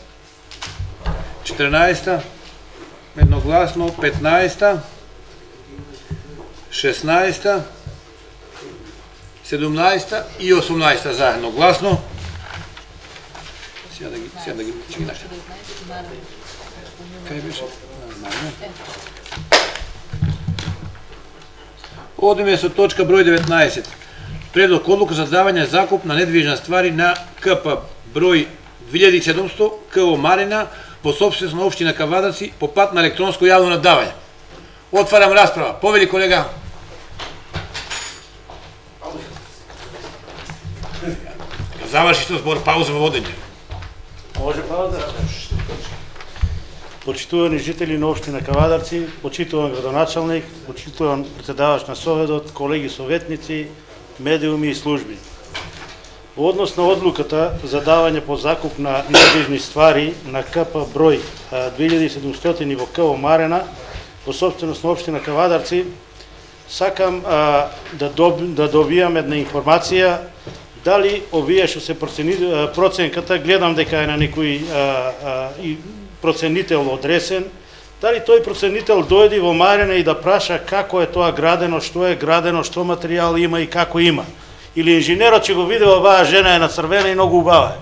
четрнаесета едногласно. петнаесета шеснаесета седумнаесета и осумнаесета за едногласно. Сега да ги сега да ги ќе ги наште. Кај беше? Одиме со точка број деветнаесет. Предлог одлука за давање закуп на недвижна ствари на КП број две илјади и седумсто КО Марина по собственост на општина Кавадарци по пат на електронско јавно надавање. Отварам расправа. Повели колега. Заврши што збор, пауза во водење. Може пауза? Почитувани жители на општина Кавадарци, почитуван градоначалник, почитуван председавач на Советот, колеги советници, медиуми и служби. Во однос на одлуката за давање по закуп на недвижни ствари на КП број две илјади и седумстотини во КО Марена по собственост на општина Кавадарци, сакам а, да, доб, да добијам една информација дали овие што се процени, проценката, гледам дека е на некој а, а, и проценител одресен, дали тој проценител дојде во Марина и да праша како е тоа градено, што е градено, што материјал има и како има. Или инженерот ќе го види оваа жена е на црвена и многу убава е.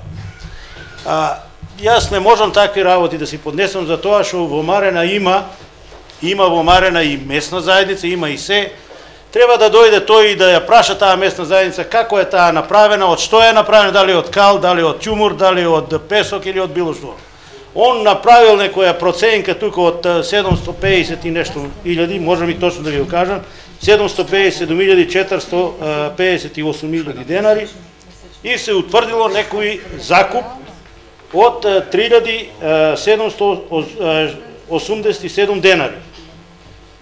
А, јас не можам такви работи да си поднесам за тоа што во Марина има, има во Марина и местна заедница, има и се. Треба да дојде тој и да ја праша таа местна заедница како е таа направена, од што е направена, дали од кал, дали од ќумур, дали од песок или од било што. Он направил некоја проценка тука од седумсто пеесет и нешто илјади, можам и точно да ви го кажам, седумсто пеесет и седум илјади четиристо пеесет и осум илјади денари и се утврдило некој закуп од три илјади седумсто осумдесет и седум денари.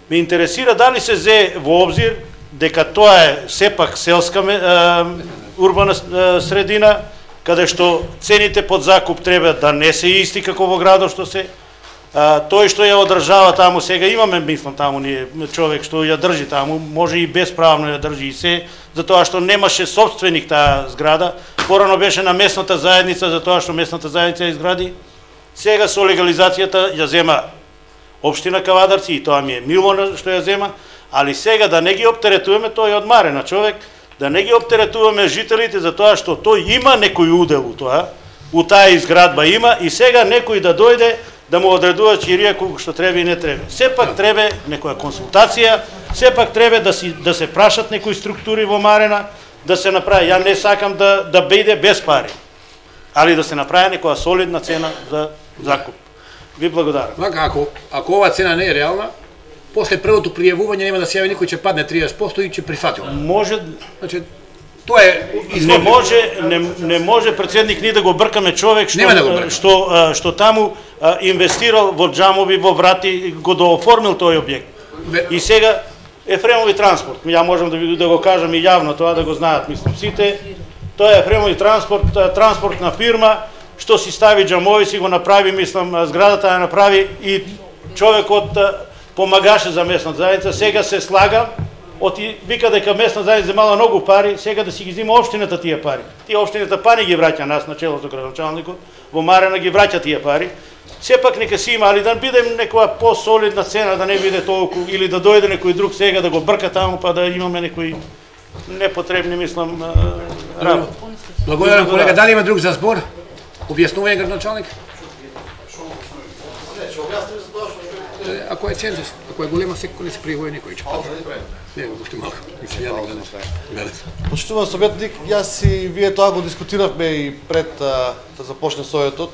Ме интересира дали се зе во обзир дека тоа е сепак селска урбана средина, каде што цените под закуп треба да не се исти како во градот што се. А, тој што ја одржава таму сега, имаме, мислам, таму ние човек што ја држи таму, може и безправно ја држи и се, затоа што немаше собственик таа зграда, порано беше на местната заедница, затоа што местната заедница ја изгради. Сега со легализацијата ја зема општина Кавадарци и тоа ми е мило што ја зема, али сега да не ги оптеретуваме, тој од Марена човек, да не ги оптеретуваме жителите за тоа што тој има некој удел у тоа, у таа изградба има и сега некој да дојде да му одредува чирија колку што треба и не треба. Сепак треба некоја консултација, сепак треба да си да се прашат некои структури во Марена, да се направи. Ја не сакам да да биде без пари, али да се направи некоја солидна цена за закуп. Ви благодарам. Вака, ако ако оваа цена не е реална, после првото пријавување нема да се јави никој, ќе падне триесет проценти и ќе прифатиме. Може, значи тоа е не може не, не може претседник ни да го бркаме човек што да го што што таму а, инвестирал во џамови, во врати, го дооформил тој објект. Бе... И сега Ефремови транспорт. Ја можам да ви да го кажам и јавно тоа, да го знаат, мислам сите. Тоа е Ефремови транспорт, транспортна фирма, што си стави џамови, си го направи, мислам, зградата ја направи и човекот помагаше за местната заедница. Сега се слага, оти вика дека местна заедница земала многу пари, сега да си ги зима општината тие пари. Тие општината пари ги враќа нас на чело со градоначалникот, во Марена ги враќа тие пари. Сепак нека си има, али да бидем некоја по-солидна цена, да не биде толку, или да дојде некој друг сега да го брка таму, па да имаме некои непотребни, мислам, работи. Благодарам, колега. Дали има друг за збор? Објаснување, градоначалник? Ако е цензус, ако е голема секој не се пријавува никој ќе пати. Не, го уште малку. Почитуван советник, јас и вие тоа го дискутиравме и пред а, да започне советот.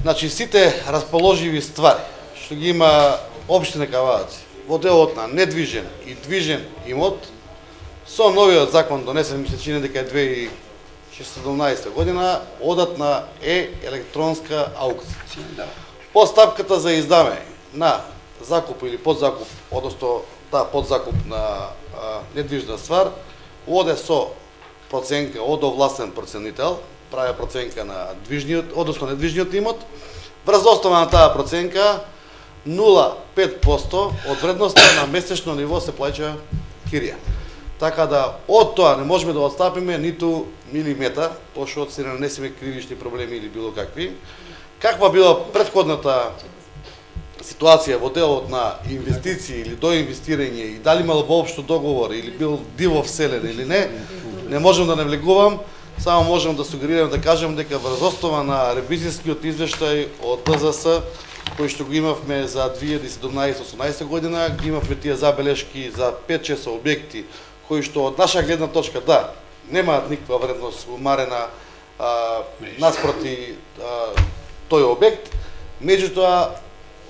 Значи, сите расположиви ствари што ги има општина Кавадаци во делот на недвижен и движен имот, со новиот закон донесен, ми се чини дека е две тисјачи и седумнаесета година, одат на е-електронска аукција. Постапката за издавање на закуп или подзакуп, одnosno таа подзакуп на а, недвижна ствар, оде со проценка од овластен проценител, прави проценка на движниот, одnosno недвижниот имот. Врз основа на таа проценка нула целу пет проценти од вредноста на месечно ниво се плаќа кирија. Така да од тоа не можеме да отстапиме ниту милиметар, пошто се нанесеме кривични проблеми или било какви. Каква била претходната ситуација во делот на инвестиции или доинвестирање и дали имал воопшто договор или бил диво вселен или не, не можам да навлегувам, само можам да сугерирам да кажам дека врз основа на ревизискиот извештај од Д З С кој што го имавме за две илјади и седумнаесета осумнаесета година, ги имавме тие забелешки за пет шест објекти кои што од наша гледна точка да немаат никаква вредност умарена а, наспроти а, тој објект, меѓутоа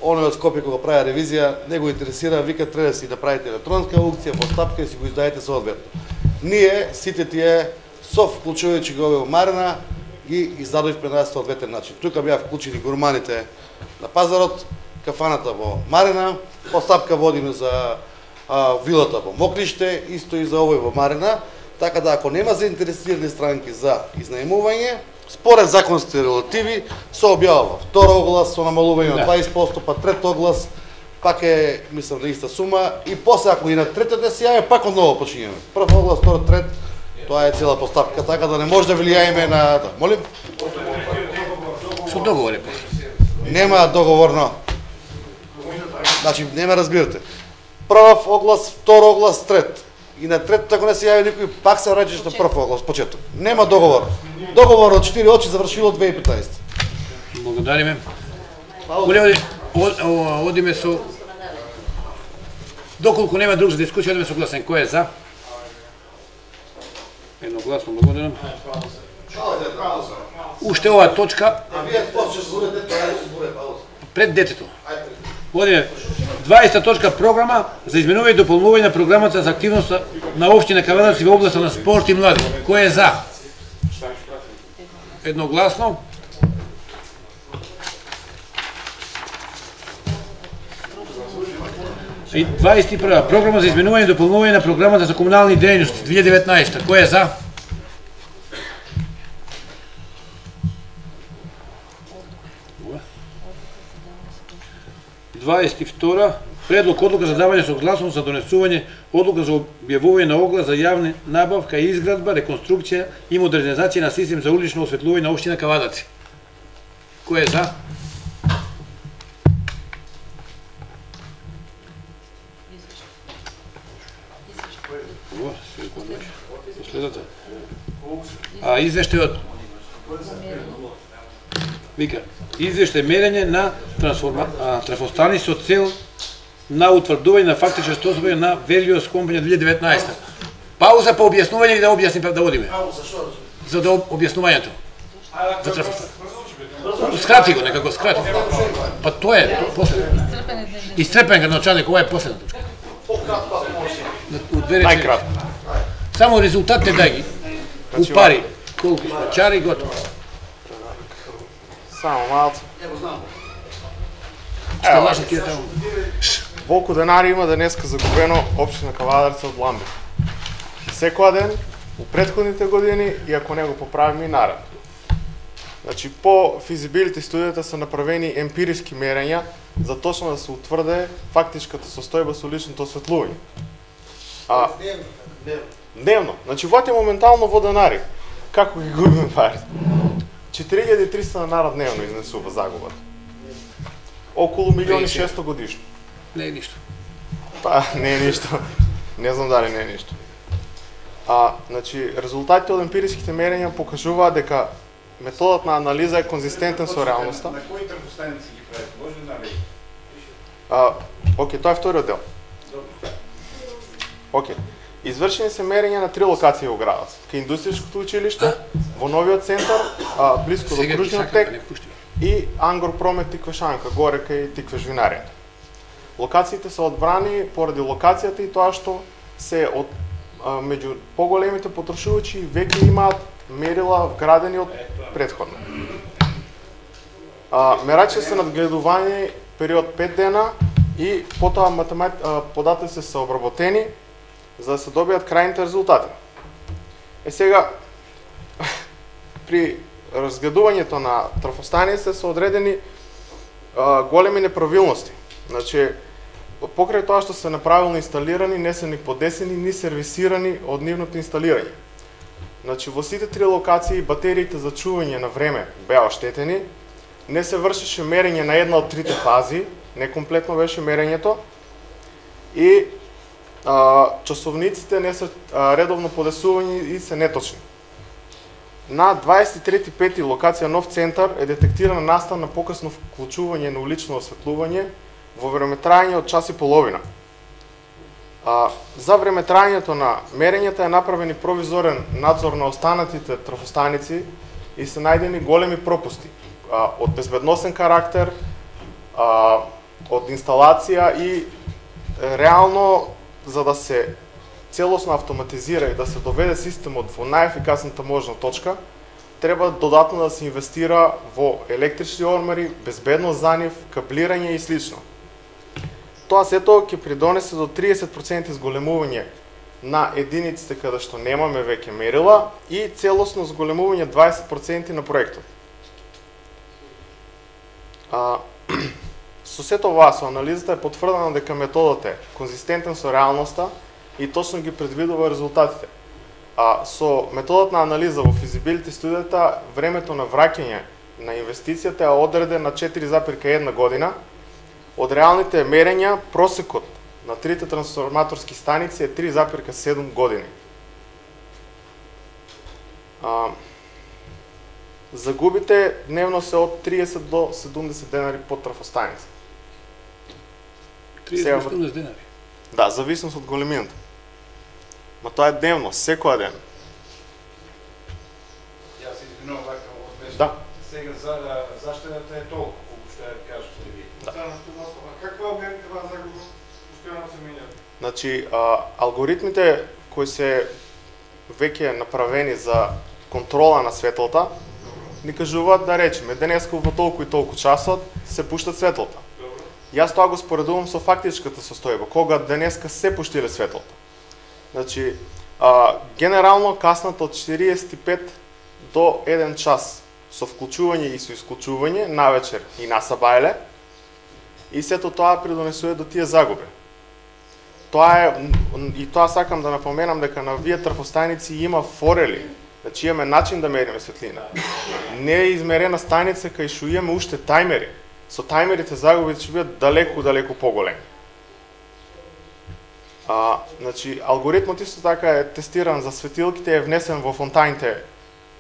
оној од Скопје кога прави ревизија не го интересира, вика треба да си да правите електронска аукција, постапка и си го издаете соодветно. Ние сите тие со вклучувајќи го во Марена ги издадовме на соодветен начин. Тука беа вклучени гурманите на пазарот, кафаната во Марена, постапка водиме за а, вилата во Мокриште, исто и за овој во Марена, така да ако нема заинтересирани странки за изнаемување, според законските релативи се објавува втор оглас со намалување од дваесет проценти, па трет оглас, пак е, мислам, на иста сума, и после ако и на третот не се јави, пак одново почињаме. Прв оглас, втор, трет, тоа е цела постапка, така да не може да влијаеме на... Да, молим? Со договор е после. Нема договорно. Значи, не ме разбирате. Прв оглас, втор оглас, трет. И на третото, ако не се јави никој, пак се враќаш на прв оглас, почеток. Нема договор. Договор од четири очи завршило две илјади и петнаесета. Благодариме. Оле, одиме со... Доколку нема друг за дискусија, одиме со гласен. Кој е за? Едногласно, благодарам. Уште оваа точка... Пред детето. Одиме. дваесета точка програма за изменување и дополнување на програмата за активност на општина Кавадаци во областа на спорт и млади. Кој е за? Едногласно. И дваесет и прва програма за изменување и дополнување на програмата за комунални дејности две илјади и деветнаесета. Кој е за? дваесет и втора предлог одлука за давање согласност за донесување одлука за објавување на оглас за јавна набавка и изградба, реконструкција и модернизација на систем за улично осветлување на општина Кавадаци. Кој е за? А извештајот вика извештај мерење на трафостани со цел на утврдување на фактичко состојание на Велиос компанија две илјади и деветнаесета. Пауза по објаснување или да објасним да одиме? За да објаснувањето. За трафостани. Скрати го, нека го скрати. Па тоа е, последно. Исцрпен градоначалник, ова е последна точка. Најкратко. Само резултатите дај ги. Упари, колку сме чари, готово. Само малце. Ево знам. Што лашно ти е таму? волку денари има денеска загубено општина Кавадарци од ламбите. Секоја ден, у претходните години, и ако не го поправиме и наред. Значи, по физибилити студијата се направени емпириски мерења за точно да се утврде фактичката состојба со личното осветлување. А, дневно. Значи, вати моментално во денари. Како ги губиме пари? четири илјади и триста денари дневно изнесува загубата. Околу милиони и шесто годишно. Не е ништо. Па, не е ништо. Не знам дали не е ништо. А, значи, резултатите од емпириските мерења покажуваат дека методот на анализа е конзистентен со реалноста. На кои трфостаници ги правите? Може да наведе? А, окей, тоа е вториот дел. Окей. Извршени се мерења на три локации во градот. Кај индустријското училиште, во новиот центар, а, близко до кружниот тек и Ангор Промет Тиквешанка, горе кај Тиквеш винаријата. Локациите се одбрани поради локацијата и тоа што се од а, меѓу поголемите потрошувачи веќе имаат мерила вградени од претходно. А, мерачи се надгледување период пет дена и потоа математ... податоци се обработени за да се добијат крајните резултати. Е сега, при разгледувањето на трафостаниците се одредени а, големи неправилности. Значи, покрај тоа што се неправилно инсталирани, не се ни подесени, ни сервисирани од нивното инсталирање. Значи, во сите три локации батериите за чување на време беа оштетени, не се вршеше мерење на една од трите фази, некомплетно беше мерењето, и а, часовниците не се а, редовно подесувани и се неточни. На дваесет и трети пети локација Нов центар е детектирана настан на покасно вклучување на улично осветлување во времетрајање од час и половина. А, за времетрајањето на мерењата е направен и провизорен надзор на останатите трафостаници и се најдени големи пропусти а, од безбедносен карактер, а, од инсталација и е, реално за да се целосно автоматизира и да се доведе системот во најефикасната можна точка, треба додатно да се инвестира во електрични ормари, безбедност за нив, каблирање и слично. Тоа сето ќе придонесе до триесет проценти зголемување на единиците каде што немаме веќе мерила и целосно зголемување дваесет проценти на проектот. А, со сето ова, со анализата е потврдено дека методот е конзистентен со реалноста и точно ги предвидува резултатите. А со методот на анализа во физибилити студијата, времето на враќање на инвестицијата е одреден на четири запирка една година. Од реалните мерења, просекот на трите трансформаторски станици е три запирка седум години. А, загубите дневно се од триесет до седумдесет денари по трафостаница. триесет до седумдесет денари? Да, зависност од големината. Ма тоа е дневно, секоја ден. Јас се извинувам вака од место. Да. Сега за заштедата е толку, колку што ја кажете ви. Да. Каква е това загуба? Постојано се менја. Значи, а, алгоритмите кои се веќе направени за контрола на светлата, ни кажуваат да речеме денеска во толку и толку часот се пушта светлата. Добро. Јас тоа го споредувам со фактичката состојба, кога денеска се пуштиле светлата. Значи, а, генерално касната од четириесет и пет до еден час со вклучување и со исклучување, навечер и насабајле, и сето тоа придонесува до тие загуби. Тоа е, и тоа сакам да напоменам дека на вие трафостаници има форели, значи имаме начин да мериме светлина. Не е измерена станица кај што имаме уште тајмери. Со тајмерите загубите ќе бидат далеку, далеку поголеми. А, значи, алгоритмот исто така е тестиран за светилките, е внесен во фонтаните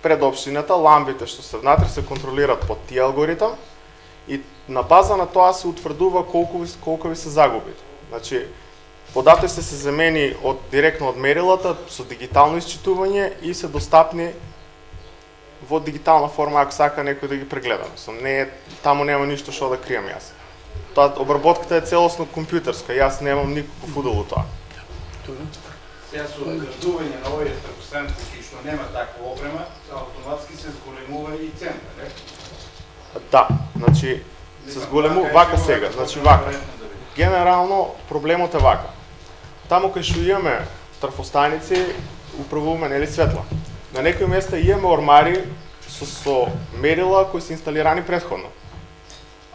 пред општината, ламбите што се внатре се контролираат под тие алгоритам и на база на тоа се утврдува колку ви, колку ви се загубите. Значи, податоците се земени од директно од мерилата со дигитално исчитување и се достапни во дигитална форма ако сака некој да ги прегледа. Мислам, не е, таму нема ништо што да кријам јас. Тоа обработката е целосно компјутерска, јас немам никаков удел во тоа. Сега со одградување на овие трафостаници што нема таква опрема, автоматски се зголемува и цена, не? Да, значи се зголемува вака сега, значи вака. генерално проблемот е вака. Таму кај што имаме трафостаници, управуваме нели светла. На некои места имаме ормари со, со мерила кои се инсталирани претходно.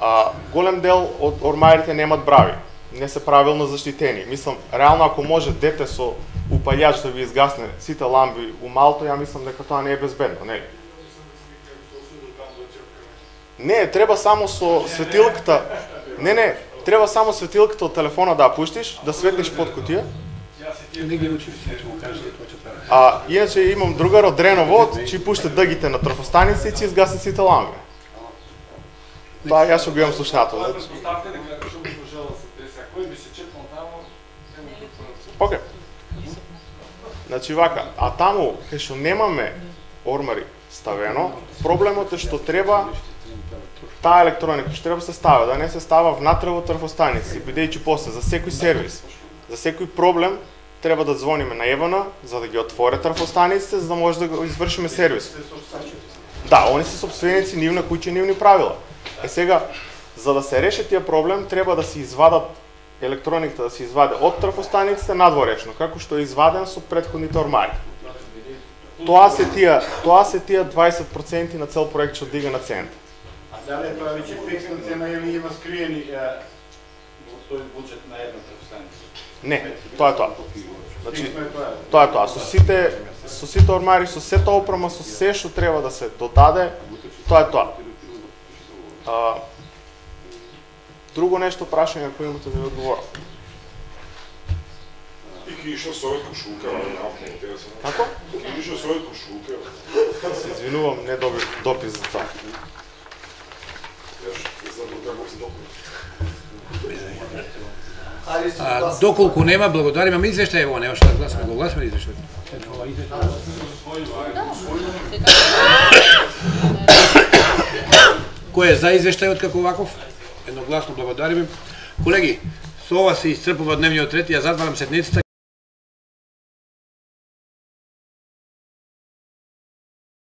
А, голем дел од ормарите немат брави, не се правилно заштитени. Мислам, реално ако може дете со упалјач да ви изгасне сите ламби у малто, ја мислам дека тоа не е безбедно, нели? Не, треба само со светилката. Не, не, треба само светилката од телефона да ја пуштиш, да светлиш под кутија. А иначе имам другар од Дреново, че пушта дъгите на трафостаници и че изгасне сите ламби. Тоа јас што го имам слушнато. Океј. Значи вака, а таму кај што немаме ормари ставено, проблемот е што треба таа електроника што треба се става, да не се става внатре во трафостаници, бидејќи после за секој сервис, за секој проблем треба да звониме на ЕВН за да ги отворе трафостаниците, за да може да го извршиме сервис. Да, они се собственици нивна куќа, нивни правила. Е сега, за да се реши тие проблем, треба да се извадат електрониката, да се изваде од трафостаниците надворешно, како што е изваден со претходните ормари. Тоа се тие, тоа се тие дваесет проценти на цел проект што дига на цент. А дали тоа веќе фиксна цена или има скриени во тој буџет на една трафостаница? Не, тоа е тоа. Значи, тоа е тоа. Со сите, со сите ормари, со сета опрема, со се што треба да се додаде, тоа е тоа. А, друго нешто прашање ако имате да ви одговорам. И ки ишло совет кошулка, Како? Ки ишло совет кошулка. Се извинувам, не добив допис за тоа. Јас не знам како се допис. А, доколку нема, благодарим, ама извештај ево, нема што да гласаме, го гласаме извештај. Кој е за извештајот како ваков? Едногласно благодариме. Колеги, со ова се исцрпува дневниот ред, ја затварам седницата.